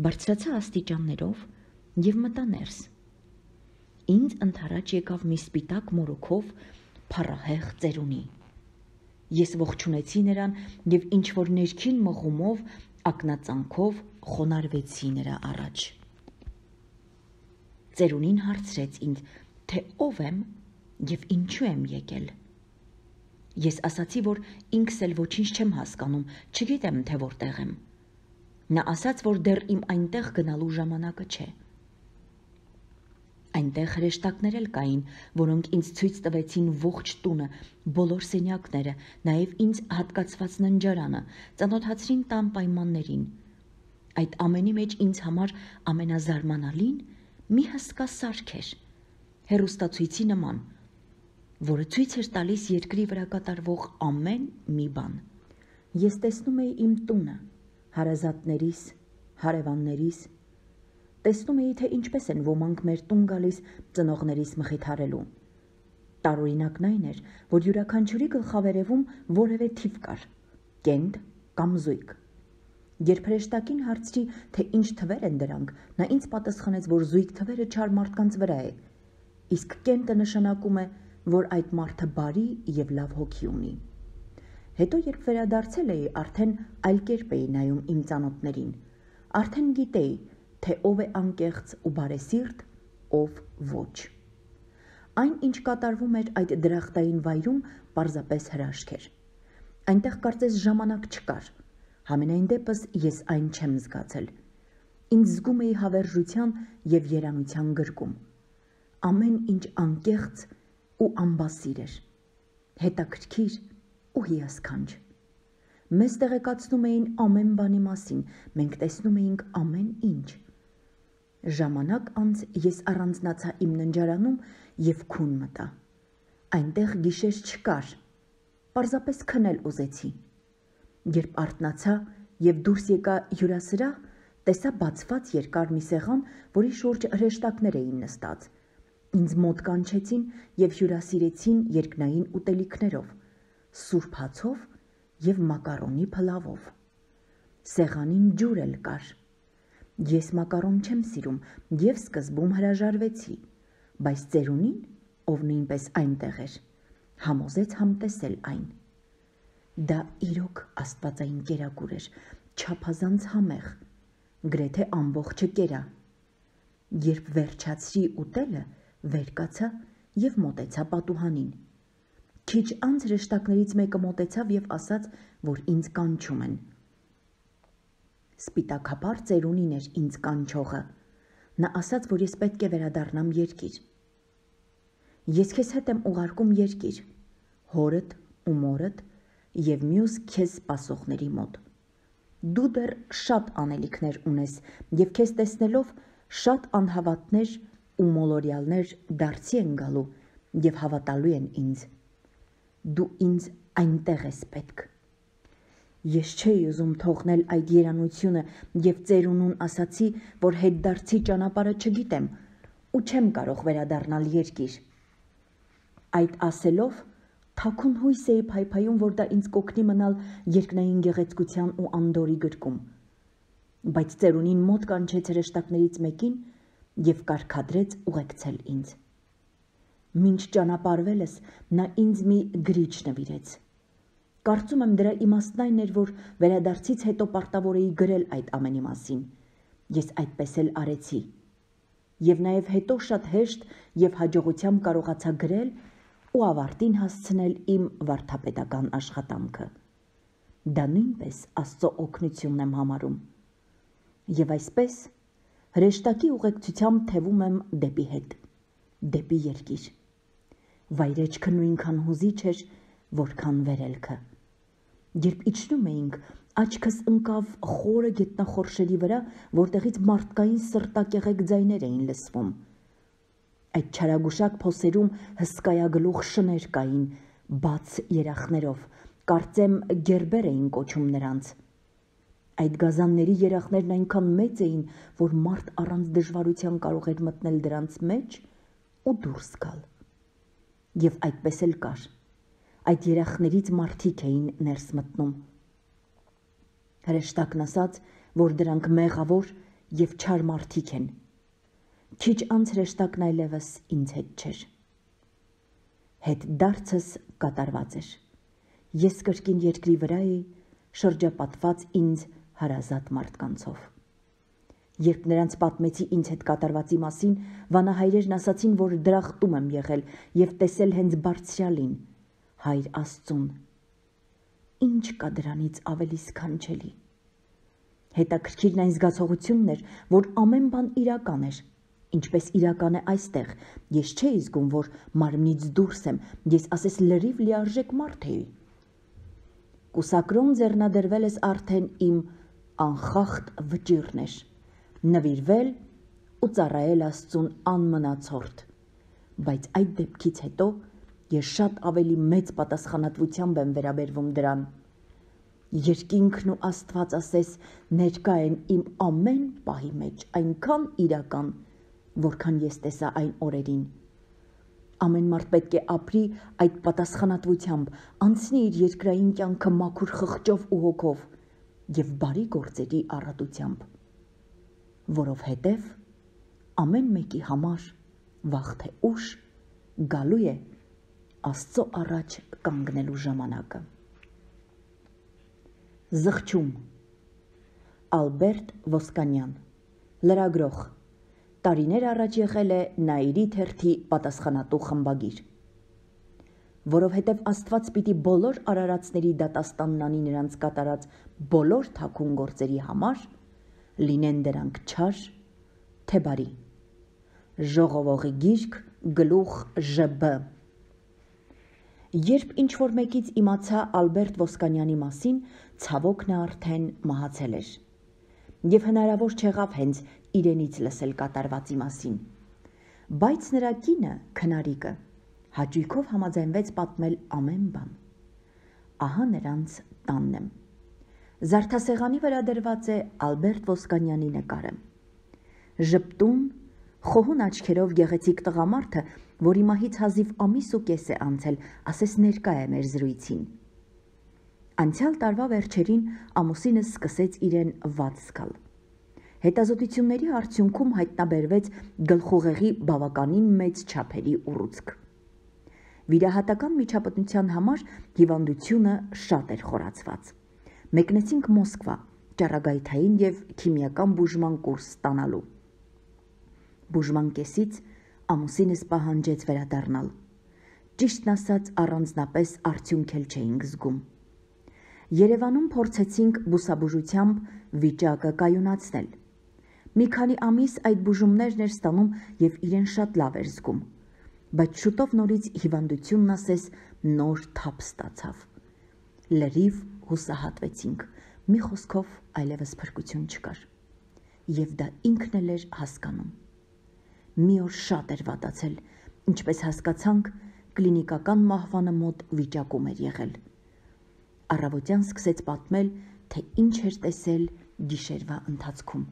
A: Բարձրացա աստիճաններով եւ մտա ներս։ Ինձ ընդառաջ եկավ մի սպիտակ մորուքով փառահեղ ծերունի։ Ես ողջունեցի նրան եւ ինչ որ ներքին մղումով, ակնածանքով խոնարհվեցի նրա առաջ։ Ծերունին հարցրեց ինձ, թե ով եմ եւ ինչու եմ եկել։ Ես ասացի, որ ինքս էլ ոչինչ չեմ հասկանում, չգիտեմ, թե որտեղ եմ։ Նա ասաց, որ դեռ իմ այնտեղ գնալու ժամանակը չէ։ Այնտեղ հրեշտակներ էլ կային, որոնք ինձ ցույց տվեցին ողջ տունը, բոլոր սենյակները, նաև ինձ հատկացված ննջարանը, ծանոթացրին տան պայմաններին։ Այդ ամենի մեջ ինձ համար ամենազարմանալին մի հսկա սարք էր, հեռուստացույցի նման, որը ցույց էր տալիս երկրի վրա կատարվող ամեն մի բան։ Ես տեսնում էի իմ տունը, հարազատներիս, հարևաններիս, տեսնում էի, թե ինչպես են ոմանք մեր տուն գալիս ծնողներիս մխիթարելու։ Տարօրինակն այն էր, որ յուրաքանչյուրի գլխավերևում որևէ թիվ կար՝ կենտ կամ զույգ։ Երբ հրեշտակին հարցրի, թե ինչ թվեր են դրանք, նա ինձ պատասխանեց, որ զույգ թվերը չար մարդկանց վրա է, իսկ կենտը նշանակում է, որ այդ մարդը բարի և լավ հոգի ունի։ Հետո, երբ վերադարձել էի, արդեն այլ կերպ էի նայում իմ ծանոթներին, արդեն գիտեի, թե ով է անկեղծ ու բարեսիրտ, ով ոչ։ Այն, ինչ կատարվում էր այդ դրախտային վայրում, պարզապես հրաշք էր։ Այնտեղ կարծես ժամանակ չկար, համենայն դեպս ես այն չեմ զգացել։ Ինձ զգում էի հավերժության և երանության գրկում։ Ամեն ինչ անկեղծ ու անբասիր էր, հետաքրքիր ու հիասքանչ։ Մեզ տեղեկացնում էին ամեն բանի մասին, մենք տեսնում էինք ամեն ինչ։ Ժամանակ անց ես առանձնացա իմ ննջարանում և քուն մտա։ Այնտեղ գիշեր չկար, պարզապես քնել ուզեցի։ Երբ արթնացա և դուրս եկա հյուրասրահ, տեսա բացված երկար մի սեղան, որի շուրջ հրեշտակներ էին նստած։ Ինձ մոտ կանչեցին և հյուրասիրեցին երկնային ուտելիքներով, սուրբ հացով և մակարոնի փլավով։ Սեղանին ջուր էլ կար։ Ես մակարոն չեմ սիրում և սկզբում հրաժարվեցի, բայց ծերունին, ով նույնպես այնտեղ էր, համոզեց համտեսել այն։ Դա իրոք աստվածային կերակուր էր, չափազանց համեղ, գրեթե ամբողջը կերա։ Երբ վերջացրի ուտելը, վեր կացա և մոտեցա պատուհանին։ Քիչ անց հրեշտակներից մեկը մոտեցավ և ասաց, որ ինձ կանչում են։ Սպիտակափառ ծերունին էր ինձ կանչողը։ Նա ասաց, որ ես պետք է վերադառնամ երկիր։ Ես քեզ հետ եմ ուղարկում երկիր, հորդ ու մորդ և մյուս քեզ սպասողների մոտ։ Դու դեռ շատ անելիքներ ունես և քեզ տեսնելով շատ անհավատներ ու մոլորյալներ դարձի են գալու և հավատալու են ինձ։ Դու ինձ այնտեղ ես պետք։ Ես չէի ուզում թողնել այդ երանությունը և ծերունուն ասացի, որ հետդարձի ճանապարհը չգիտեմ ու չեմ կարող վերադառնալ երկիր։ Այդ ասելով թաքուն հույս էի փայփայում, որ դա ինձ կօգնի մնալ երկնային գեղեցկության ու անդորրի գրկում, բայց ծերունին մոտ կանչեց հրեշտակներից մեկին և կարգադրեց ուղեկցել ինձ։ Մինչ ճանապարհվելս նա ինձ մի գրիչ նվիրեց։ Կարծում եմ դրա իմաստն այն էր, որ վերադարձից հետո պարտավոր էի գրել այդ ամենի մասին։ Ես այդպես էլ արեցի։ Եվ նաև հետո շատ հեշտ և հաջողությամբ կարողացա գրել ու ավարտին հասցնել իմ վարդապետական աշխատանքը։ Դա նույնպես Աստծո օգնությունն եմ համարում։ Եվ այսպես հրեշտակի ուղեկցությամբ թևում եմ դեպի հետ, դեպի երկիր։ Վայրեջքը նույնքան հուզիչ էր, որքան վերելքը։ Երբ իջնում էինք, աչքս ընկավ խորը գետնախորշերի վրա, որտեղից մարդկային սրտակեղեկ ձայներ էին լսվում։ Այդ չարագուշակ փոսերում հսկայագլուխ շներ կային, բաց երախներով, կարծեմ գերբեր էին կոչում նրանց։ Այդ գազանների երախներն այնքան մեծ էին, որ մարդ առանց դժվարության կարող էր մտնել դրանց մեջ ու դուրս գալ։ Եվ այդպես էլ կար։ Այդ երախներից մարդիկ էին ներս մտնում։ Հրեշտակն ասաց, որ դրանք մեղավոր և չար մարդիկ են։ Քիչ անց հրեշտակն այլևս ինձ հետ չէր։ Հետդարձս կատարված էր։ Ես կրկին երկրի վրա էի, շրջապատված ինձ հարազատ մարդկանցով։ Երբ նրանց պատմեցի ինձ հետ կատարվածի մասին, վանահայրերն ասացին, որ դրախտում եմ եղել և տեսել հենց Բարձրյալին, Հայր Աստծուն։ Ինչ կա դրանից ավելի սքանչելի։ Հետաքրքիրն այն զգացողությունն էր, որ ամեն բան իրական էր, ինչպես իրական է այստեղ։ Ես չէի զգում, որ մարմնից դուրս եմ, ես ասես լրիվ լիարժեք մարդ էի։ Կուսակրոն ձեռնադրվել ես արդեն իմ անխախտ վճիռն էր, նվիրվել ու ծառայել Աստծուն անմնացորդ, բայց այդ դեպքից հետո ես շատ ավելի մեծ պատասխանատվությամբ եմ վերաբերվում դրան։ երկինքն ու Աստված ասես ներկա են իմ ամեն պահի մեջ, այնքան իրական, որքան ես տեսա այն օրերին։ Ամեն մարդ պետք է ապրի այդ պատասխանատվությամբ, անցնի իր երկրային կյանքը մաքուր խղճով ու հոգով և բարի գործերի առատությամբ, որովհետև ամեն մեկի համար վաղ թե ուշ գալու է Աստծո առաջ կանգնելու ժամանակը։ Զղջում Ալբերտ Ոսկանյան, լրագրող, տարիներ առաջ եղել է Նաիրի թերթի պատասխանատու խմբագիր։ Որովհետև Աստված պիտի բոլոր արարածների դատաստանն անի նրանց կատարած բոլոր թաքուն գործերի համար, լինեն դրանք չար, թե բարի։ Ժողովողի գիրք, գլուխ Ժ B։ Երբ ինչ-որ մեկից իմացա Ալբերտ Ոսկանյանի մասին, ցավոք նա արդեն մահացել էր, և հնարավոր չեղավ հենց իրենից լսել կատարվածի մասին, բայց նրա կինը, քնարիկը, հաճույքով համաձայնվեց պատմել ամեն բան։ Ահա նրանց տանն եմ։ Զարդասեղանի վրա դրված է Ալբերտ Ոսկանյանի նկարը։ Ժպտուն, խոհուն աչքերով գեղեցիկ տղամարդը, որի մահից հազիվ ամիս ու կես է անցել, ասես ներկա է մեր զրույցին։ Անցյալ տարվա վերջերին ամուսինս սկսեց իրեն վատ զգալ։ Հետազոտությունների արդյունքում հայտնաբերվեց գլխուղեղի բավականին մեծ չափերի ուռուցք։ Վիրահատական միջապտնության համար հիվանդությունը շատ էր խորացված։ Մեկնեցինք Մոսկվա, ճառագայթային և քիմիական բուժման կուրս ստանալու։ Բուժման կեսից ամուսինս պահանջեց վերադառնալ։ Ճիշտն ասած, առանձնապես արդյունք էլ չէինք զգում։ Երևանում փորձեցինք բուսաբուժությամբ վիճակը կայունացնել։ Մի քանի ամիս այդ բուժումներն էր ստանում և իրեն շատ լավ էր զգում, բայց շուտով նորից հիվանդությունն ասես նոր թափ ստացավ։ Լրիվ հուսահատվեցինք, մի խոսքով այլևս փրկություն չկար։ Եվ դա ինքն էլ էր հասկանում։ Մի օր շատ էր վատացել, ինչպես հասկացանք, կլինիկական մահվանը մոտ վիճակում էր եղել։ Առավոտյան սկսեց պատմել, թե ինչ էր տեսել գիշերվա ընթացքում։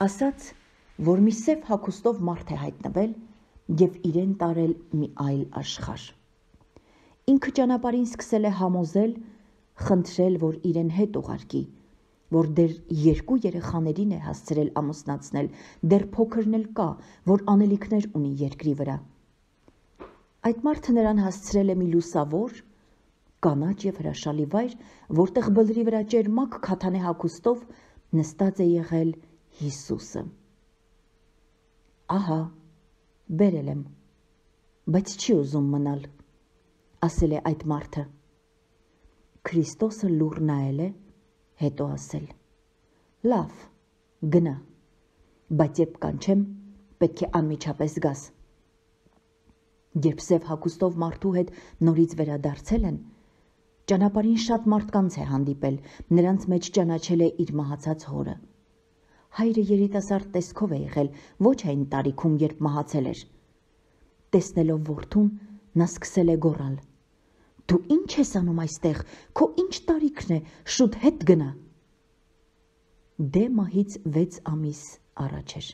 A: Ասաց, որ մի սև հագուստով մարդ է հայտնվել և իրեն տարել մի այլ աշխարհ։ Ինքը ճանապարհին սկսել է համոզել, խնդրել, որ իրեն հետ ուղարկի, որ դեռ երկու երեխաներին է հասցրել ամուսնացնել, դեռ փոքրն էլ կա, որ անելիքներ ունի երկրի վրա։ Այդ մարդը նրան հասցրել է մի լուսավոր, կանաչ և հրաշալի վայր, որտեղ բլրի վրա ճերմակ քաթանե հագուստով նստած է եղել Հիսուսը։ Ահա, բերել եմ, բայց չի ուզում մնալ, ասել է այդ մարդը։ Քրիստոսը լուռ նայել է, հետո ասել. լավ, գնա, բայց երբ կանչեմ, պետք է անմիջապես գաս։ Երբ սև հագուստով մարդու հետ նորից վերադարձել են, ճանապարհին շատ մարդկանց է հանդիպել, նրանց մեջ ճանաչել է իր մահացած հորը։ Հայրը երիտասարդ տեսքով է եղել, ոչ այն տարիքում, երբ մահացել էր։ Տեսնելով որդուն, նա սկսել է գոռալ. Դու ինչ ես անում այստեղ, քո ինչ տարիքն է, շուտ հետ գնա։ Դե մահից վեց ամիս առաջ էր։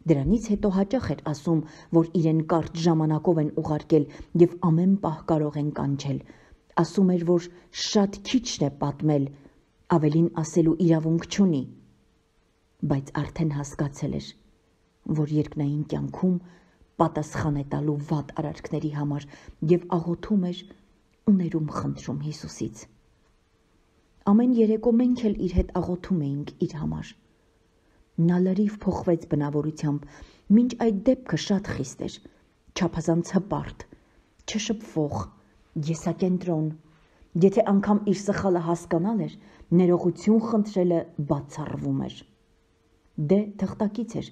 A: Դրանից հետո հաճախ էր ասում, որ իրեն կարճ ժամանակով են ուղարկել և ամեն պահ կարող են կանչել։ Ասում էր, որ շատ քիչն է պատմել, ավելին ասելու իրավունք չունի։ Բայց արդեն հասկացել էր, որ երկնային կյանքում պատասխան է տալու վատ արարքների համար և աղոթում էր ու ներում խնդրում Հիսուսից։ Ամեն երեկո մենք էլ իր հետ աղոթում էինք իր համար։ Նա լրիվ փոխվեց բնավորությամբ, մինչ այդ դեպքը շատ խիստ էր, չափազանց հպարտ, չշփվող, եսակենտրոն, եթե անգամ իր սխալը հասկանալ էր, ներողություն խնդրելը բացառվում էր։ Դե թղթակից էր,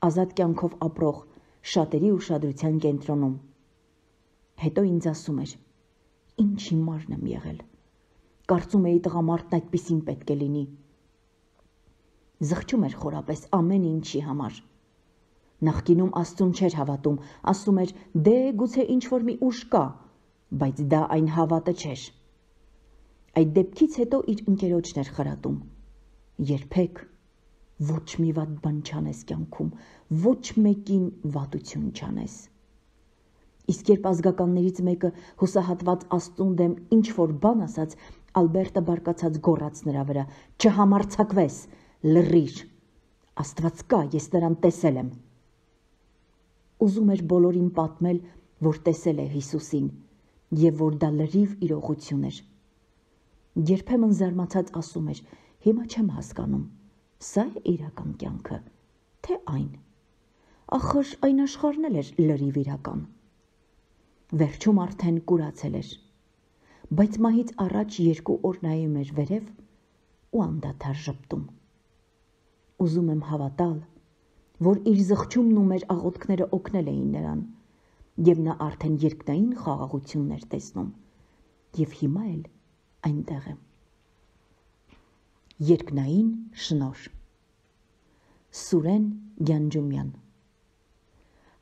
A: ազատ կյանքով ապրող, շատերի ուշադրության կենտրոնում։ Հետո ինձ ասում էր. ինչ հիմարն եմ եղել, կարծում էի տղամարդն այդպիսին պետք է լինի։ Զղջում էր խորապես ամեն ինչի համար։ Նախկինում Աստծուն չէր հավատում, ասում էր, դե գուցե ինչ-որ մի ուժ կա, բայց դա այն հավատը չէր։ Այդ դեպքից հետո իր ընկերոջն էր խրատում. երբեք ոչ մի վատ բան չանես կյանքում, ոչ մեկին վատություն չանես։ Իսկ երբ ազգականներից մեկը հուսահատված Աստծուն դեմ ինչ-որ բան ասաց, Ալբերտը բարկացած գոռաց նրա վրա. «Չհամարձակվես, լռիր, Աստված կա, ես նրան տեսել եմ»։ Ուզում էր բոլորին պատմել, որ տեսել է Հիսուսին և որ դա լրիվ իրողություն էր։ Երբեմն զարմացած ասում էր. «Հիմա չեմ հասկանում, սա է իրական կյանքը, թե այն։ Ախր այն աշխարհն էլ էր լրիվ իրական»։ Վերջում արդեն կուրացել էր, բայց մահից առաջ երկու օր նայում էր վերև ու անդադար ժպտում։ Ուզում եմ հավատալ, որ իր զղջումն ու մեր աղոթքները օգնել էին նրան, և նա արդեն երկնային խաղաղությունն էր տեսնում, և հիմա էլ այնտեղ է։ Երկնային շնորհ։ Սուրեն Գյանջումյան,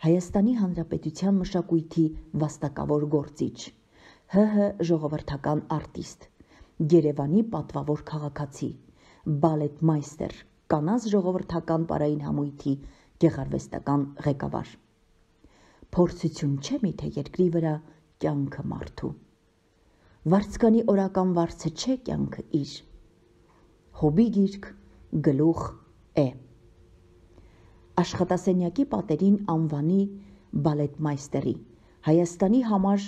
A: Հայաստանի Հանրապետության մշակույթի վաստակավոր գործիչ, ՀՀ ժողովրդական արտիստ, Երևանի պատվավոր քաղաքացի, բալետմայստեր, կանանց ժողովրդական պարային համույթի գեղարվեստական ղեկավար։ Փորձություն չէ միթե երկրի վրա կյանքը մարդու։ Վարձկանի օրական վարձը չէ կյանքը իր։ Հոբի գիրք, գլուխ է։ Աշխատասենյակի պատերին անվանի բալետմայստերի, Հայաստանի համար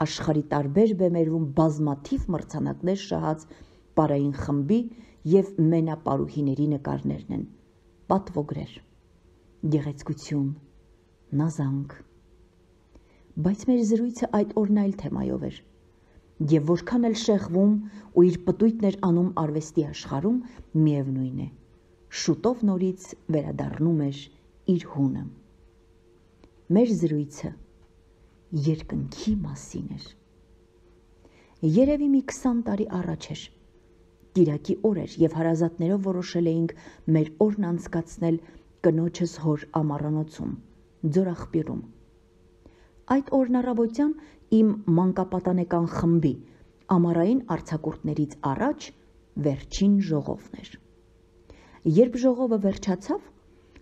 A: աշխարհի տարբեր բեմերում բազմաթիվ մրցանակներ շահած պարային խմբի և մենապարուհիների նկարներն են, պատվոգրեր, գեղեցկություն, նազանք։ Բայց մեր զրույցը այդ օրն այլ թեմայով էր, և որքան էլ շեղվում ու իր պտույտն էր անում արվեստի աշխարհում, միևնույն է, շուտով նորից վերադառնում էր իր հունը։ Մեր զրույցը երկնքի մասին էր։ Երևի մի քսան տարի առաջ էր։ Կիրակի օր էր և հարազատներով որոշել էինք մեր օրն անցկացնել կնոջս հոր ամառանոցում, Ձորաղբյուրում։ Այդ օրն առավոտյան իմ մանկապատանեկան խմբի ամառային արձակուրդներից առաջ վերջին ժողովն էր։ Երբ ժողովը վերջացավ,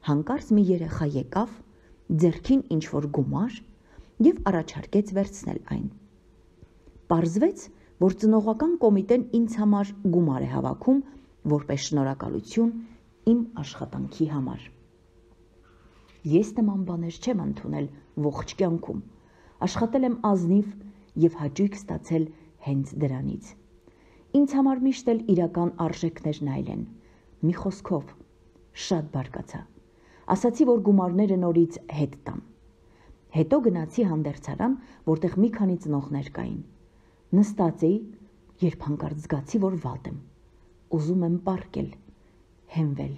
A: հանկարծ մի երեխա եկավ, ձեռքին ինչ-որ գումար և առաջարկեց վերցնել այն։ Պարզվեց, որ ծնողական կոմիտեն ինձ համար գումար է հավաքում, որպես շնորհակալություն իմ աշխատանքի համար։ Ես նման բաներ չեմ ընդունել ողջ կյանքում, աշխատել եմ ազնիվ և հաճույք ստացել հենց դրանից։ Ինձ համար միշտ էլ իրական արժեքներն այլ են։ Մի խոսքով, շատ բարկացա։ Ասացի, որ գումարները նորից հետ տամ։ Հետո գնացի հանդերձարան, որտեղ մի քանի ծնողներ կային։ Նստած էի, երբ հանկարծ զգացի, որ վատ եմ։ Ուզում եմ պառկել, հենվել։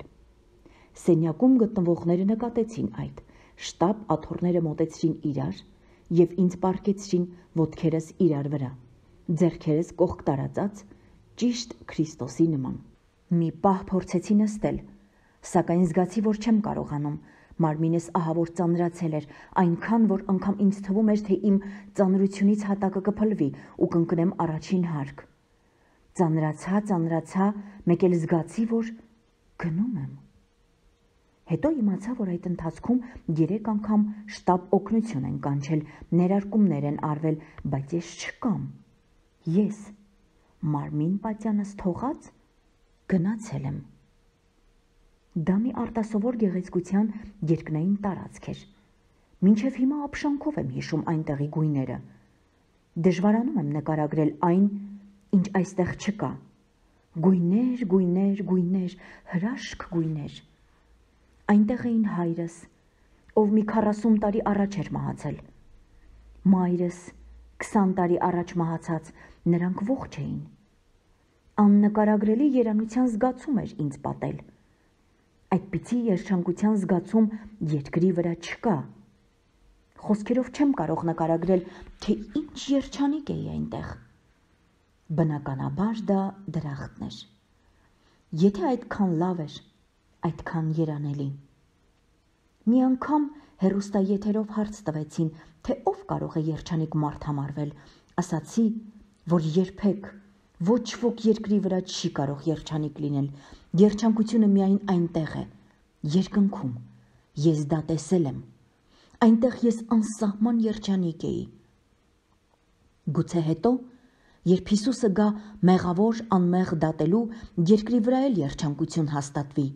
A: Սենյակում գտնվողները նկատեցին այդ, շտապ աթոռները մոտեցրին իրար և ինձ պառկեցրին ոտքերս իրար վրա, ձեռքերս կողք տարածած, ճիշտ Քրիստոսի նման։ Մի պահ փորձեցի նստել, սակայն զգացի, որ չեմ կարողանում։ Մարմինս ահավոր ծանրացել էր, այնքան, որ անգամ ինձ թվում էր, թե իմ ծանրությունից հատակը կփլվի ու կընկնեմ առաջին հարկ։ Ծանրացա, ծանրացա, մեկ էլ զգացի, որ գնում եմ։ Հետո իմացա, որ այդ ընթացքում երեք անգամ շտապ օգնություն են կանչել, ներարկումներ են արվել, բայց ես չկամ։ Ես, մարմին պատյանս թողած, գնացել եմ։ Դա մի արտասովոր գեղեցկության երկնային տարածք էր։ Մինչև հիմա ապշանքով եմ հիշում այնտեղի գույները։ Դժվարանում եմ նկարագրել այն, ինչ այստեղ չկա։ Գույներ, գույներ, գույներ, հրաշք գույներ։ Այնտեղ էին հայրս, ով մի քառասուն տարի առաջ էր մահացել, մայրս, քսան տարի առաջ մահացած, նրանք ողջ էին։ Աննկարագրելի երանության զգացում էր ինձ պատել։ Այդպիսի երջանկության զգացում երկրի վրա չկա։ Խոսքերով չեմ կարող նկարագրել, թե ինչ երջանիկ էի այնտեղ։ Բնականաբար դա դրախտն էր։ Եթե այդքան լավ էր, այդքան երանելի։ Մի անգամ հեռուստաեթերով հարց տվեցին, թե ով կարող է երջանիկ մարդ համարվել, ասացի, որ երբեք Ոչ ոք երկրի վրա չի կարող երջանիկ լինել, երջանկությունը միայն այնտեղ է, երկնքում, ես դա տեսել եմ, այնտեղ ես անսահման երջանիկ էի։ Գուցե հետո, երբ Հիսուսը գա մեղավոր անմեղ դատելու, երկրի վրա էլ երջանկություն հաստատվի,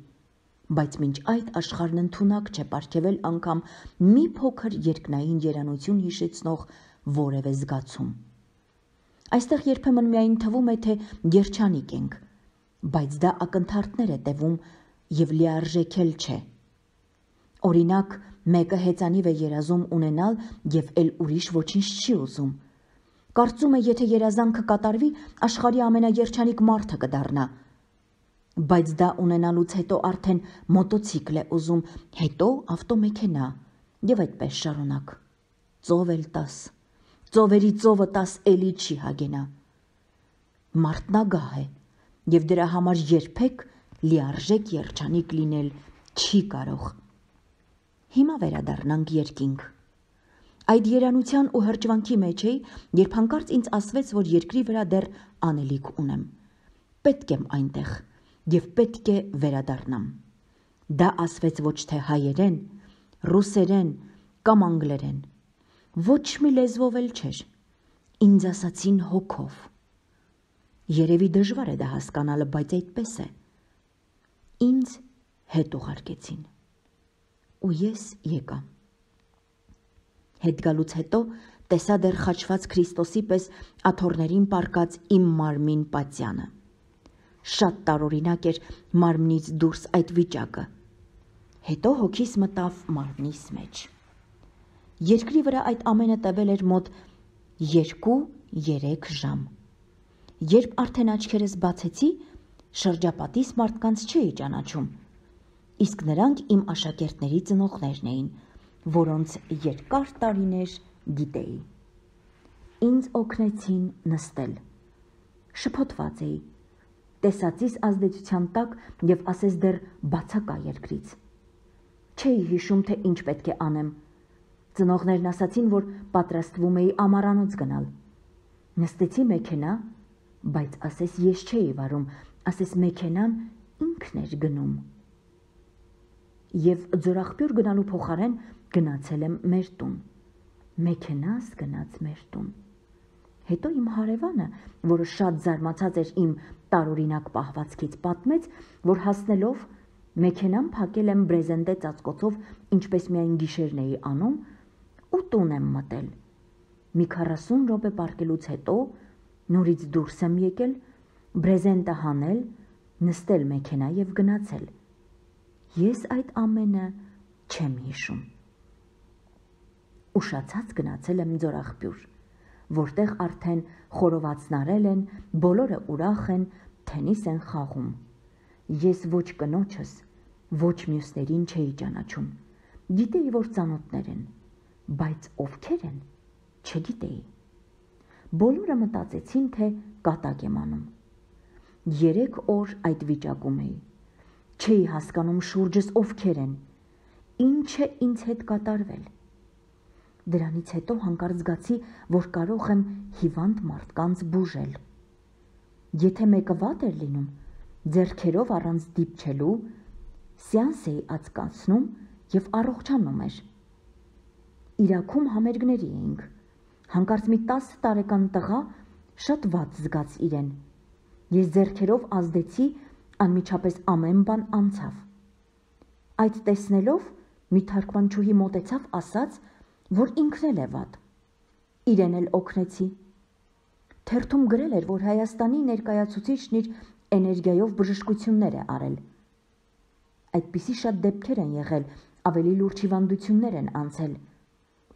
A: բայց մինչ այդ աշխարհն ընդունակ չէ պարգևել անգամ մի փոքր երկնային երանություն հիշեցնող որևէ զգացում։ Այստեղ երբեմն միայն թվում է, թե երջանիկ ենք, բայց դա ակնթարթներ է տևում եւ լիարժեքել չէ։ Օրինակ, մեկը հեծանիվ է երազում ունենալ եւ էլ ուրիշ ոչինչ չի ուզում։ Կարծում է, եթե երազանքը կատարվի, աշխարհի ամենաերջանիկ մարդը կդառնա։ Բայց դա ունենալուց հետո արդեն մոտոցիկլ է ուզում, հետո ավտոմեքենա եւ այդպես շարունակ։ Ծով էլ տաս, ծովերի ծովը տաս էլի չի հագենա։ Մարդն ագահ է եւ դրա համար երբեք լիարժեք երջանիկ լինել չի կարող։ Հիմա վերադառնանք երկինք։ Այդ երանության ու հրճվանքի մեջ էի, երբ հանկարծ ինձ ասվեց, որ երկրի վրա դեռ անելիք ունեմ։ Պետք եմ այնտեղ եւ պետք է վերադառնամ։ Դա ասվեց ոչ թե հայերեն, ռուսերեն կամ անգլերեն, ոչ մի լեզվով էլ չէր, ինձ ասացին հոգով։ Երևի դժվար է դա հասկանալը, բայց այդպես է։ Ինձ հետ ուղարկեցին ու ես եկա։ Հետ գալուց հետո տեսա դեռ խաչված Քրիստոսի պես աթոռներին պառկած իմ մարմին պատյանը։ Շատ տարօրինակ էր մարմնից դուրս այդ վիճակը։ Հետո հոգիս մտավ մարմնիս մեջ։ Երկրի վրա այդ ամենը տևել էր մոտ երկու-երեք ժամ։ Երբ արդեն աչքերս բացեցի, շրջապատիս մարդկանց չէի ճանաչում, իսկ նրանք իմ աշակերտների ծնողներն էին, որոնց երկար տարիներ գիտեի։ Ինձ օգնեցին նստել։ Շփոթված էի, տեսածիս ազդեցության տակ եւ ասես դեռ բացակա երկրից։ Չէի հիշում, թե ինչ պետք է անեմ։ Ծնողներն ասացին, որ պատրաստվում էի ամառանոց գնալ։ Նստեցի մեքենա, բայց ասես ես չէի վարում, ասես մեքենան ինքն էր գնում։ Եվ ձորախբյուր գնալու փոխարեն գնացել եմ մեր տուն։ Մեքենաս գնաց մեր տուն։ Հետո իմ հարևանը, որը շատ զարմացած էր իմ տարօրինակ պահվածքից, պատմեց, որ հասնելով մեքենան փակել եմ բրեզենտե ծածկոցով, ինչպես միայն գիշերն էի անում, ու տուն եմ մտել։ Մի քառասուն րոպե պառկելուց հետո նորից դուրս եմ եկել, բրեզենտը հանել, նստել մեքենա եւ գնացել։ Ես այդ ամենը չեմ հիշում։ Ուշացած գնացել եմ ձորախբյուր, որտեղ արդեն խորովածնարել են, բոլորը ուրախ են, թենիս են խաղում։ Ես ոչ կնոջս, ոչ մյուսներին չէի ճանաչում։ Գիտեի, որ ծանոթներ են, բայց ովքեր են, չգիտեի։ Բոլորը մտածեցին, թե կատակ եմ անում։ Երեք օր այդ վիճակում էի։ Չէի հասկանում շուրջս ովքեր են, ինչ է ինձ հետ կատարվել։ Դրանից հետո հանկարծ զգացի, որ կարող եմ հիվանդ մարդկանց բուժել։ Եթե մեկը վատ էր լինում, ձեռքերով առանց դիպչելու, սեանս էի անցկացնում եւ առողջանում էր։ Իրաքում համերգների էինք։ Հանկարծ մի տասը տարեկան տղա շատ վատ զգաց իրեն։ Ես ձեռքերով ազդեցի, անմիջապես ամեն բան անցավ։ Այդ տեսնելով մի թարգմանչուհի մոտեցավ, ասաց, որ ինքն էլ է վատ։ Իրեն էլ օգնեցի։ Թերթում գրել էր, որ Հայաստանի ներկայացուցիչն իր էներգիայով բժշկություններ է արել։ Այդպիսի շատ դեպքեր են եղել, ավելի լուրջ հիվանդություններ են անցել,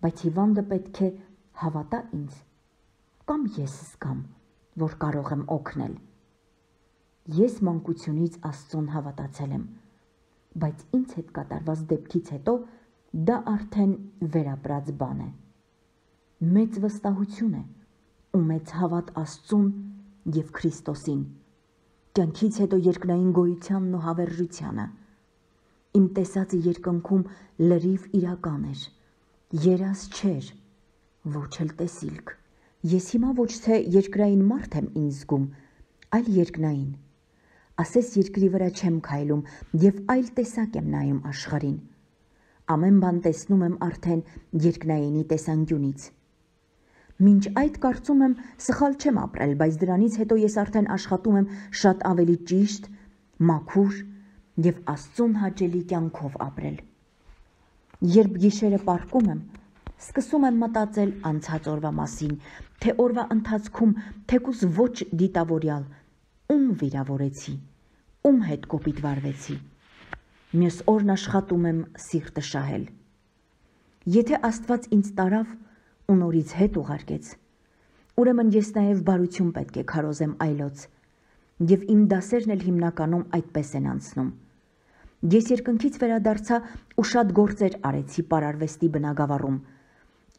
A: բայց հիվանդը պետք է հավատա ինձ, կամ ես զգամ, որ կարող եմ օգնել։ Ես մանկությունից Աստծուն հավատացել եմ, բայց ինձ հետ կատարված դեպքից հետո դա արդեն վերապրած բան է։ Մեծ վստահություն է ու մեծ հավատ Աստծուն եւ Քրիստոսին, կյանքից հետո երկնային գոյությանն ու հավերժությանը։ Իմ տեսածը երկնքում լրիվ իրական էր, երազ չէր, ոչ էլ տեսիլք։ Ես հիմա ոչ թե երկրային մարդ եմ ինձ զգում, այլ երկնային։ Ասես երկրի վրա չեմ քայլում եւ այլ տեսակ եմ նայում աշխարհին։ Ամեն բան տեսնում եմ արդեն երկնայինի տեսանկյունից։ Մինչ այդ կարծում եմ սխալ չեմ ապրել, բայց դրանից հետո ես արդեն աշխատում եմ շատ ավելի ճիշտ, մաքուր եւ Աստծուն հաճելի կյանքով ապրել։ Երբ գիշերը պառկում եմ, սկսում եմ մտածել անցած օրվա մասին, թե օրվա ընթացքում թեկուզ ոչ դիտավորյալ, ում վիրավորեցի, ում հետ կոպիտ վարվեցի։ Մյուս օրն աշխատում եմ սիրտը շահել։ Եթե Աստված ինձ տարավ ու նորից հետ ուղարկեց, ուրեմն ես նաև բարություն պետք է քարոզեմ այլոց, եւ իմ դասերն էլ հիմնականում այդպես են անցնում։ Ես երկնքից վերադարձա ու շատ գործեր արեցի պարարվեստի բնագավառում։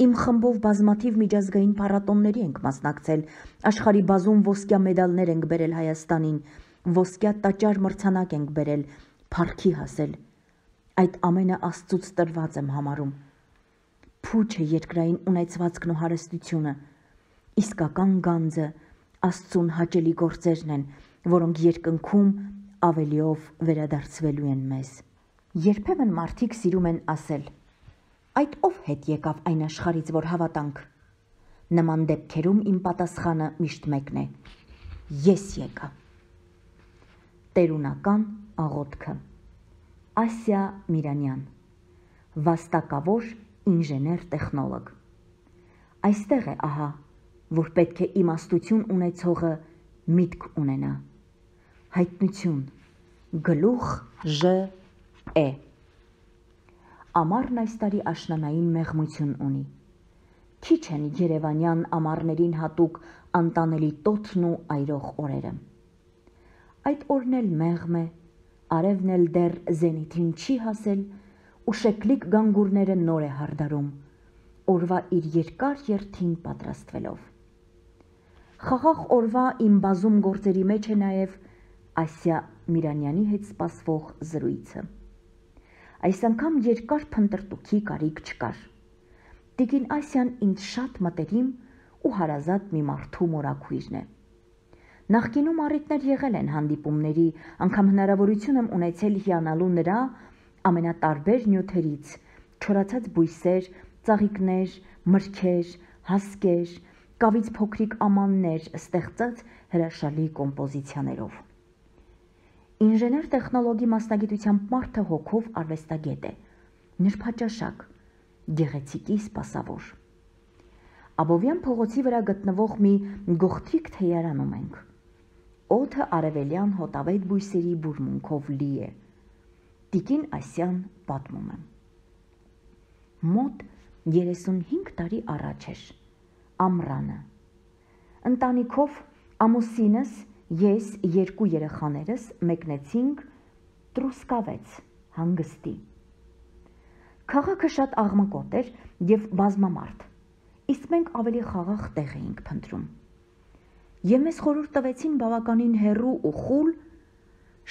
A: Իմ խմբով բազմաթիվ միջազգային փառատոնների ենք մասնակցել, աշխարհի բազում ոսկյա մեդալներ ենք բերել Հայաստանին, ոսկյա տաճար մրցանակ ենք բերել, փառքի հասել։ Այդ ամենը Աստծուց տրված եմ համարում։ Փուչ է երկրային ունեցվածքն ու հարստությունը, իսկական գանձը Աստծուն հաճելի գործերն են, որոնք երկնքում ավելիով վերադարձվելու են մեզ։ Երբեմն մարդիկ սիրում են ասել. «Այդ ով հետ եկավ այն աշխարից, որ հավատանք»։ Նման դեպքերում իմ պատասխանը միշտ մեկն է. ես եկա։ Տերունական աղոթքը։ Ասիա Միրանյան, վաստակավոր ինժեներ-տեխնոլոգ։ Այստեղ է ահա, որ պետք է իմաստություն ունեցողը միտք ունենա։ Հայտնություն, գլուխ Ժ Է։ Ամառն այս տարի աշնանային մեղմություն ունի։ Քիչ են երևանյան ամառներին հատուկ անտանելի տոթն ու այրող օրերը։ Այդ օրն էլ մեղմ է, արևն էլ դեռ զենիթին չի հասել ու շեկլիկ գանգուրները նոր է հարդարում, օրվա իր երկար երթին պատրաստվելով։ Խաղաղ օրվա իմ բազում գործերի մեջ է նաև Ասիա Միրանյանի հետ սպասվող զրույցը։ Այս անգամ երկար փնտրտուքի կարիք չկար։ Տիկին Ասիան ինձ շատ մտերիմ ու հարազատ մի մարդու մորաքույրն է։ Նախկինում առիթներ եղել են հանդիպումների, անգամ հնարավորություն եմ ունեցել հիանալու նրա ամենատարբեր նյութերից, չորացած բույսեր, ծաղիկներ, մրգեր, հասկեր, կավից փոքրիկ ամաններ ստեղծած հրաշալի կոմպոզիցիաներով։ Ինժեներ-տեխնոլոգի մասնագիտությամբ մարդը հոգով արվեստագետ է, նրբաճաշակ, գեղեցիկի սպասավոր։ Աբովյան փողոցի վրա գտնվող մի գողտրիկ թեյարանում ենք։ Օդը արևելյան հոտավետ բույսերի բուրմունքով լի է։ Տիկին Ասիան պատմում է։ Մոտ երեսունհինգ տարի առաջ էր, ամռանը։ Ընտանիքով ամուսինս, ես, երկու երեխաներս մեկնեցինք Տրուսկավեց հանգստի։ Քաղաքը շատ աղմկոտ էր եւ բազմամարդ, իսկ մենք ավելի խաղաղ տեղ էինք փնտրում։ Եվ մեզ խորհուրդ տվեցին բավականին հեռու ու խուլ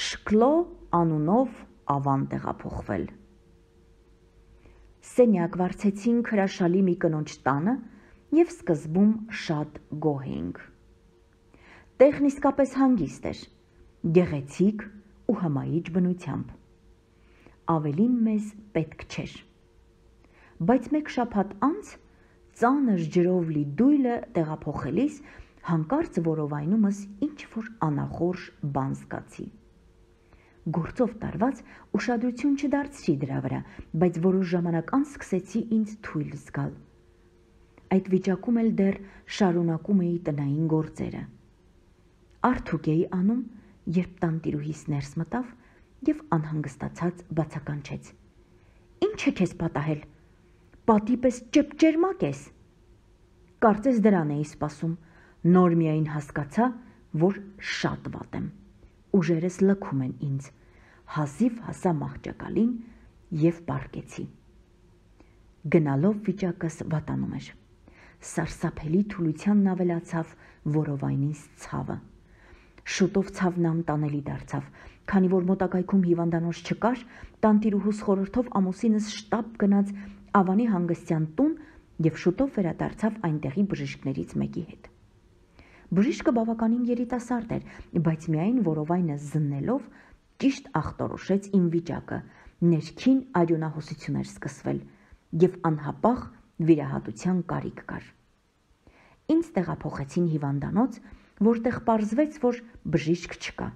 A: Շկլո անունով ավան տեղափոխվել։ Սենյակ վարձեցինք հրաշալի մի կնոջ տանը եւ սկզբում շատ գոհ էինք։ Տեղն իսկապես հանգիստ էր, գեղեցիկ ու հմայիչ բնությամբ։ Ավելին մեզ պետք չէր։ Բայց մեկ շաբաթ անց ծանր ջրով լի դույլը տեղափոխելիս հանկարծ որովայնումս ինչ-որ անախորժ բան զգացի։ Գործով տարված ուշադրություն չդարձրի դրա վրա, բայց որոշ ժամանակ անց սկսեցի ինձ թույլ զգալ։ Այդ վիճակում էլ դեռ շարունակում էի տնային գործերը։ Արդյոք էի անում, երբ տանտիրուհիս ներս մտավ եւ անհանգստացած բացականչեց. «Ինչ է քեզ պատահել, պատի պես ճեպճերմակ ես»։ Կարծես դրան էի սպասում, նոր միայն հասկացա, որ շատ վատ եմ, ուժերս լքում են ինձ, հազիվ հասա մահճակալին եւ պառկեցի։ Գնալով վիճակս վատանում էր, սարսափելի թուլությանն ավելացավ որովայնիս ցավը։ Շուտով ցավն անտանելի դարձավ, քանի որ մոտակայքում հիվանդանոց չկար, տանտիրուհուս խորհրդով ամուսինս շտապ գնաց Ավանի հանգստյան տուն եւ շուտով վերադարձավ այնտեղի բժիշկներից մեկի հետ։ Բժիշկը բավականին երիտասարդ էր, բայց միայն որովայնը զննելով ճիշտ ախտորոշեց իմ վիճակը, ներքին արյունահոսություն էր սկսվել և անհապաղ վիրահատության կարիք կար։ Ինձ տեղափոխեցին հիվանդանոց, որտեղ պարզվեց, որ բժիշկ չկա։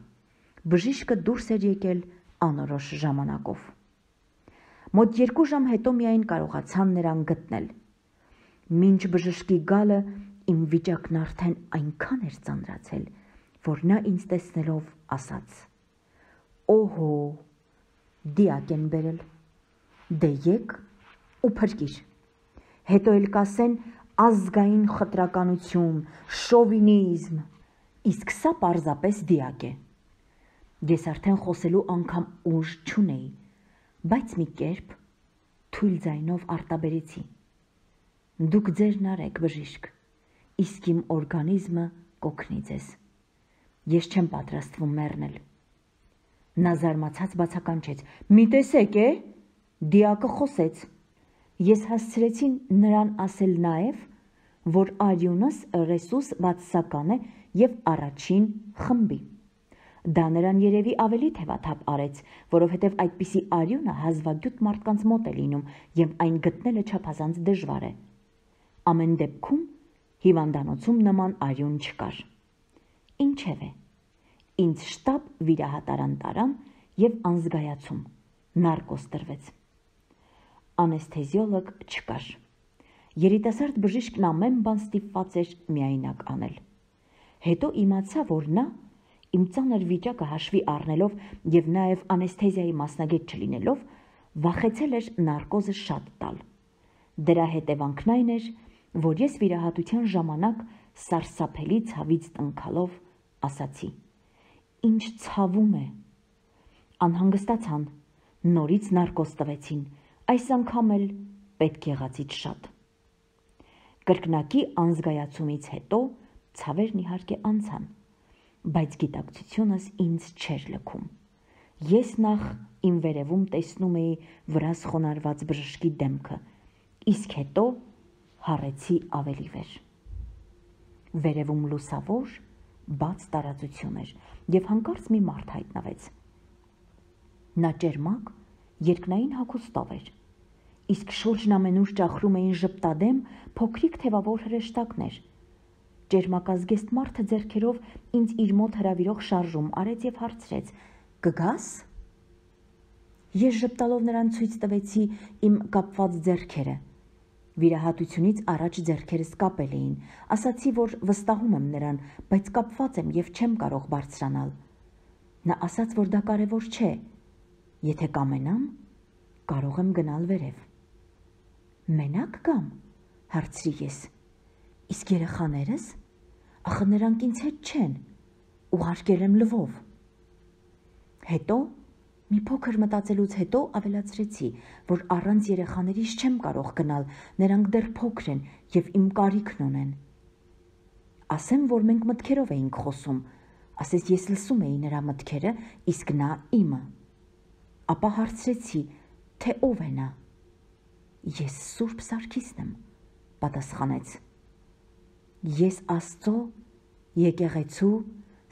A: Բժիշկը դուրս էր եկել անորոշ ժամանակով։ Մոտ երկու ժամ հետո միայն կարողացան նրան գտնել։ Մինչ բժշկի գալը իմ վիճակն արդեն այնքան էր ծանրացել, որ նա ինձ տեսնելով ասաց. «Օհո, դիակ են բերել, դե եկ ու փրկիր, հետո էլ կասեն ազգային խտրականություն, շովինիզմ, իսկ սա պարզապես դիակ է»։ Ես արդեն խոսելու անգամ ուժ չունեի, բայց մի կերպ թույլ ձայնով արտաբերեցի. «Դուք ձերն արեք, բժիշկ, իսկ իմ օրգանիզմը կօգնի ձեզ, ես չեմ պատրաստվում մեռնել»։ Նա զարմացած բացականչեց. «Մի տեսեք է, դիակը խոսեց»։ Ես հասցրեցի նրան ասել նաև, որ արյունս ռեսուս վաթսական է և առաջին խմբի։ Դա նրան երևի ավելի թևաթափ արեց, որովհետև այդպիսի արյունը հազվագյուտ մարդկանց մոտ է լինում և այն գտնելը չափազանց դժվար է։ Ամեն դեպքում հիվանդանոցում նման արյուն չկար։ Ինչևէ, ինձ շտապ վիրահատարան տարան և անզգայացում, նարկոզ տրվեց։ Անեսթեզիոլոգ չկար։ Երիտասարդ բժիշկն ամեն բան ստիպված էր միայնակ անել։ Հետո իմացա, որ նա իմ ծանր վիճակը հաշվի առնելով և նաև անեսթեզիայի մասնագետ չլինելով, վախեցել էր նարկոզը շատ տալ։ Դրա հետևանքն այն էր, որ ես վիրահատության ժամանակ սարսափելի ցավից տնքալով ասացի. «Ինչ ցավում է»։ Անհանգստացան, նորից նարկոզ տվեցին, այս անգամ էլ պետք եղածից շատ։ Կրկնակի անզգայացումից հետո ցավերն իհարկե անցան, բայց գիտակցությունս ինձ չէր լքում։ Ես նախ իմ վերևում տեսնում էի վրաս խոնարհված բժշկի դեմքը, իսկ հետո հառեցի ավելի վեր։ Վերևում լուսավոր, բաց տարածություն էր և հանկարծ մի մարդ հայտնվեց։ Նա ճերմակ, երկնային հագուստով էր, իսկ շուրջն ամենուր ճախրում էին ժպտադեմ փոքրիկ թևավոր հրեշտակներ։ Ճերմակազգեստ մարդը ձեռքերով ինձ իր մոտ հրավիրող շարժում արեց և հարցրեց. «Կգաս»։ Ես ժպտալով նրան ցույց տվեցի իմ կապված ձեռքերը։ Վիրահատությունից առաջ ձեռքերս կապել էին, ասացի, որ վստահում եմ նրան, բայց կապված եմ և չեմ կարող բարձրանալ։ Նա ասաց, որ դա կարևոր չէ, եթե կամենամ, կարող եմ գնալ վերև։ «Մենակ գամ», հարցրի ես, «իսկ երեխաներս, ախր նրանք ինձ հետ չեն, ուղարկել եմ Լվով»։ Հետո, մի փոքր մտածելուց հետո ավելացրեցի, որ առանց երեխաներիս չեմ կարող գնալ, նրանք դեռ փոքր են և իմ կարիքն ունեն։ Ասեմ, որ մենք մտքերով էինք խոսում, ասես ես լսում էի նրա մտքերը, իսկ նա իմը։ Ապա հարցրեցի, թե ով է նա։ «Ես Սուրբ Սարգիսն եմ», պատասխանեց։ Ես Աստծո, եկեղեցու,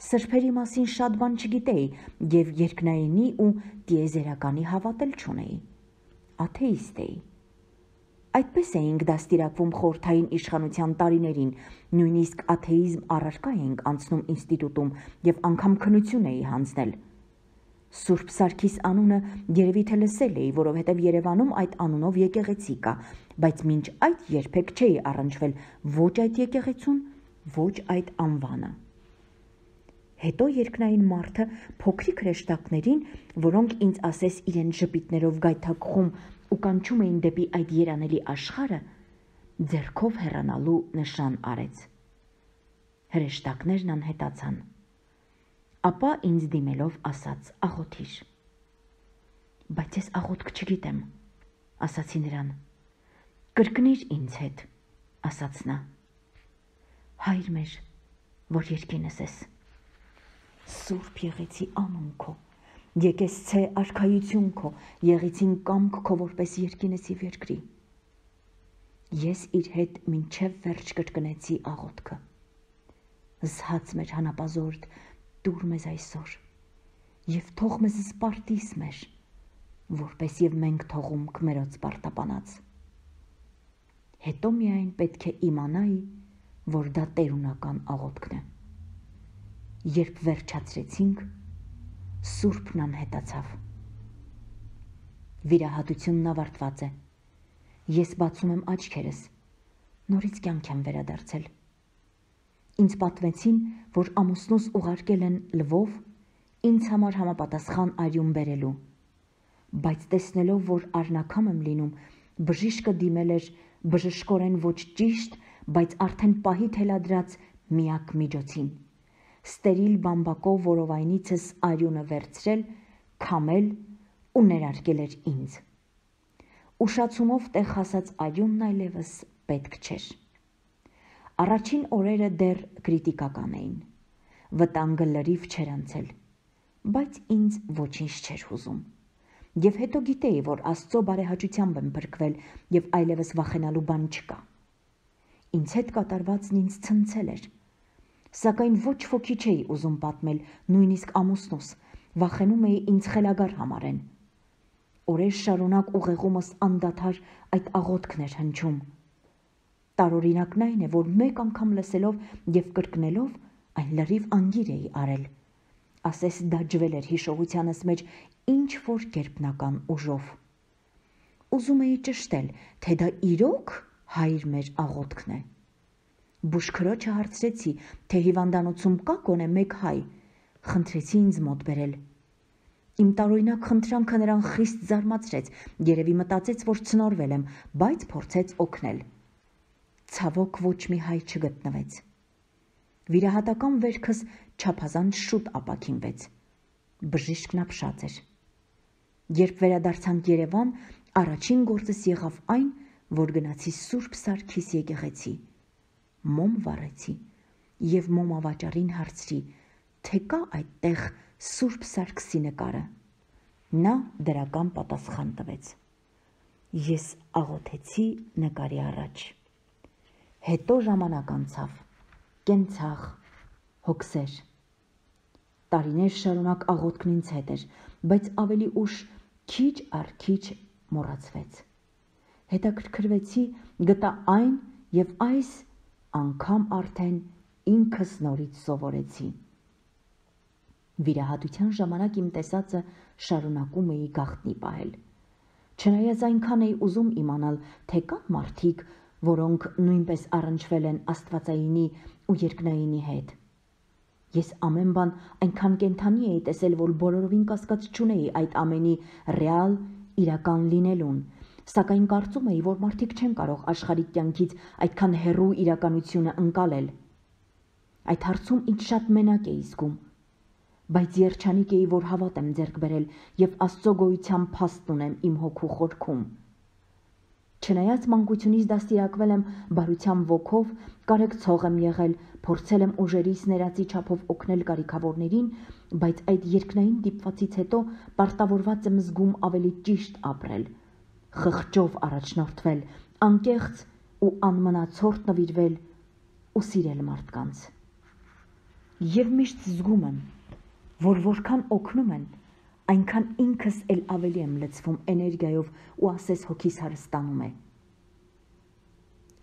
A: սրբերի մասին շատ բան չգիտեի և երկնայինի ու տիեզերականի հավատել չունեի։ Աթեիստ էի։ Այդպես էինք դաստիարակվում խորհրդային իշխանության տարիներին, նույնիսկ աթեիզմ առարկա էինք անցնում ինստիտուտում և անգամ քննություն էի հանձնել։ Սուրբ Սարգիս անունը երևի թե լսել էի, որովհետև Երևանում այդ անունով եկեղեցի կա, բայց մինչ այդ երբեք չէի առնչվել ոչ այդ եկեղեցուն, ոչ այդ անվանը։ Հետո երկնային մարդը փոքրիկ հրեշտակներին, որոնք ինձ ասես իրեն ժպիտներով գայթակղում ու կանչում էին դեպի այդ երանելի աշխարհը, ձեռքով հեռանալու նշան արեց։ Հրեշտակներն անհետացան։ Ապա ինձ դիմելով ասաց. «Աղոթիր»։ «Բայց ես աղոթք չգիտեմ», ասացի նրան։ «Կրկնիր ինձ հետ», ասաց նա։ «Հայր մեր, որ երկինս ես, սուրբ եղեցի անուն քո, եկեղեցե արքայություն քո, եղեցին կամք քո որպես երկինս և երկրի»։ Ես իր հետ մինչև վերջ կրկնեցի աղոթքը։ զհաց մեր հանապազորդ դուր մեզ այսօր, և թող մեզ սպարտիս մեր, որպես և մենք թողում քմերոց պարտապանած։ Հետո միայն պետք է իմանայի, որ դա տերունական աղոթքն է։ Երբ վերջացրեցինք, Սուրբն անհետացավ։ Վիրահատությունն ավարտված է։ Ես բացում եմ աչքերս, նորից կյանք եմ վերադարձել։ Ինձ պատմեցին, որ ամուսնուս ուղարկել են Լվով ինձ համար համապատասխան արյուն բերելու, բայց տեսնելով, որ արնակամ եմ լինում, բժիշկը դիմել էր բժշկորեն ոչ ճիշտ, բայց արդեն պահի թելադրած միակ միջոցին՝ ստերիլ բամբակով որովայնիցս արյունը վերցրել, քամել ու ներարկել էր ինձ։ Ուշացումով տեղ հասած արյունն այլևս պետք չէր։ Առաջին օրերը դեռ կրիտիկական էին, վտանգը լրիվ չէր անցել, բայց ինձ ոչինչ չէր հուզում, և հետո գիտեի, որ Աստծո բարեհաճությամբ եմ փրկվել և այլևս վախենալու բան չկա։ Ինձ հետ կատարվածն ինձ ցնցել էր, սակայն ոչ ոքի չէի ուզում պատմել, նույնիսկ ամուսնուս, վախենում էի ինձ խելագար համարեն։ Օրեր շարունակ ուղեղումս անդադար այդ աղոթքն էր հնչում։ Տարօրինակն այն է, որ մեկ անգամ լսելով և կրկնելով այն լրիվ անգիր էի արել, ասես դա ջվել էր հիշողությանս մեջ ինչ-որ գերբնական ուժով։ Ուզում էի ճշտել, թե դա իրոք Հայր մեր աղոթքն է։ Բուժքրոջը հարցրեցի, թե հիվանդանոցում կա գոնե մեկ հայ, խնդրեցի ինձ մոտ բերել։ Իմ տարօրինակ խնդրանքը նրան խիստ զարմացրեց, երևի մտածեց, որ ցնորվել եմ, բայց փորձեց օգնել։ Ցավոք ոչ մի հայ չգտնվեց։ Վիրահատական վերքս չափազանց շուտ ապաքինվեց։ Բժիշկն ապշած էր։ Երբ վերադարձանք Երևան, առաջին գործս եղավ այն, որ գնացի Սուրբ Սարգիս եկեղեցի, մոմ վառեցի և մոմավաճառին հարցրի, թե կա այդտեղ Սուրբ Սարգսի նկարը։ Նա դրական պատասխան տվեց։ Ես աղոթեցի նկարի առաջ։ Հետո ժամանակ անցավ, կենցաղ, հոգսեր։ Տարիներ շարունակ աղոթքն ինձ հետ էր, բայց ավելի ուշ քիչ առ քիչ մոռացվեց։ Հետաքրքրվեցի, գտա այն և այս անգամ արդեն ինքս նորից սովորեցի։ Վիրահատության ժամանակ իմ տեսածը շարունակում էի գաղտնի պահել։ Չնայած այնքան էի ուզում իմանալ, թե կան մարդիկ, որոնք նույնպես առնչվել են Աստվածայինի ու երկնայինի հետ։ Ես ամեն բան այնքան կենդանի էի տեսել, որ բոլորովին կասկած չունեի այդ ամենի ռեալ, իրական լինելուն, սակայն կարծում էի, որ մարդիկ չեն կարող աշխարհիկ կյանքից այդքան հեռու իրականությունը ընկալել։ Այդ հարցում ինձ շատ մենակ էի զգում, բայց երջանիկ էի, որ հավատ եմ ձեռք բերել և Աստծո գոյության փաստ ունեմ իմ հոգու խորքում։ Չնայած մանկությունից դաստիարակվել եմ բարության ոգով, կարեկցող եմ եղել, փորձել եմ ուժերիս ներածի չափով օգնել կարիքավորներին, բայց այդ երկնային դիպվածից հետո պարտավորված եմ զգում ավելի ճիշտ ապրել, խղճով առաջնորդվել, անկեղծ ու անմնացորդ նվիրվել ու սիրել մարդկանց։ Եվ միշտ զգում եմ, որ որքան օգնում են, այնքան ինքս էլ ավելի եմ լցվում էներգիայով ու ասես հոգիս հարստանում է։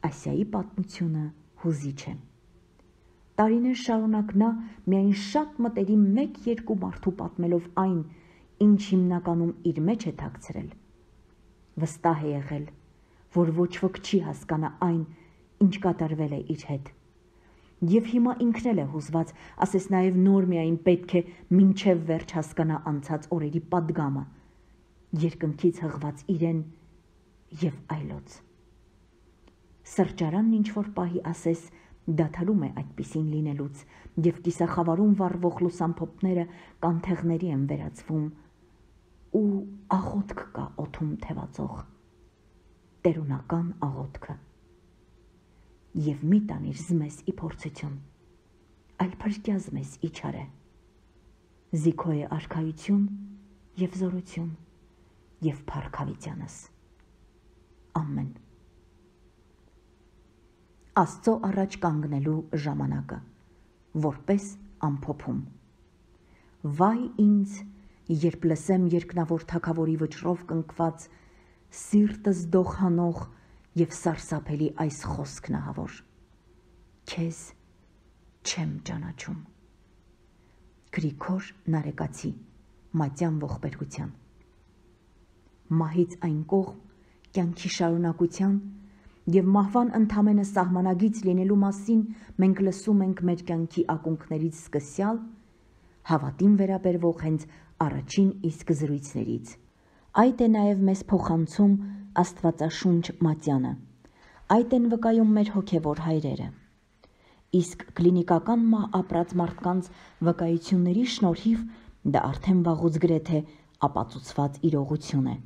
A: Ասիայի պատմությունը հուզիչ է։ Տարիներ շարունակ նա միայն շատ մտերիմ մեկ-երկու մարդու պատմելով այն, ինչ հիմնականում իր մեջ է թաքցրել, վստահ է եղել, որ ոչ ոք չի հասկանա այն, ինչ կատարվել է իր հետ։ Եվ հիմա ինքն էլ է հուզված, ասես նաև նոր միայն պետք է մինչև վերջ հասկանա անցած օրերի պատգամը, երկնքից հղված իրեն և այլոց։ Սրճարանն ինչ-որ պահի ասես դադարում է այդպիսին լինելուց, և կիսախավարում վառվող լուսամփոփները կանթեղների են վերածվում, ու աղոթք կա օդում թևածող, տերունական աղոթքը։ Եվ մի տանիր զմես ի փորձություն, այլ փրկյազ մեզ իչարե, զիքո է արքայություն և զորություն և փառքավիտյանս։ Ամեն։ Աստծո առաջ կանգնելու ժամանակը։ որպես ամփոփում։ Վայ ինձ, երբ լսեմ երկնավոր թագավորի վճռով կնքված, սիրտս դողանող և սարսափելի այս խոսքն ահավոր. քեզ չեմ ճանաչում։ Գրիգոր Նարեկացի, Մատյան ողբերգության։ Մահից այն կողմ, կյանքի շարունակության և մահվան ընդամենը սահմանագից լինելու մասին մենք լսում ենք մեր կյանքի ակունքներից սկսյալ, հավատին վերաբերվող հենց առաջին իսկ զրույցներից։ Այդ է նաև մեզ փոխանցում Աստվածաշունչ Մատյանը, այդ են վկայում մեր հոգևոր հայրերը։ Իսկ կլինիկական մահ ապրած մարդկանց վկայությունների շնորհիվ դա արդեն վաղուց գրեթե ապացուցված իրողություն է։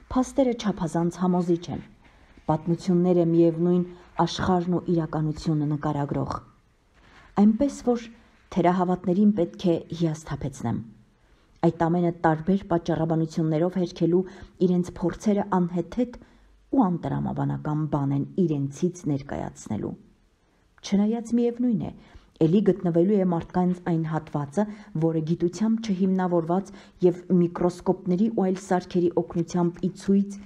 A: Փաստերը չափազանց համոզիչ են, պատմությունները միևնույն աշխարհն ու իրականությունը նկարագրող։ Այնպես որ թերահավատներին պետք է հիասթափեցնեմ։ Այդ ամենը տարբեր պատճառաբանություններով հերքելու իրենց փորձերը անհեթեթ ու անտրամաբանական բան են իրենցից ներկայացնելու։ Չնայած միևնույն է, էլի գտնվելու է մարդկանց այն հատվածը, որը գիտությամբ չհիմնավորված և միկրոսկոպների ու այլ սարքերի օգնությամբ ի ցույց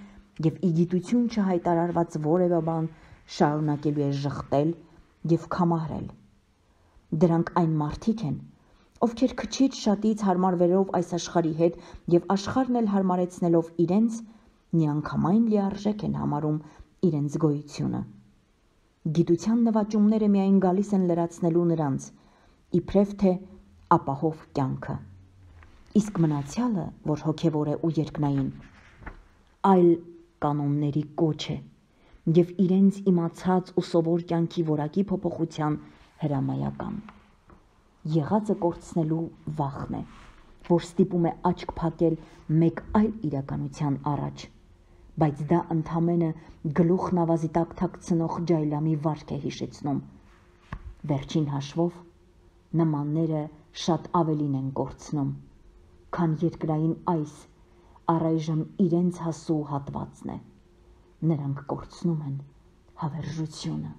A: և ի գիտություն չհայտարարված որևէ բան շարունակելու է ժխտել և քամարել։ Դրանք այն մարդիկ են, ովքեր քչից շատից հարմարվելով այս աշխարհի հետ և աշխարհն էլ հարմարեցնելով իրենց, միանգամայն լիարժեք են համարում իրենց գոյությունը։ Գիտության նվաճումները միայն գալիս են լրացնելու նրանց, իբրև թե ապահով կյանքը։ Իսկ մնացյալը, որ հոգևոր է ու երկնային, այլ կանոնների կոչ է և իրենց իմացած ու սովոր կյանքի որակի փոփոխության հրամայական։ Եղածը կորցնելու վախն է, որ ստիպում է աչք փակել մեկ այլ իրականության առաջ, բայց դա ընդամենը գլուխն ավազի տակ թաքցնող ջայլամի վարք է հիշեցնում։ Վերջին հաշվով նմանները շատ ավելին են կորցնում, քան երկրային այս առայժմ իրենց հասու հատվածն է։ Նրանք կորցնում են հավերժությունը,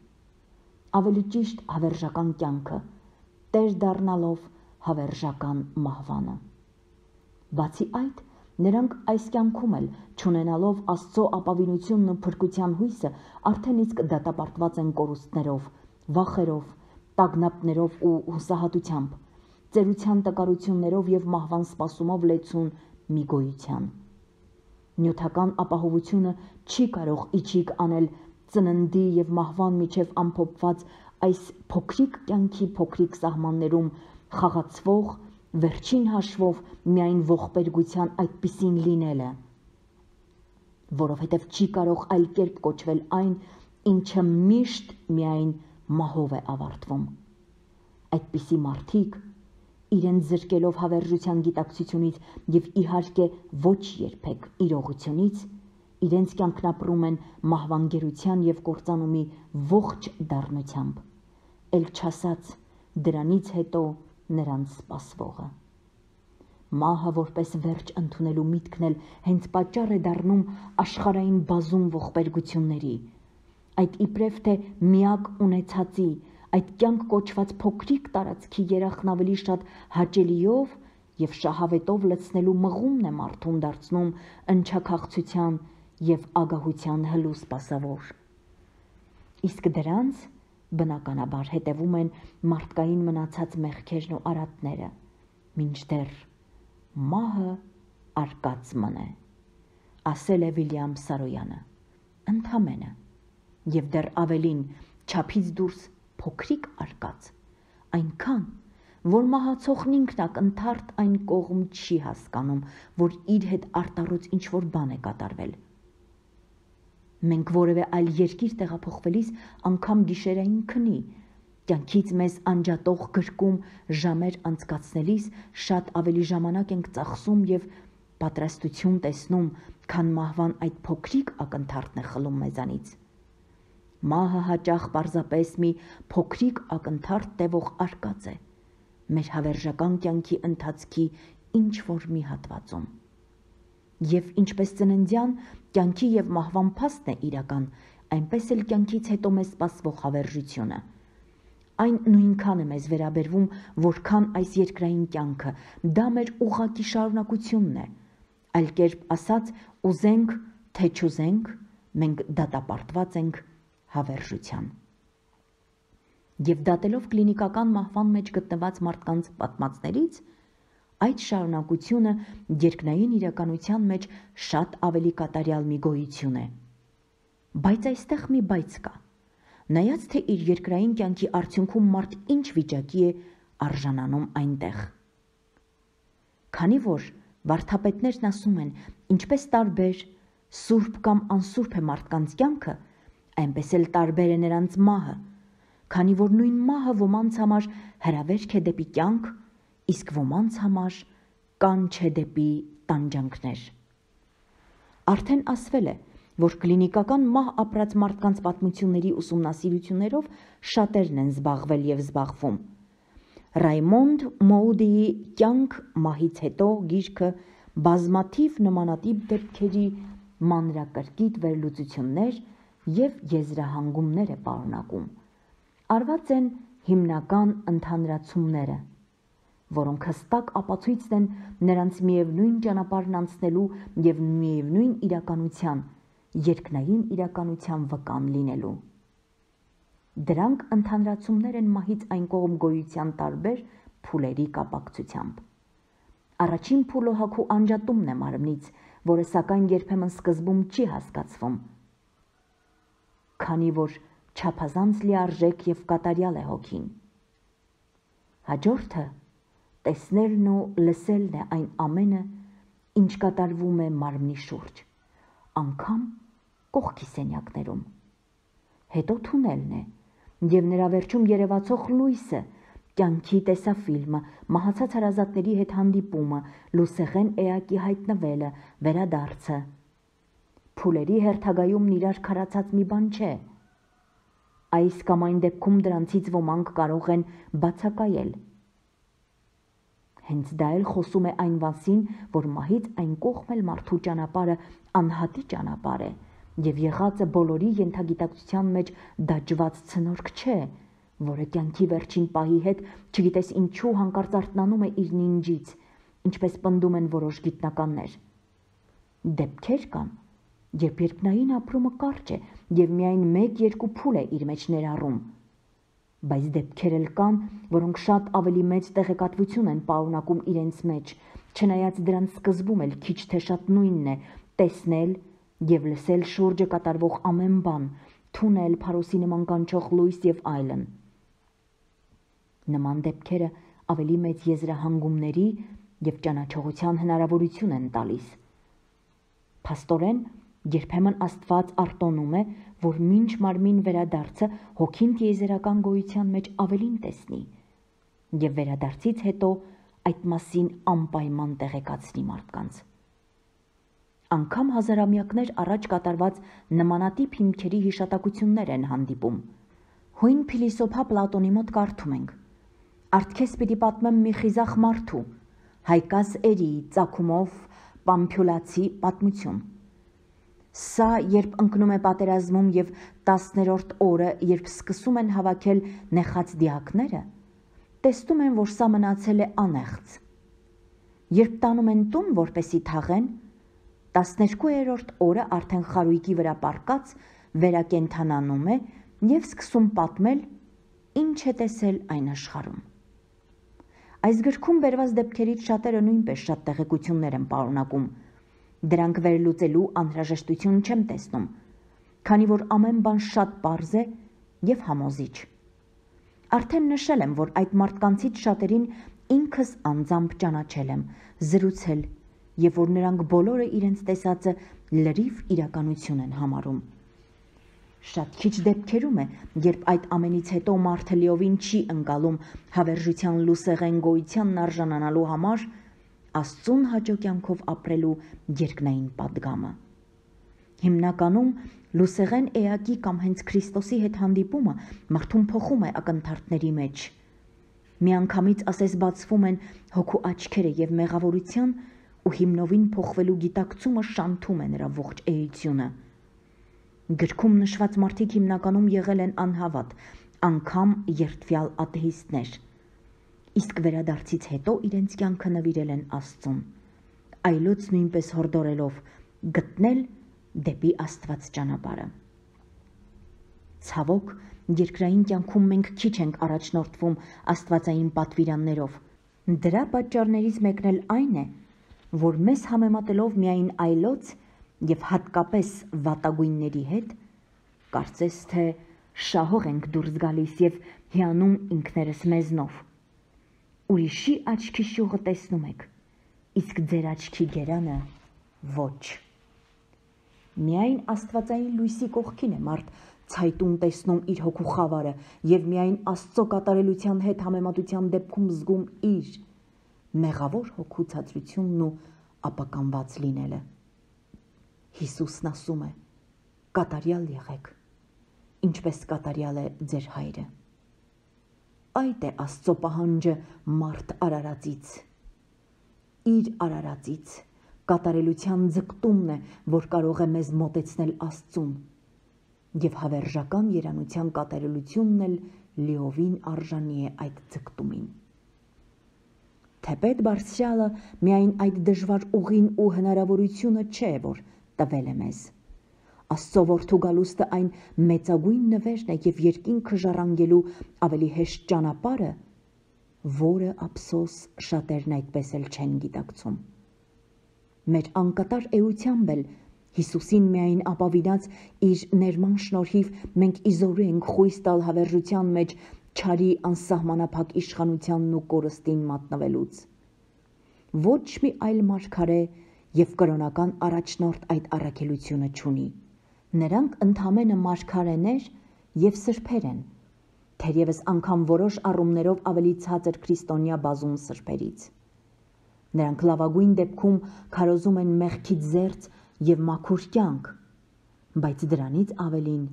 A: ավելի ճիշտ հավերժական կյանքը, տեր դառնալով հավերժական մահվանը։ Բացի այդ, նրանք այս կյանքում էլ, չունենալով Աստծո ապավինությունն ու փրկության հույսը, արդեն իսկ դատապարտված են կորուստներով, վախերով, տագնապներով ու հուսահատությամբ, ծերության տկարություններով և մահվան սպասումով լեցուն մի գոյության։ Նյութական ապահովությունը չի կարող իչիք անել ծննդի և մահվան միջև ամփոփված այս փոքրիկ կյանքի փոքրիկ սահմաններում խաղացվող, վերջին հաշվով միայն ողբերգության այդպիսին լինելը, որովհետև չի կարող այլ կերպ կոչվել այն, ինչը միշտ միայն մահով է ավարտվում։ Այդպիսի մարդիկ, իրենց զրկելով հավերժության գիտակցությունից և իհարկե ոչ երբեք իրողությունից, իրենց կյանքն ապրում են մահվան գերության և կործանումի ողջ դառնությամբ, էլ չասած դրանից հետո նրանց սպասվողը։ Մահը որպես վերջ ընդունելու միտքն էլ հենց պատճառ է դառնում աշխարհային բազում ողբերգությունների, այդ իբրև թե միակ ունեցածի, այդ կյանք կոչված փոքրիկ տարածքի երախն ավելի շատ հաճելիով և շահավետով լցնելու մղումն է մարդուն դարձնում ընչաքաղցության և ագահության հլու սպասավոր։ Իսկ դրանց բնականաբար հետևում են մարդկային մնացած մեղքերն ու արատները, մինչդեռ մահը արկած մնե, ասել է Վիլյամ Սարոյանը, ընդամենը, և դեռ ավելին, չափից դուրս փոքրիկ արկած, այնքան, որ մահացողն ինքն ակնթարթ այն կողմ չի հասկանում, որ իր հետ արտառոց ինչ-որ բան է կատարվել։ Մենք որևէ այլ երկիր տեղափոխվելիս անգամ գիշերային քնի, կյանքից մեզ անջատող գրկում ժամեր անցկացնելիս շատ ավելի ժամանակ ենք ծախսում և պատրաստություն տեսնում, քան մահվան այդ փոքրիկ ակնթարթն է խլում մեզանից։ Մահը հաճախ պարզապես մի փոքրիկ ակնթարթ տևող արկած է մեր հավերժական կյանքի ընթացքի ինչ-որ մի հատվածում։ Եվ ինչպես ծննդյան կյանքի և մահվան փաստն է իրական, այնպես էլ կյանքից հետո մեզ սպասվող հավերժությունը։ Այն նույնքան է մեզ վերաբերվում, որքան այս երկրային կյանքը, դա մեր ուղղակի շարունակությունն է, այլ կերպ ասած, ուզենք, թե չուզենք, մենք դատապարտված ենք հավերժության։ Եվ դատելով կլինիկական մահվան մեջ գտնված մարդկանց պատմածներից, այդ շարունակությունը երկնային իրականության մեջ շատ ավելի կատարյալ մի գոյություն է։ Բայց այստեղ մի բայց կա։ Նայած թե իր երկրային կյանքի արդյունքում մարդ ինչ վիճակի է արժանանում այնտեղ։ Քանի որ վարդապետներն ասում են, ինչպես տարբեր սուրբ կամ անսուրբ է մարդկանց կյանքը, այնպես էլ տարբեր է նրանց մահը, քանի որ նույն մահը ոմանց համար հրավերք է դեպի կյանք, իսկ ոմանց համար կանչ է դեպի տանջանքներ։ Արդեն ասվել է, որ կլինիկական մահ ապրած մարդկանց պատմությունների ուսումնասիրություններով շատերն են զբաղվել և զբաղվում։ Ռայմոնդ Մոուդիի «Կյանք մահից հետո» գիրքը բազմաթիվ նմանատիպ դեպքերի մանրակրկիտ վերլուծություններ և եզրահանգումներ է պարունակում։ Արված են հիմնական ընդհանրացումները, որոնք հստակ ապացույցն են նրանց միևնույն ճանապարհն անցնելու և միևնույն իրականության, երկնային իրականության վկան լինելու։ Դրանք ընդհանրացումներ են մահից այն կողմ գոյության տարբեր փուլերի կապակցությամբ։ Առաջին փուլը հոգու անջատումն է մարմնից, որը սակայն երբեմն սկզբում չի հասկացվում, քանի որ չափազանց լիարժեք և կատարյալ է հոգին։ Հաջորդը տեսնելն ու լսելն է այն ամենը, ինչ կատարվում է մարմնի շուրջ, անգամ կողքի սենյակներում։ Հետո թունելն է, և նրա վերջում երևացող լույսը, կյանքի տեսաֆիլմը, մահացած հարազատների հետ հանդիպումը, լուսեղեն էակի հայտնվելը, վերադարձը։ Փուլերի հերթագայումն իրար քարացած մի բան չէ։ Այս կամ այն դեպքում դրանցից ոմանք կարող են բացակայել։ Հենց դա էլ խոսում է այն մասին, որ մահից այն կողմ էլ մարդու ճանապարհը անհատի ճանապարհ է, և եղածը բոլորի ենթագիտակցության մեջ դաջված ցնորք չէ, որը կյանքի վերջին պահի հետ չգիտես ինչու հանկարծ արթնանում է իր նինջից, ինչպես պնդում են որոշ գիտնականներ։ Դեպքեր կան, երբ երկնային ապրումը կարճ է և միայն մեկ-երկու փուլ է իր մեջ ներառում, բայց դեպքեր էլ կան, որոնք շատ ավելի մեծ տեղեկատվություն են պարունակում իրենց մեջ, չնայած դրանց սկզբում էլ քիչ թե շատ նույնն է՝ տեսնել և լսել շուրջը կատարվող ամեն բան, թունել, փարոսի նման կանչող լույս և այլն։ Նման դեպքերը ավելի մեծ եզրահանգումների և ճանաչողության հնարավորություն են տալիս։ Փաստորեն, երբեմն Աստված արտոնում է, որ մինչ մարմին վերադարձը հոգին տիեզերական գոյության մեջ ավելին տեսնի և վերադարձից հետո այդ մասին անպայման տեղեկացնի մարդկանց։ Անգամ հազարամյակներ առաջ կատարված նմանատիպ հիմքերի հիշատակություններ են հանդիպում։ Հույն փիլիսոփա Պլատոնի մոտ կարդում ենք. «Արդ քեզ պիտի պատմեմ մի խիզախ մարդու, Հայկազ Էրիի ծագումով Պամփյուլացի պատմություն։ Սա երբ ընկնում է պատերազմում և տասներորդ օրը, երբ սկսում են հավաքել նեխած դիակները, տեսնում են, որ սա մնացել է անեղծ։ Երբ տանում են տուն, որպեսի թաղեն, տասներկուերորդ օրը արդեն խարույկի վրա պառկած վերակենդանանում է և սկսում պատմել, ինչ է տեսել այն աշխարհում»։ Այս գրքում բերված դեպքերից շատերը նույնպես շատ տեղեկություններ են պարունակում։ Դրանք վերլուծելու անհրաժեշտություն չեմ տեսնում, քանի որ ամեն բան շատ պարզ է և համոզիչ։ Արդեն նշել եմ, որ այդ մարդկանցից շատերին ինքս անձամբ ճանաչել եմ, զրուցել, և որ նրանք բոլորը իրենց տեսածը լրիվ իրականություն են համարում։ Շատ քիչ դեպքերում է, երբ այդ ամենից հետո մարդը լիովին չի ընկալում հավերժության լուսեղեն գոյությանն արժանանալու համար Աստծուն հաճո կյանքով ապրելու երկնային պատգամը։ Հիմնականում լուսեղեն էակի կամ հենց Քրիստոսի հետ հանդիպումը մարդուն փոխում է ակնթարթների մեջ։ Միանգամից ասես բացվում են հոգու աչքերը և մեղավորության ու հիմնովին փոխվելու գիտակցումը շանթում է նրա ողջ էությունը։ Գրքում նշված մարդիկ հիմնականում եղել են անհավատ, անգամ երդվյալ աթեիստներ, իսկ վերադարձից հետո իրենց կյանքը նվիրել են Աստծուն, այլոց նույնպես հորդորելով գտնել դեպի Աստված ճանապարհը։ Ցավոք, երկրային կյանքում մենք քիչ ենք առաջնորդվում աստվածային պատվիրաններով։ Դրա պատճառներից մեկն էլ այն է, որ մեզ համեմատելով միայն այլոց եւ հատկապես վատագույնների հետ, կարծես թե շահող ենք դուրս գալիս եւ հիանում ինքներս մեզնով։ Ուրիշի աչքի շուղը տեսնում եք, իսկ ձեր աչքի գերանը ոչ։ Միայն աստվածային լույսի կողքին է մարդ ցայտուն տեսնում իր հոգու խավարը եւ միայն Աստծո կատարելության հետ համեմատության դեպքում զգում իր մեղավոր հոգու ցածրությունն ու ապականված լինելը։ Հիսուսն ասում է. կատարյալ եղեք, ինչպես կատարյալ է ձեր հայրը։ Այդ է Աստծո պահանջը մարդ արարածից։ Իր արարածից կատարելության ձգտումն է, որ կարող է մեզ մոտեցնել Աստծուն, եւ հավերժական երանության կատարելությունն էլ լիովին արժանի է այդ ձգտումին։ Թեպետ Բարձրյալը միայն այդ դժվար ուղին ու հնարավորությունը չէ, որ տվել է մեզ։ Աստծո որդու գալուստը այն մեծագույն նվերն է եւ երկինքը ժառանգելու ավելի հեշտ ճանապարհը, որը ափսոս շատերն այդպես էլ չեն գիտակցում։ Մեր անկատար էությամբ էլ Հիսուսին միայն ապավինած իր ներման շնորհիվ մենք իզորու ենք խույս տալ հավերժության մեջ չարի անսահմանափակ իշխանությանն ու կորստին մատնվելուց։ Ոչ մի այլ մարգարե եւ կրոնական առաջնորդ այդ առաքելությունը չունի։ Նրանք ընդամենը մարգարեներ եւ սրբեր են, թերևս անգամ որոշ առումներով ավելի ցածր քրիստոնյա բազում սրբերից։ Նրանք լավագույն դեպքում քարոզում են մեղքի զերծ եւ մաքուր կյանք, բայց դրանից ավելին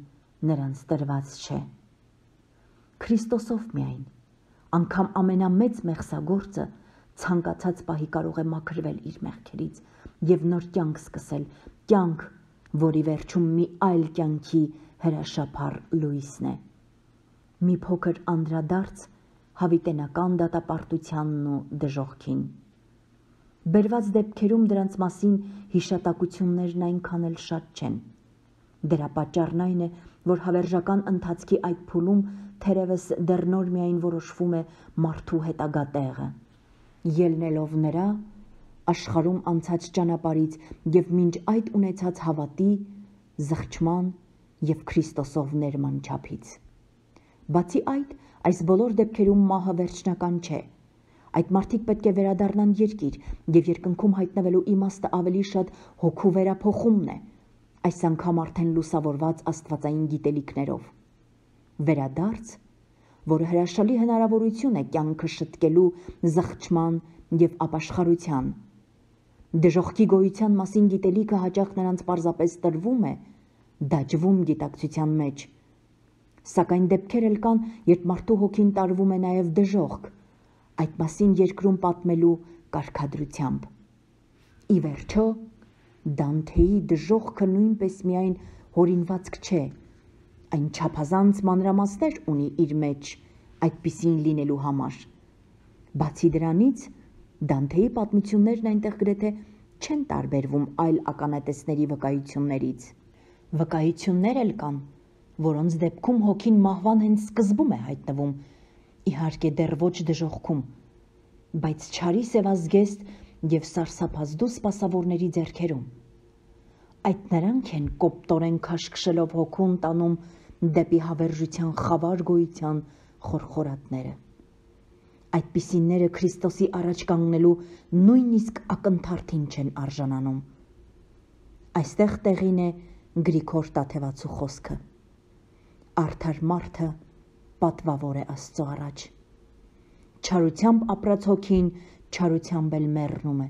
A: նրանց տրված չէ։ Քրիստոսով միայն, անգամ ամենամեծ մեղսագործը ցանկացած պահի կարող է մաքրվել իր մեղքերից եւ նոր կյանք սկսել, կյանք, որի վերջում մի այլ կյանքի հրաշափառ լույսն է։ Մի փոքր անդրադարձ հավիտենական դատապարտությանն ու դժոխքին։ Բերված դեպքերում դրանց մասին հիշատակություններն այնքան էլ շատ չեն։ Դրա պատճառն այն է, որ հավերժական ընթացքի այդ փուլում թերևս դեռ նոր միայն որոշվում է մարդու հետագա տեղը, ելնելով նրա աշխարհում անցած ճանապարհից եւ մինչ այդ ունեցած հավատի, զղջման եւ Քրիստոսով ներման չափից։ Բացի այդ, այս բոլոր դեպքերում մահը վերջնական չէ։ Այդ մարդիկ պետք է վերադառնան երկիր եւ երկնքում հայտնվելու իմաստը ավելի շատ հոգու վերափոխումն է, այս անգամ արդեն լուսավորված աստվածային գիտելիքներով։ Վերադարձ, որը հրաշալի հնարավորություն է կյանքը շտկելու զղջման եւ ապաշխարության։ Դժոխքի գոյության մասին գիտելիքը հաճախ նրանց պարզապես տրվում է, դաջվում գիտակցության մեջ։ Սակայն դեպքեր էլ կան, երբ մարդու հոգին տարվում է նաեւ դժոխք, այդ մասին երկրում պատմելու կարգադրությամբ։ Ի վերջո, Դանթեի դժոխքը նույնպես միայն հորինվածք չէ, այն չափազանց մանրամասներ ունի իր մեջ այդպիսին լինելու համար։ Բացի դրանից, Դանթեի պատմություններն այնտեղ գրեթե չեն տարբերվում այլ ականատեսների վկայություններից։ Վկայություններ էլ կան, որոնց դեպքում հոգին մահվան հենց սկզբում է հայտնվում, իհարկե դեռ ոչ դժոխքում, բայց չարի սևազգեստ եւ սարսափազդու սպասավորների ձեռքերում։ Այդ նրանք են կոպտորեն քաշքշելով հոգուն տանում դեպի հավերժության խավար գոյության խորխորատները։ Այդպիսիները Քրիստոսի առաջ կանգնելու նույնիսկ ակնթարթին չեն արժանանում։ Այստեղ տեղին է Գրիգոր Տաթևացու խոսքը. Արդար մարդը պատվավոր է Աստծո առաջ։ Չարությամբ ապրած հոգին չարությամբ էլ մեռնում է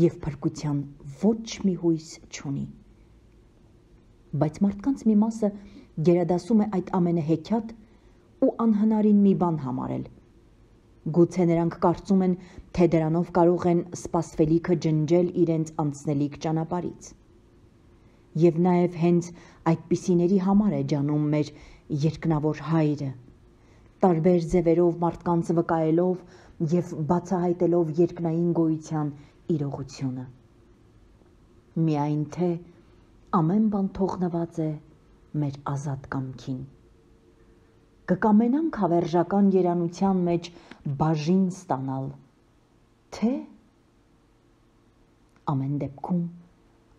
A: եւ փրկության ոչ մի հույս չունի։ Բայց մարդկանց մի մասը գերադասում է այդ ամենը հեքիաթ ու անհնարին մի բան համարել։ Գուցե նրանք կարծում են, թե դրանով կարող են սպասվելիքը ջնջել իրենց անցնելիք ճանապարհից։ Եվ նաև հենց այդպիսիների համար է ջանում մեր երկնավոր հայրը, տարբեր ձևերով մարդկանց վկայելով և բացահայտելով երկնային գոյության իրողությունը։ Միայն թե ամեն բան թողնված է մեր ազատ կամքին։ Կկամենանք հավերժական երանության մեջ բաժին ստանալ, թե ամեն դեպքում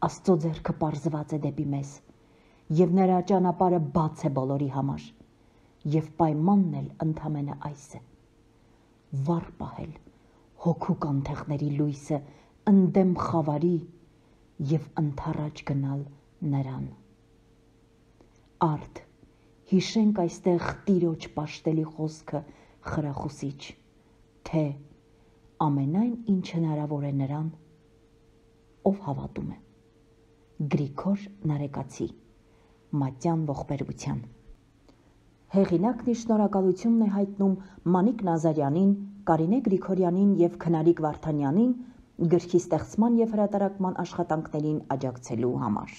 A: Աստծո ձեռքը պարզված է դեպի մեզ, և նրա ճանապարհը բաց է բոլորի համար, և պայմանն էլ ընդամենը այս է. վառ պահել հոգու կանթեղների լույսը ընդդեմ խավարի և ընդառաջ գնալ նրան։ Արդ հիշենք այստեղ Տիրոջ պաշտելի խոսքը խրախուսիչ, թե ամենայն ինչ հնարավոր է նրան, ով հավատում է։ Գրիգոր Նարեկացի, Մատյան ողբերգության։ Հեղինակն իր շնորհակալությունն է հայտնում Մանիկ Նազարյանին, Կարինե Գրիգորյանին և Քնարիկ Վարդանյանին գրքի ստեղծման և հրատարակման աշխատանքներին աջակցելու համար։